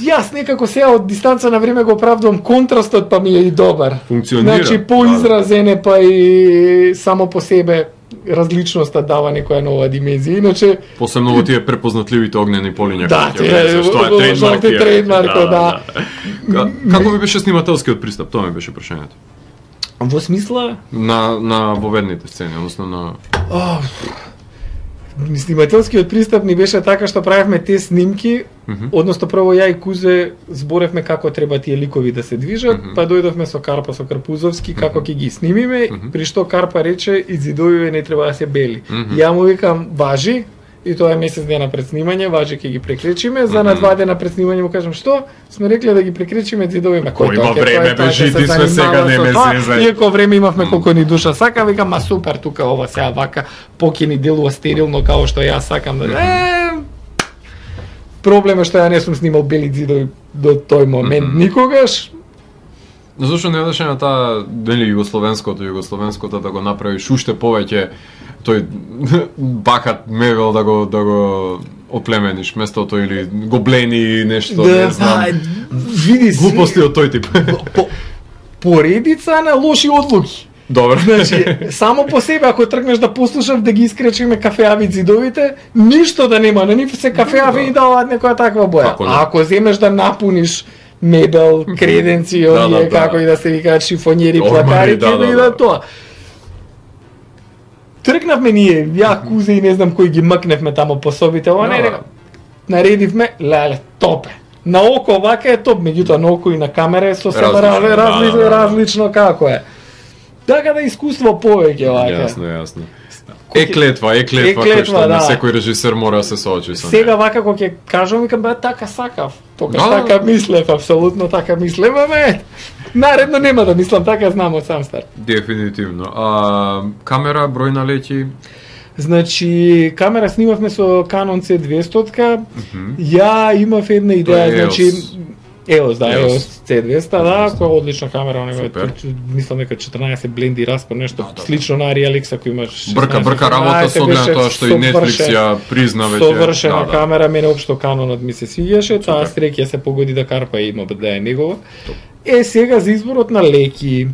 Јас некако сега од дистанца на време го оправдувам контрастот, па ми е и добар. Функционира. Значи поизразен е, па и само по себе различноста дава некоја нова димензија. Иначе Посебно во тие препознатливите огнени полиња. Да, кои ќе тие, влезеш, тоа во- во- е трейдмарк. жолти тие. трейдмарк, да. Ка- Како ми беше снимателскиот пристап? Тоа ми беше прашањето. во смисла На на воведните сцени, односно на Ох, снимателскиот пристап ни беше така што правевме те снимки, Мгм. односно прво ја и Кузе зборевме како треба тие ликови да се движат, Мгм. па дојдовме со Карпа со Карпузовски како ќе ги снимиме, Мгм. при што Карпа рече и ѕидовиве не треба да се бели. Мгм. Ја му викам важи, и тоа е месец дена пред снимање, важи ќе ги прекречиме, за на Мгм. два дена пред снимање му кажам што, сме рекле да ги прекречиме зидовиме. Кој има време, бе, жити сме сега, не ме зезај. Иако време имавме колку ни душа сака, викам, ма супер, тука ова сега вака, поки ни делува стерилно као што ја сакам да... Е, проблем е што ја не сум снимал бели ѕидови до тој момент Мгм. никогаш. Зошто не одеше на таа дели југословенското, југословенското да го направиш уште повеќе тој бакат мевел да го да го оплемениш местото или го блени нешто, не знам. види си, Глупости од тој тип. по, поредица на лоши одлуки. Добро. Значи, само по себе, ако тргнеш да послушав да ги искречиме кафеави ѕидовите, ништо да нема, на нив се кафеави и даваат некоја таква боја. Како не? А ако земеш да напуниш мебел, креденци, Да, оние да, да. како и да се викаат шифонјери, Ормари, плакари, да, ќе да, да, да. тоа. Тргнавме ние, ја, Кузе и не знам кој ги мкневме тамо по собите, ова Да, не да. е, наредивме, леле, топе. На око вака е топ, меѓутоа на око и на камера е сосема Различно, различно, да, различно, да, да. различно како е. Така да искуство повеќе вака. Јасно, јасно. Е клетва, е клетва, е кој што да. секој режисер мора да се соочи со. Сега вака кога ќе кажам, викам бе така сакав. Тогаш Да, така мислев, апсолутно така мислев, ама наредно нема да мислам така, знам од сам старт. Дефинитивно. А камера, број на леќи? Значи, камера снимавме со Canon C двесто. Mm -hmm. Ја имав една идеја, значи еос, да, еос C двесто, да, која е одлична камера, него мислам дека четрнаесет бленди распон, нешто да, да. Слично на Arialix, ако имаш брка брка работа со оглед тоа што и Netflix ја призна веќе. Совршена да, камера, мене општо Canonот ми се свиѓаше, таа среќа се погоди да карпа и има да е негова. Е сега за изборот на леки.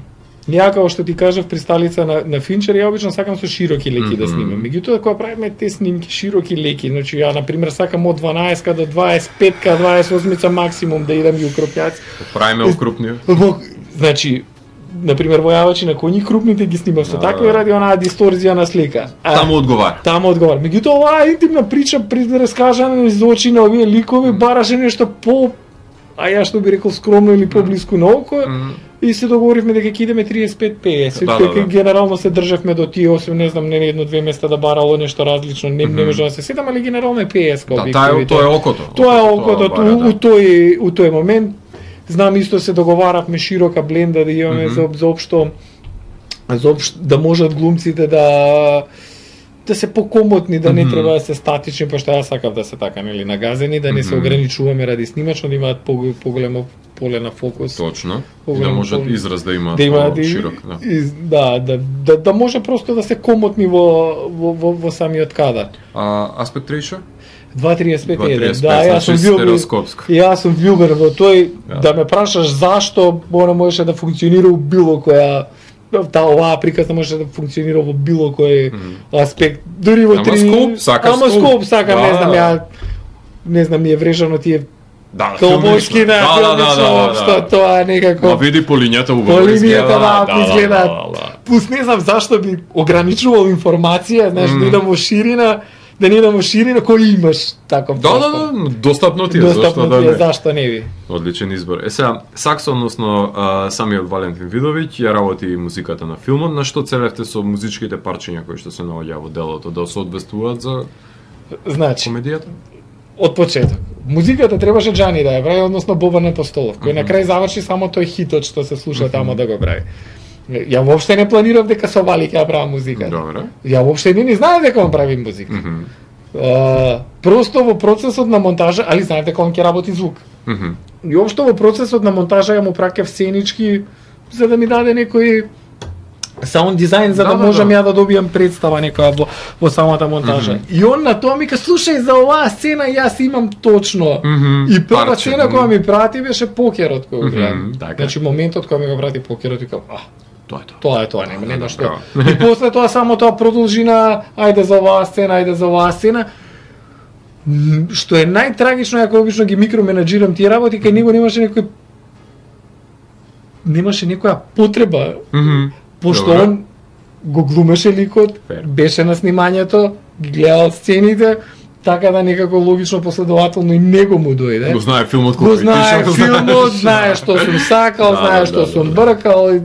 Ја како што ти кажав присталица на на Финчер, ја обично сакам со широки леки mm -hmm. да снимам. Меѓутоа кога правиме те снимки широки леки, значи ја на пример сакам од дванаесет до дваесет и пет дваесет и осем максимум да идам и укропјаци. Правиме укрупни. Значи на пример војавачи на коњи крупните ги снимав со такви ради онаа дисторзија на слика. Таму одговара. Таму одговара. Меѓутоа оваа интимна прича при раскажане из очи на овие ликови бараше нешто по, а ја што би рекол скромно или поблиску на око. Mm -hmm. И се договоривме дека ќе идеме триесет и пет пеесет, да, да, да. Генерално се државме до тие осем, не знам, не едно-две места да барало нешто различно, не, mm -hmm. не може да се сетам, али генерално е пеесет. Да, таа, тоа е окото. Тоа е окото, тоа, у, у, тој, у тој момент. Знам, исто се договаравме широка бленда да имаме mm -hmm. за, за општо, за општо, да можат глумците да да се покомотни, да не mm -hmm. треба да се статични, пошто ја сакав да се така, нели, нагазени, да не mm -hmm. се ограничуваме ради снимачно, да имаат поголемо поле на фокус. Точно. И да можат поле, израз да имаат да има, широк, да. Из, да, да, да, да може просто да се комотни во во во, во самиот кадар. А аспект ratio? два триесет пет еден. Да, јас сум бил Јас сум влюбен во тој, yeah. Да ме прашаш зашто она можеше да функционира у било која таа оваа приказна може да функционира во било кој mm -hmm. аспект, дури во три. Ама скоп, сака Ама скоп, сака, да, не знам, ја не знам, ми е врежано тие да, колбошки на филмично, што тоа некако. Ма види по линијата убаво. По линијата да, изгледа. Плюс не знам зашто би ограничувал информација, знаеш, да идам во ширина, да не идам во ширина, кој имаш таков. Да, да, да, достапно ти е, зашто да не. Зашто не би? Одличен избор. Е сега, Сакс, односно а, самиот Валентин Видовиќ, ја работи музиката на филмот, на што целевте со музичките парчиња кои што се наоѓаа во делото, да се одвестуваат за значи, комедијата? Од почеток. Музиката требаше Џани да ја прави, односно Бобан Апостолов, кој mm -hmm. на крај заврши само тој хитот што се слуша mm -hmm. тамо да го прави. Ја воопште не планирав дека со Вали ќе ја правам музика. Добре. Ја воопште не, не знаев дека он прави музика. Mm -hmm. uh, просто во процесот на монтажа, али знаев дека он ќе работи звук. Mm -hmm. И општо во процесот на монтажа ја му праќав сценички за да ми даде некој саунд дизајн за да, да можам да. ја да добијам представа некоја во, во самата монтажа. Mm -hmm. И он на тоа ми ка слушај за оваа сцена јас имам точно. Mm -hmm. И прва Парче, сцена која ми прати беше покерот кој го гледам. Mm -hmm. Значи моментот кога ми го прати покерот викам, а тоа е тоа. Тоа е тоа, нема нема што. И после тоа само тоа продолжи на ајде за оваа сцена, ајде за оваа сцена. Што е најтрагично, ја обично ги микроменаџирам тие работи, кај него немаше некој немаше некоја потреба. Mm -hmm. Пошто Добре. Он го глумеше ликот, Fair. Беше на снимањето, ги гледал сцените, така да некако логично последователно и него му дојде. Го знае филмот кој. Го знае филмот, знае што сум сакал, да, знае да, што да, сум да. бркал и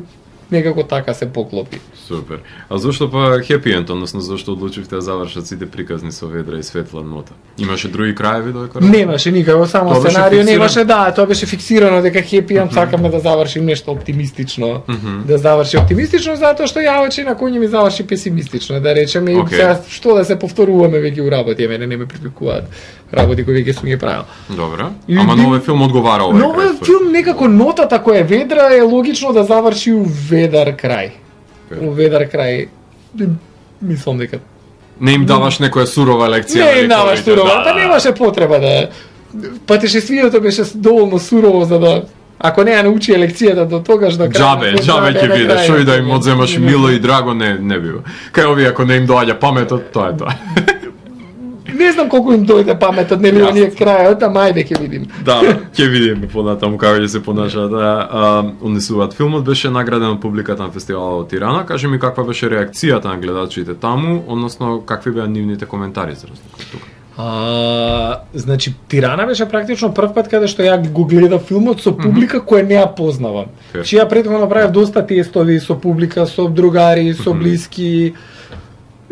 некако така се поклопи. Супер. А зошто па хепи енд, односно зошто одлучивте да завршат сите приказни со ведра и светла нота? Имаше други краеви до дека? Немаше никако, само тоа сценарио немаше, да, тоа беше фиксирано дека хепи енд, mm -hmm. сакаме да завршим нешто оптимистично, mm -hmm. да заврши оптимистично затоа што јавачи на кој ми заврши песимистично, да речеме, okay. Сега што да се повторуваме веќе у работи, мене не ме привлекуваат работи кои веќе сум ги правил. Добре. Ама новиот филм одговара овој. Новиот филм некако нотата која е ведра е логично да заврши у ведар крај. У ведар крај. Мислам дека не им даваш некоја сурова лекција. Не им даваш сурова, да, па немаше потреба да. Патешествието беше доволно сурово за да ако не ја научи лекцијата до тогаш до крај. Џабе, џабе ќе биде, што и да им одземаш мило и драго не не бива. Кај овие ако не им доаѓа паметот, тоа е тоа. Не знам колку им дојде паметот, нели оние крајот, ама ајде ќе видим. Да, ќе видиме понатаму како ќе се понашаат. Да, унесуваат. Филмот беше награден од публиката на фестивалот во Тирана. Кажи ми каква беше реакцијата на гледачите таму, односно какви беа нивните коментари за разлика од тука? А, значи Тирана беше практично прв пат каде што ја го гледав филмот со публика mm -hmm. која не ја познавам. Okay. Чи ја претходно направив доста тестови со публика, со другари, со блиски.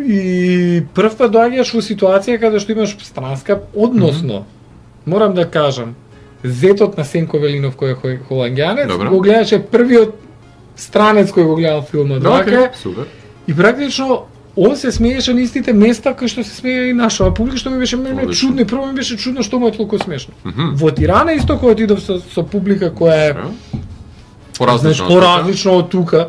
И прв пат доаѓаш во ситуација каде што имаш странска, односно, mm -hmm. морам да кажам, зетот на Сенко Велинов кој е холандјанец, Добре. го гледаше првиот странец кој го гледал филмот. Okay, супер. И практично он се смееше на истите места кои што се смее и нашава публика, што ми беше мене Одлично. чудно, и прво ми беше чудно што му е толку смешно. Mm -hmm. Во Тирана исто кога отидов со, со публика која е поразлично, значи, поразлично од тука.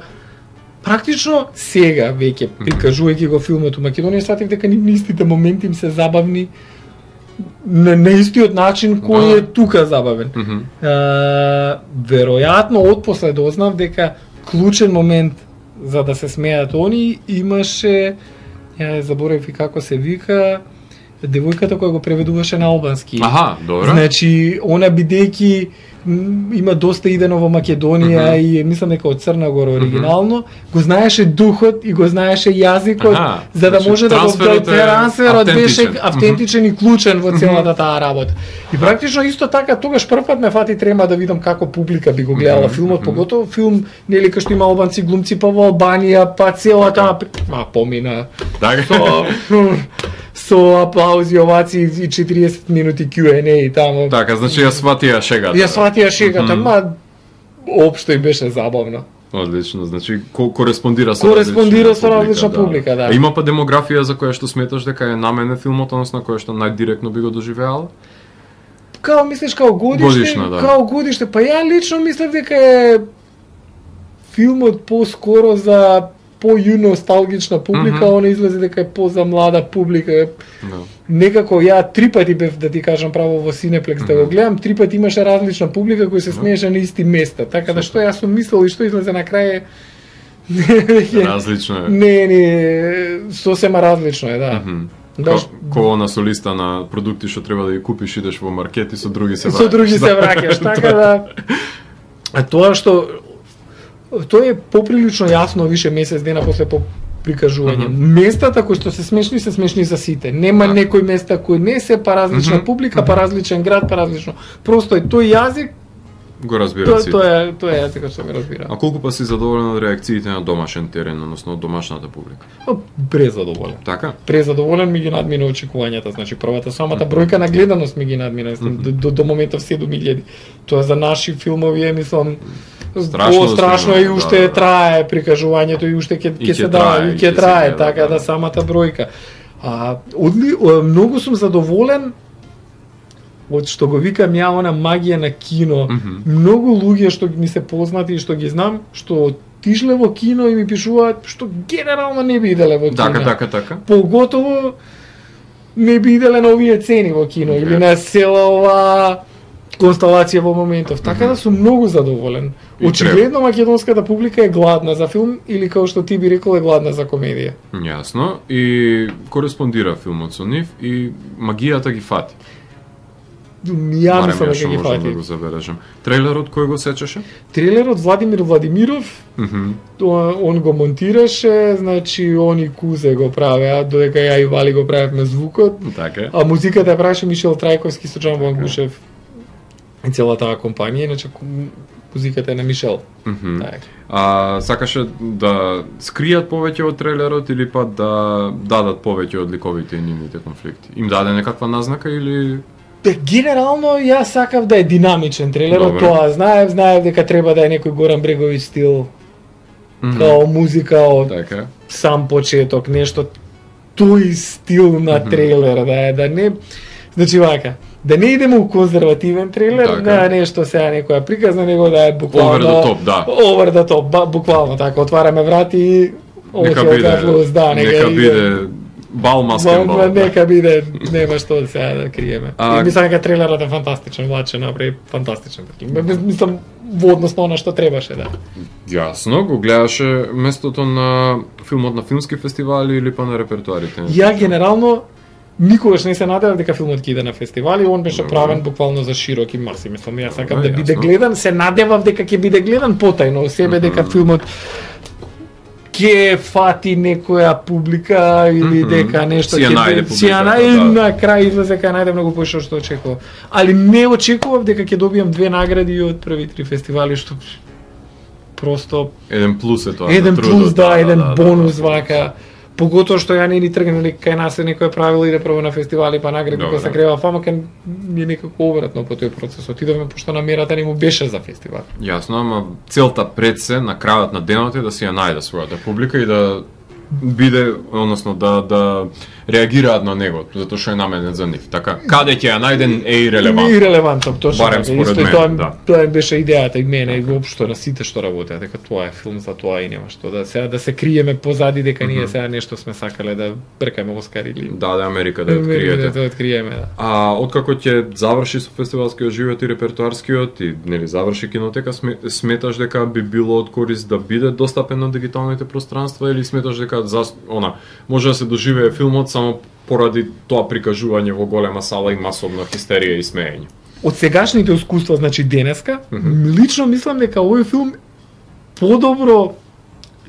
Практично сега веќе прикажувајќи го филмот у Македонија, сватив дека ни истите моменти им се забавни на, на истиот начин кој Да. е тука забавен. Mm -hmm. Uh, веројатно отпосле дознав дека клучен момент за да се смеат они имаше, ја заборев и како се вика, девојката која го преведуваше на албански. Аха, добро. Значи, она бидејќи м, има доста идено во Македонија Мгм. и мислам дека од Црна Гора оригинално, го знаеше духот и го знаеше јазикот, Аха, за да значи, може да го трансферот е трансферот беше автентичен. автентичен и клучен во целата таа работа. И практично исто така тогаш прв пат ме фати трема да видам како публика би го гледала Мгм, филмот, мгм. поготово филм нели кај што има албанци глумци па во Албанија, па целата а помина Така. со со аплаузи, овации и четириесет минути Q and A таму. Така, значи ја сватија шегата. Ја сватија шегата, Мгм. ма општо и беше забавно. Одлично, значи ко кореспондира со Кореспондира различна со различна публика, да. А има па демографија за која што сметаш дека е намене филмот, односно која што најдиректно би го доживеала? Као мислиш као годиште, Годишна, да. као годиште, па ја лично мислев дека е филмот поскоро за по-носталгична публика, Мгм. она излезе дека е по за млада публика. Да. Некако ја три пати бев да ти кажам право во Синеплекс да го гледам, три пати имаше различна публика која се смееше на исти места. Така да што јас сум мислел и што излезе на крај е Различно е. Не, не, сосема различно е, да. Мгм. Да, Ко, ко на солиста на продукти што треба да ги купиш, идеш во маркет и со други се враќаш. со други се враќаш, така да. А тоа што тоа е поприлично јасно више месец дена после по прикажување. Мгм. Местата кои што се смешни се смешни за сите. Нема Да. некои места кои не се па различна Мгм. публика, па различен град, па различно. Просто е тој јазик, Го разбира тоа си. тоа е тоа е јазикот што ме разбира. А колку па си задоволен од реакциите на домашен терен, односно од домашната публика? Презадоволен. Така? Презадоволен ми ги надмина очекувањата, значи првата самата бројка на гледаност ми ги надмина, мислам, до, до, до моментов седум илјади. Тоа за наши филмови е, мислам, Страшно страшно, страшно да и уште да, да. трае прикажувањето и уште ќе И ќе ќе се трае, дава, и и ќе ќе се трае, гледа, така да. да самата бројка. А одли, о, многу сум задоволен од што го викам ја она магија на кино. Мгм. Многу луѓе што ми се познати и што ги знам, што отишле во кино и ми пишуваат што генерално не би иделе во кино. Така, така, така. Поготово не би иделе на овие цени во кино или на цела ова констелација во моментов. Така да сум многу задоволен. И Очигледно македонската публика е гладна за филм или како што ти би рекол е гладна за комедија. Јасно. И кореспондира филмот со нив и магијата ги фати. Ја Барем мислам ја дека што ги можам да фати. го забележам. Трейлерот кој го сечеше? Трилерот Владимир Владимиров, Мгм. тоа- он го монтираше, значи он и Кузе го правеа, додека ја и Вали го правевме звукот. Така е. А музиката ја правеше Мишел Трајковски со Джан Вангушев и цела таа компанија, иначе ку- музиката е на Мишел. Мгм. Така. А сакаше да скријат повеќе од трейлерот или па да дадат повеќе од ликовите и нивните конфликти? Им даде некаква назнака или Бе, генерално јас сакав да е динамичен трейлерот, Добре. тоа знаев, знаев дека треба да е некој Горан Бреговиќ стил, Мгм. као музика од Така. сам почеток, нешто тој стил на Мгм. трейлер, да е, да не, значи вака, да не идеме у конзервативен трейлер, Така. да е нешто сега некоја приказна, него да е буквално Over the top, да. Over the top, ба, буквално така, отвараме врати и Нека Оке, биде, плюс, да, нека иде. биде бал маскен Ма, бал. ма, нека биде, нема што сега да криеме. А- И мислам дека трейлерот е фантастичен, Влаче направи фантастичен такив. Мислам во однос на она што требаше, да. Јасно, го гледаше местото на филмот на филмски фестивали или па на репертуарите? Ја генерално никогаш не се надевав дека филмот ќе иде на фестивали, он беше Добре. правен буквално за широки маси. Мислам, јас сакам Добре, да биде јасно. гледан, се надевав дека ќе биде гледан потајно, себе дека Мгм. филмот ќе фати некоја публика или Мгм. дека нешто Си ја ќе најде си ја публиката, најде, да. на крај излезе кај најде многу поише што очекував. Али не очекував дека ќе добијам две награди од први три фестивали, што просто Еден плюс е тоа. еден на трудот, плюс, да, еден бонус вака. Поготоа што ја не ни тргнали кај нас е некој правило иде прво на фестивали па награди кога се крева фама, кај ми е некако обратно по тој процес. Отидовме пошто намерата не му беше за фестивал. Јасно, ама целта пред се на крајот на денот е да си ја најде својата публика и да биде, односно да да реагираат на него, затоа што е наменет за нив. Така, каде ќе ја најден е ирелевантно. Не ирелевантно, точно. Барем според мене, тоа, да. Тоа беше идејата и мене и воопшто на сите што работеа, дека тоа е филм за тоа и нема што да сега да се криеме позади дека ние сега нешто сме сакале да бркаме Оскар или Да, да Америка да откриете. Да откриеме, да. А откако ќе заврши со фестивалскиот живот и репертоарскиот и нели заврши кинотека, сметаш дека би било од корист да биде достапен на дигиталните пространства или сметаш дека за она може да се доживее филмот само поради тоа прикажување во голема сала и масовна хистерија и смеење? Од сегашните искуства, значи денеска, mm -hmm. лично мислам дека овој филм подобро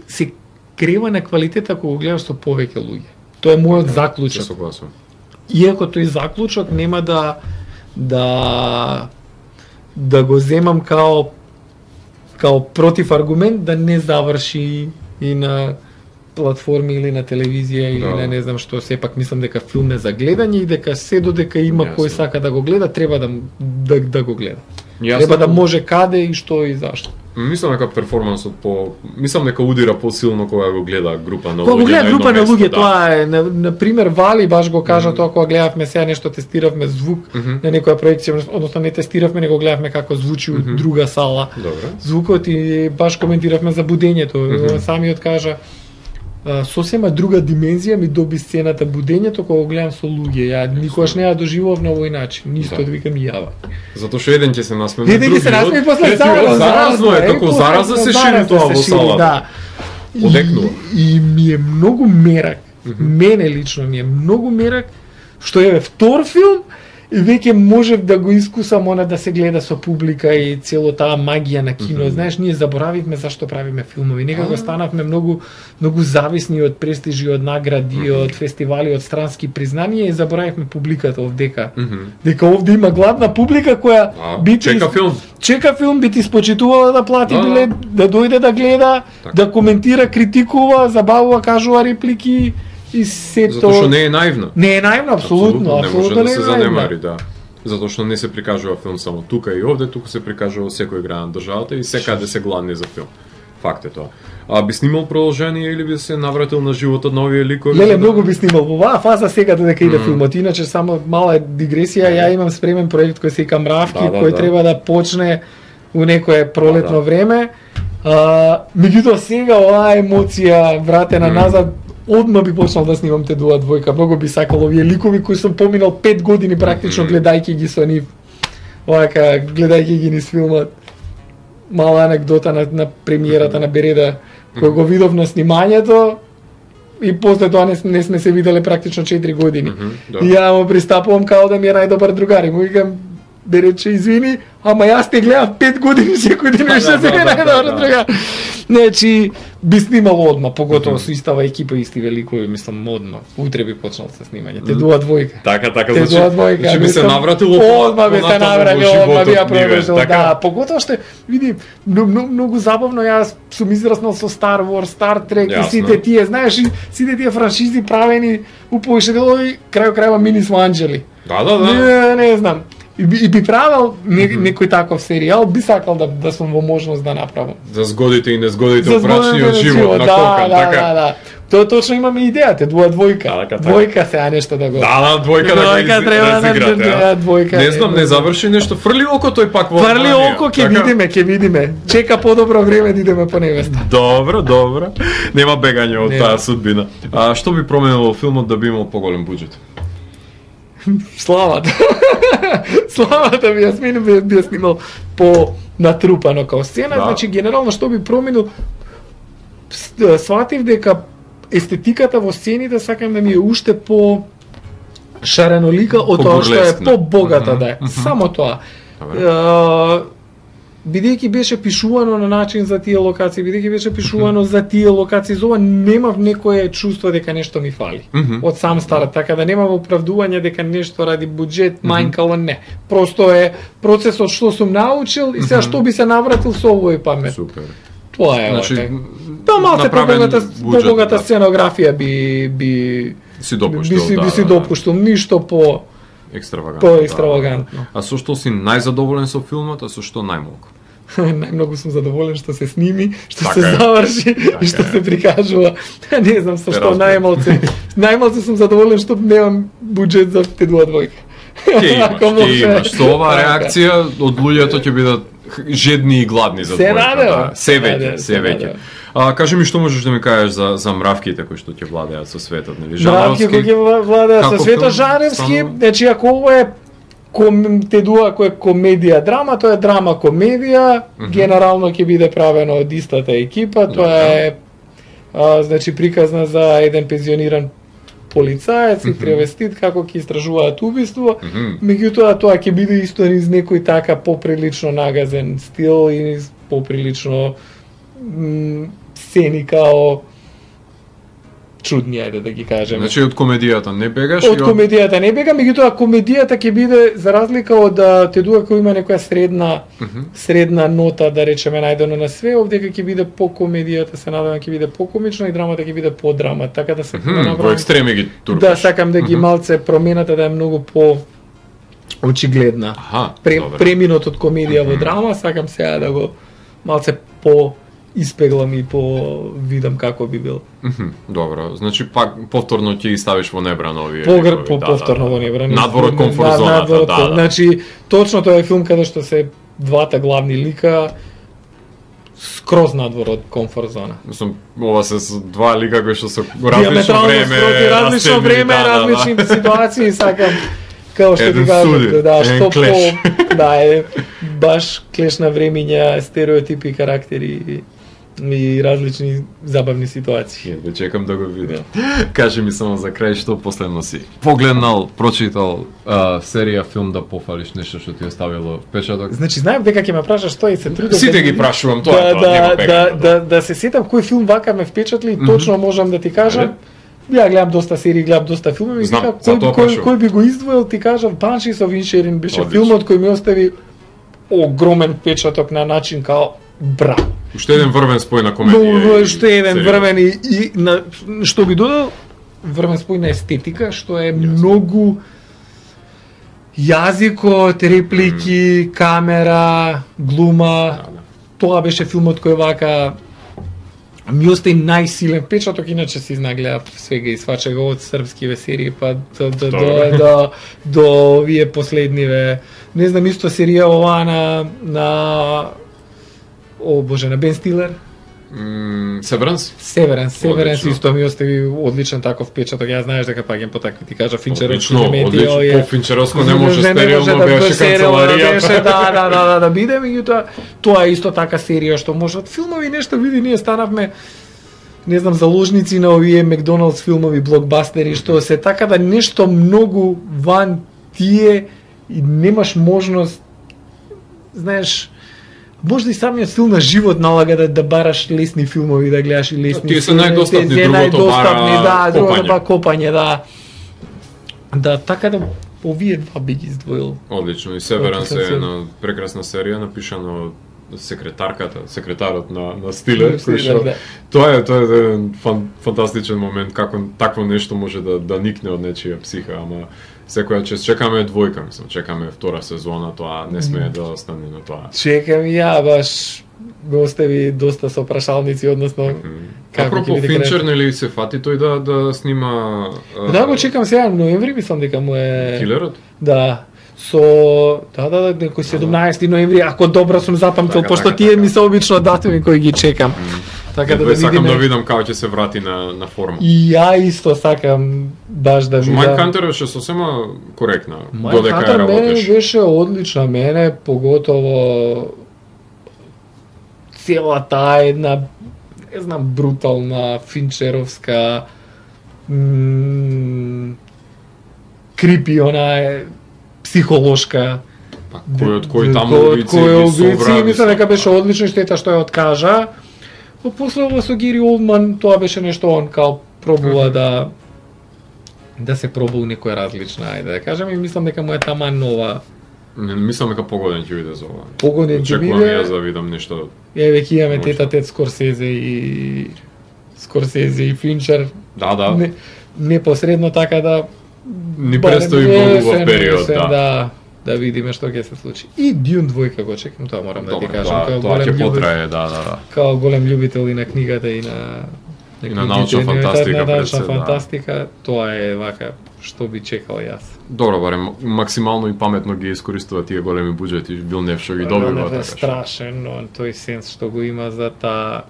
се крева на квалитет ако го гледаш со повеќе луѓе. Тоа е мојот okay, заклучок. Согласувам. Иако тој заклучок нема да да да го земам као као против аргумент да не заврши и на платформи или на телевизија или да. на не знам што, сепак мислам дека филм е за гледање и дека се додека има Јасно. кој сака да го гледа, треба да да, да го гледа. Јасно. Треба да може каде и што и зашто. Мислам дека перформансот по мислам дека удира посилно кога го гледа група на луѓе. Кога го гледа на група на место, луѓе, да. тоа е на, на пример Вали баш го кажа mm -hmm. тоа кога гледавме сега нешто тестиравме звук mm -hmm. на некоја проекција, односно не тестиравме, него гледавме како звучи mm -hmm. од друга сала. Добре. Звукот и баш коментиравме за будењето. Mm -hmm. Самиот кажа сосема друга димензија ми доби сцената будењето кога го гледам со луѓе. Ја никогаш не ја доживував на овој начин. Нисто да викам јава. Затоа што еден ќе се насмее, еден ќе се насмее после заразно, заразно е, како зараза се шири тоа во салата. Да. Одекнува. И, и ми е многу мерак. Mm -hmm. Мене лично ми е многу мерак што е втор филм и веќе можев да го искусам она да се гледа со публика и цело таа магија на кино. Mm -hmm. Знаеш, ние заборавивме зашто правиме филмови. Некако станавме многу многу зависни од престижи, од награди, mm -hmm. од фестивали, од странски признанија и заборавивме публиката овдека. Mm -hmm. Дека овде има гладна публика која а, би чека ти, филм. Чека филм, би ти спочитувала да плати да, билет, да дојде да гледа, так. Да коментира, критикува, забавува, кажува реплики. И сето... Затоа што не е наивна. Не е наивна, апсолутно, апсолутно не може да се наивна. занемари, да. Затоа што не се прикажува филм само тука и овде, туку се прикажува во секој град на државата и секаде се гладни за филм. Факт е тоа. А би снимал продолжение или би се навратил на животот на овие ликови? Леле, многу би снимал во оваа фаза сега додека иде mm. филмот. Иначе само мала дигресија, ја имам спремен проект кој се вика Мравки, да, да, кој да. треба да почне у некое пролетно да, да. време. А, меѓутоа сега оваа емоција вратена mm. назад, одма би почнал да снимам те дуа двојка. Многу би сакал овие ликови кои сум поминал пет години практично гледајќи ги со нив. Овака гледајќи ги низ филмот. Мала анекдота на, на премиерата на Береда, кој го видов на снимањето и после тоа не, не сме се виделе практично четири години. Mm -hmm, да. И ја му пристапувам као да ми е најдобар другар и му викам, да рече извини, ама јас те гледав пет години секој ден што се е најдобар другар. Значи, би снимал одма, поготово со истава екипа, исти великови, мислам, одма. Утре би почнал со снимање. Те дуа двојка. Така, така, Те значи, двојка. значи би се навратило одма би се навратило, одма би ја продолжил. така? Да, поготово што види, многу, многу забавно, јас сум израснал со Star Wars, Star Trek и сите тие, знаеш, и сите тие франшизи правени у повеќе делови, крај крајва мини смо анџели. Да, да, да. Не, не знам. И би, и би правил не, некој таков серијал, би сакал да да сум во можност да направам. За згодите и незгодите во брачниот живот на да, Кокан, да, така? Да, да, Тоа точно имаме идејата, дуа двојка. Да, така, двојка сега нешто да го. Да, да, двојка да го разиграте, да, двојка. Не знам, не заврши нешто, фрли око тој пак во. Фрли око, ќе видиме, ќе видиме. Чека подобро време да идеме по невеста. Добро, добро. Нема бегање од таа судбина. А што би променило во филмот да би имал поголем буџет? Славата. Славата би ја сменил, би, би ја снимал по натрупано као сцена, да. Значи генерално што би променил, сватив дека естетиката во сцените сакам да ми е уште по шаренолика од тоа што е по-богата, да е. Само тоа. Бидејќи беше пишувано на начин за тие локации, бидејќи беше пишувано за тие локации, зова немав некое чувство дека нешто ми фали. Mm -hmm. Од сам старт, така да немам оправдување дека нешто ради буџет мањкало, не. Просто е процесот што сум научил и сега што би се навратил со овој памет. Супер. Тоа е, Значи, оке. Па малце направен побогата, буџет, побогата да. сценографија би би Си допуштил, би си, да, би си да, допуштил ништо по екстравагантно. по екстравагантно. Да. А со што си најзадоволен со филмот, а со што најмалку? Најмногу сум задоволен што се сними, што Така се е. заврши Така и што е. се прикажува. Не знам со Те што разбирам. најмалце. Најмалце сум задоволен што немам буџет за Т два двојка. Ќе имаш, Ако ќе може. имаш. Со оваа Така. реакција од луѓето ќе бидат жедни и гладни за Се двојка. надевам. Да. Се веќе, Наде- се се веќе. надевам. А кажи ми што можеш да ми кажеш за за мравките кои што ќе владеат со светот, нели? Мравки кои ќе владеат со како светот филм, Жаневски, станува? значи ако ово е ком, те дуа кој е комедија драма, тоа е драма комедија, генерално ќе биде правено од истата екипа, тоа е а, значи приказна за еден пензиониран полицаец и тревестит како ќе истражуваат убиство. Меѓутоа тоа ќе биде исто низ некој така поприлично нагазен стил и низ поприлично м, сцени као чудни, ајде да ги кажеме. Значи од комедијата не бегаш Од и комедијата не бега, меѓутоа комедијата ќе биде за разлика од да, те дуа кој има некоја средна средна нота, да речеме најдено на све, овдека ќе биде по комедијата, се надевам ќе биде по-комично и драмата ќе биде по драма, така да се Мгм, да во направам- екстреми ги туркаш. да сакам да ги малце промената да е многу по очигледна. Аха, Пре, добре. преминот од комедија во драма, сакам сега да го малце по испеглам и по видам како би бил. Мгм, добро, значи пак повторно ќе ги ставиш во небрано овие. Погр ликови, по да, повторно да, во да. небрано. Надвор од комфорт На- зоната, надвор од да, ком- да. Значи, точно тоа е филм каде што се двата главни лика скроз надвор од комфорт зона. Мислам, ова се с два лика кои што се различно Диаметрално време, спроти различно растемни, време, да, да, да. различни ситуации, сакам како што Еден ти кажам, суди, да, еден што клеш. по да е баш клеш на времиња, стереотипи, карактери и, и различни забавни ситуации. Едва чекам да го видам. Кажи ми само за крај што последно си погледнал, прочитал а, серија, филм, да пофалиш нешто што ти оставило впечаток. Значи знаев дека ќе ме прашаш тоа и се трудев Сите да ги ги- прашувам, тоа да, е тоа, да, нема да, пеката. да, да се сетам кој филм вака ме впечатли, точно можам да ти кажам. Ја гледам доста серии, гледам доста филмови, Знам, вика, за кој, тоа кој, прашувам. кој би го издвоил, ти кажав, Баншис of Inisherin беше Одлично. филмот кој ми остави огромен впечаток на начин као бра. Уште еден врвен спој на Но комедија. и што е еден серија. врвен и, и на, што би додал, врвен спој на естетика, што е многу јазикот, реплики, камера, глума. Да, да. Тоа беше филмот кој вака ми остави најсилен впечаток, иначе си знагледа свега и свачега од српскиве серии па до до до, Добро. до, до овие последниве. Не знам, исто серија ова на на о боже, на Бен Стилер. М, Северанс? Северенс, Северенс Одлично. исто ми остави одличен таков впечаток. Ја знаеш дека паѓам по такви, ти кажа Финчеровски Одлично, елементи, одлично. овие- По Финчеровско не може Не, не може стерилно, да беше стерилно да канцеларијата. беше, да, да, да, да, да биде, меѓутоа тоа е исто така серија што може од филмови нешто види, ние станавме не знам, заложници на овие Макдоналдс филмови, блокбастери, што се така да нешто многу ван тие и немаш можност, знаеш, можда и самиот стил на живот налага да, да бараш лесни филмови, да гледаш и лесни. Тие се филми, најдостапни, те- те другото најдостапни, бара да, другото копање. па копање, да. Да, така да овие два би ги издвоил. Одлично, и Северанс е Одличен една прекрасна серија напишана од секретарката, секретарот на на Стилер, На кој Стилер, што да. тоа е тоа е еден фан, фантастичен момент како такво нешто може да да никне од нечија психа, ама секоја чест чекаме двојка, мислам, чекаме втора сезона, тоа не смее да остане на тоа. Чекам и ја, баш ме остави доста со прашалници, односно како Апропо ќе биде Финчер, крајот. нели се фати тој да да снима а, Да, го чекам сега ноември, мислам дека му е Килерот? Да. Со да, да, да, некој седумнаесети ноември, ако добро сум запамтил, Така, пошто така, тие така. ми се обично датуми кои ги чекам. Така да Едва да сакам да видиме. видам како ќе се врати на на форма. И ја исто сакам баш да видам. Майк Хантер беше сосема коректна, Майк додека ја Хантер мене работеш. беше одлична, мене поготово целата една, не знам, брутална, финчеровска, м, крипи, она е психолошка. Па, кој од кој таму Кој од убици кој ги убици, собра, мислам дека мислам, беше одлично, штета што ја откажа. Но после ова со Гери Олдман, тоа беше нешто он као пробува да да се пробува некоја различна, ајде да кажем, и мислам дека му е тама нова Не мислам дека погоден ќе биде за ова. Погоден ќе Очекувам биде. јас да видам нешто. Е, веќе имаме Може. тета тет Скорсезе и Скорсезе и Финчер. Да, да. Не, непосредно така да Ни барем престои многу во есен, период, есен, да. да. Да видиме што ќе се случи. И Дюн двојка го чекам, тоа морам да ти Добре, кажам, тоа, као тоа голем ќе љубител, потрае, да, да, да. као голем љубител и на книгата и на И на научна фантастика, на пред научна се, да. фантастика, тоа е вака што би чекал јас. Добро, барем максимално и паметно ги искористува тие големи буџети, Вилнев што ги добива Вилнев е така. што- страшен, но тој сенс што го има за таа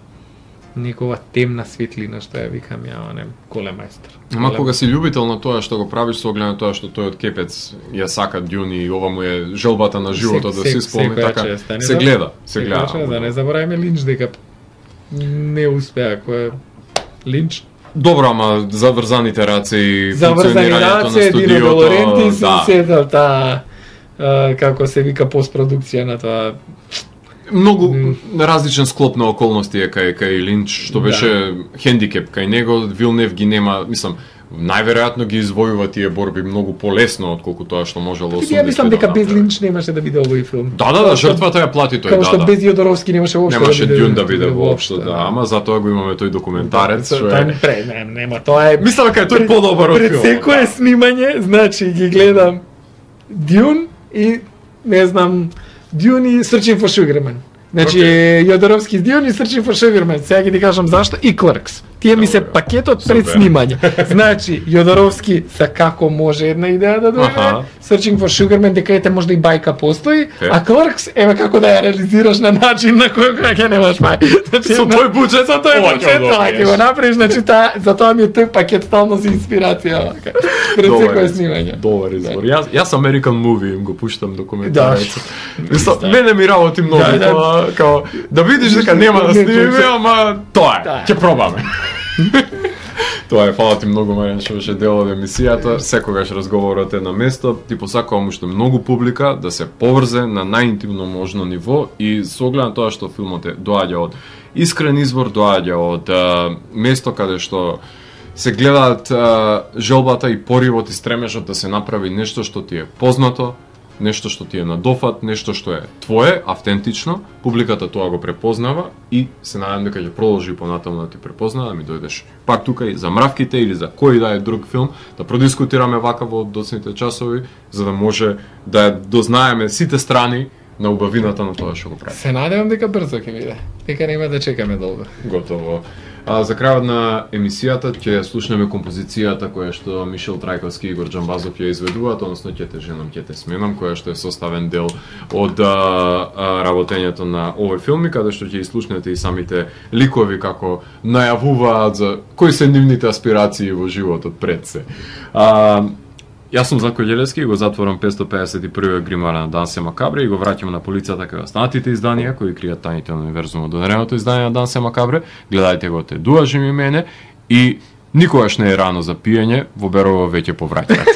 некова темна светлина што ја викам ја, не, голем мајстор. Ама Голем- кога си љубител на тоа што го правиш со оглед на тоа што тој од Кепец ја сака Дюн и ова му е желбата на животот да се исполни секоја така, чест, а не се за- гледа, се секоја гледа. чест, Да не забораваме Линч дека не успеа, кој е Линч. Добро, ама заврзаните раце и Заврзани функционирањето раце, на Дино студиото, Долоренти, се да. сетал таа а, како се вика постпродукција на тоа. Многу М. различен склоп на околности е кај кај Линч, што Да. беше хендикеп кај него, Вилнев ги нема, мислам, најверојатно ги извојува тие борби многу полесно отколку тоа што можело осумдесет. Ја мислам дека без Линч немаше да биде овој филм. Да, да, да, жртвата ја плати тој, Као да, што да. без Јодоровски немаше воопшто Немаше да биде. Дюн да биде воопшто, да, ама затоа го имаме тој документарец што Тоа е. не пре, не, нема, тоа е. Мислам дека е тој подобар од Пред филмот. секое снимање, значи ги гледам Дюн и не знам Дюн и Searching for Sugarman. Значи Океј. Јодоровски Дюн и Searching for Sugarman. Сега ги ти кажам зашто и Clerks. Тие ми се Добре. пакетот пред Супер. снимање. Значи Јодоровски са како може една идеја да дојде. Аха. Searching for Sugarman дека ете можда и бајка постои, Е. а Clerks еве како да ја реализираш на начин на кој кој ќе немаш мај. Значи, Со една- тој буџет, со тој ова ќе буџет, го тоа ќе го добиеш. направиш, значи таа затоа ми е тој пакет стално за инспирација вака. Пред Добар секое избор, снимање. Добар избор. Јас јас American Movie им го пуштам документарец. Да. Мислам, Да. мене ми работи многу Да, да. тоа, као да видиш дека нема да Не, снимиме, не, ама тоа е, Да. ќе пробаме. Тоа е, фала ти многу, Маријан, што беше дел од емисијата. Секогаш разговорот е на место. Ти посакувам уште многу публика да се поврзе на најинтимно можно ниво и со оглед на тоа што филмот е доаѓа од искрен извор, доаѓа од а, место каде што се гледаат а, желбата и поривот и стремежот да се направи нешто што ти е познато, нешто што ти е на дофат, нешто што е твое, автентично, публиката тоа го препознава и се надевам дека ќе продолжи понатаму да ти препознава, да ми дојдеш пак тука и за Мравките или за кој да е друг филм, да продискутираме вака во доцните часови, за да може да ја дознаеме сите страни на убавината на тоа што го прави. Се надевам дека брзо ќе биде. Дека нема да чекаме долго. Готово. А за крајот на емисијата ќе слушнеме композицијата која што Мишел Трајковски и Игор Џамбазов ја изведуваат, односно ќе те женам, ќе те сменам, која што е составен дел од а, а, работењето на овој филм, и каде што ќе слушнете и самите ликови како најавуваат за кои се нивните аспирации во животот пред се. А, Јас сум Зlatko Ѓелевски и го затворам петстотини педесет и први гримара на Дансе Макабре и го враќам на полицата кај останатите изданија кои кријат тајните на универзумот. Донереното издание на Дансе Макабре, гледајте го, те дуажи ми мене и никогаш не е рано за пиење, во Берово веќе повраќаат.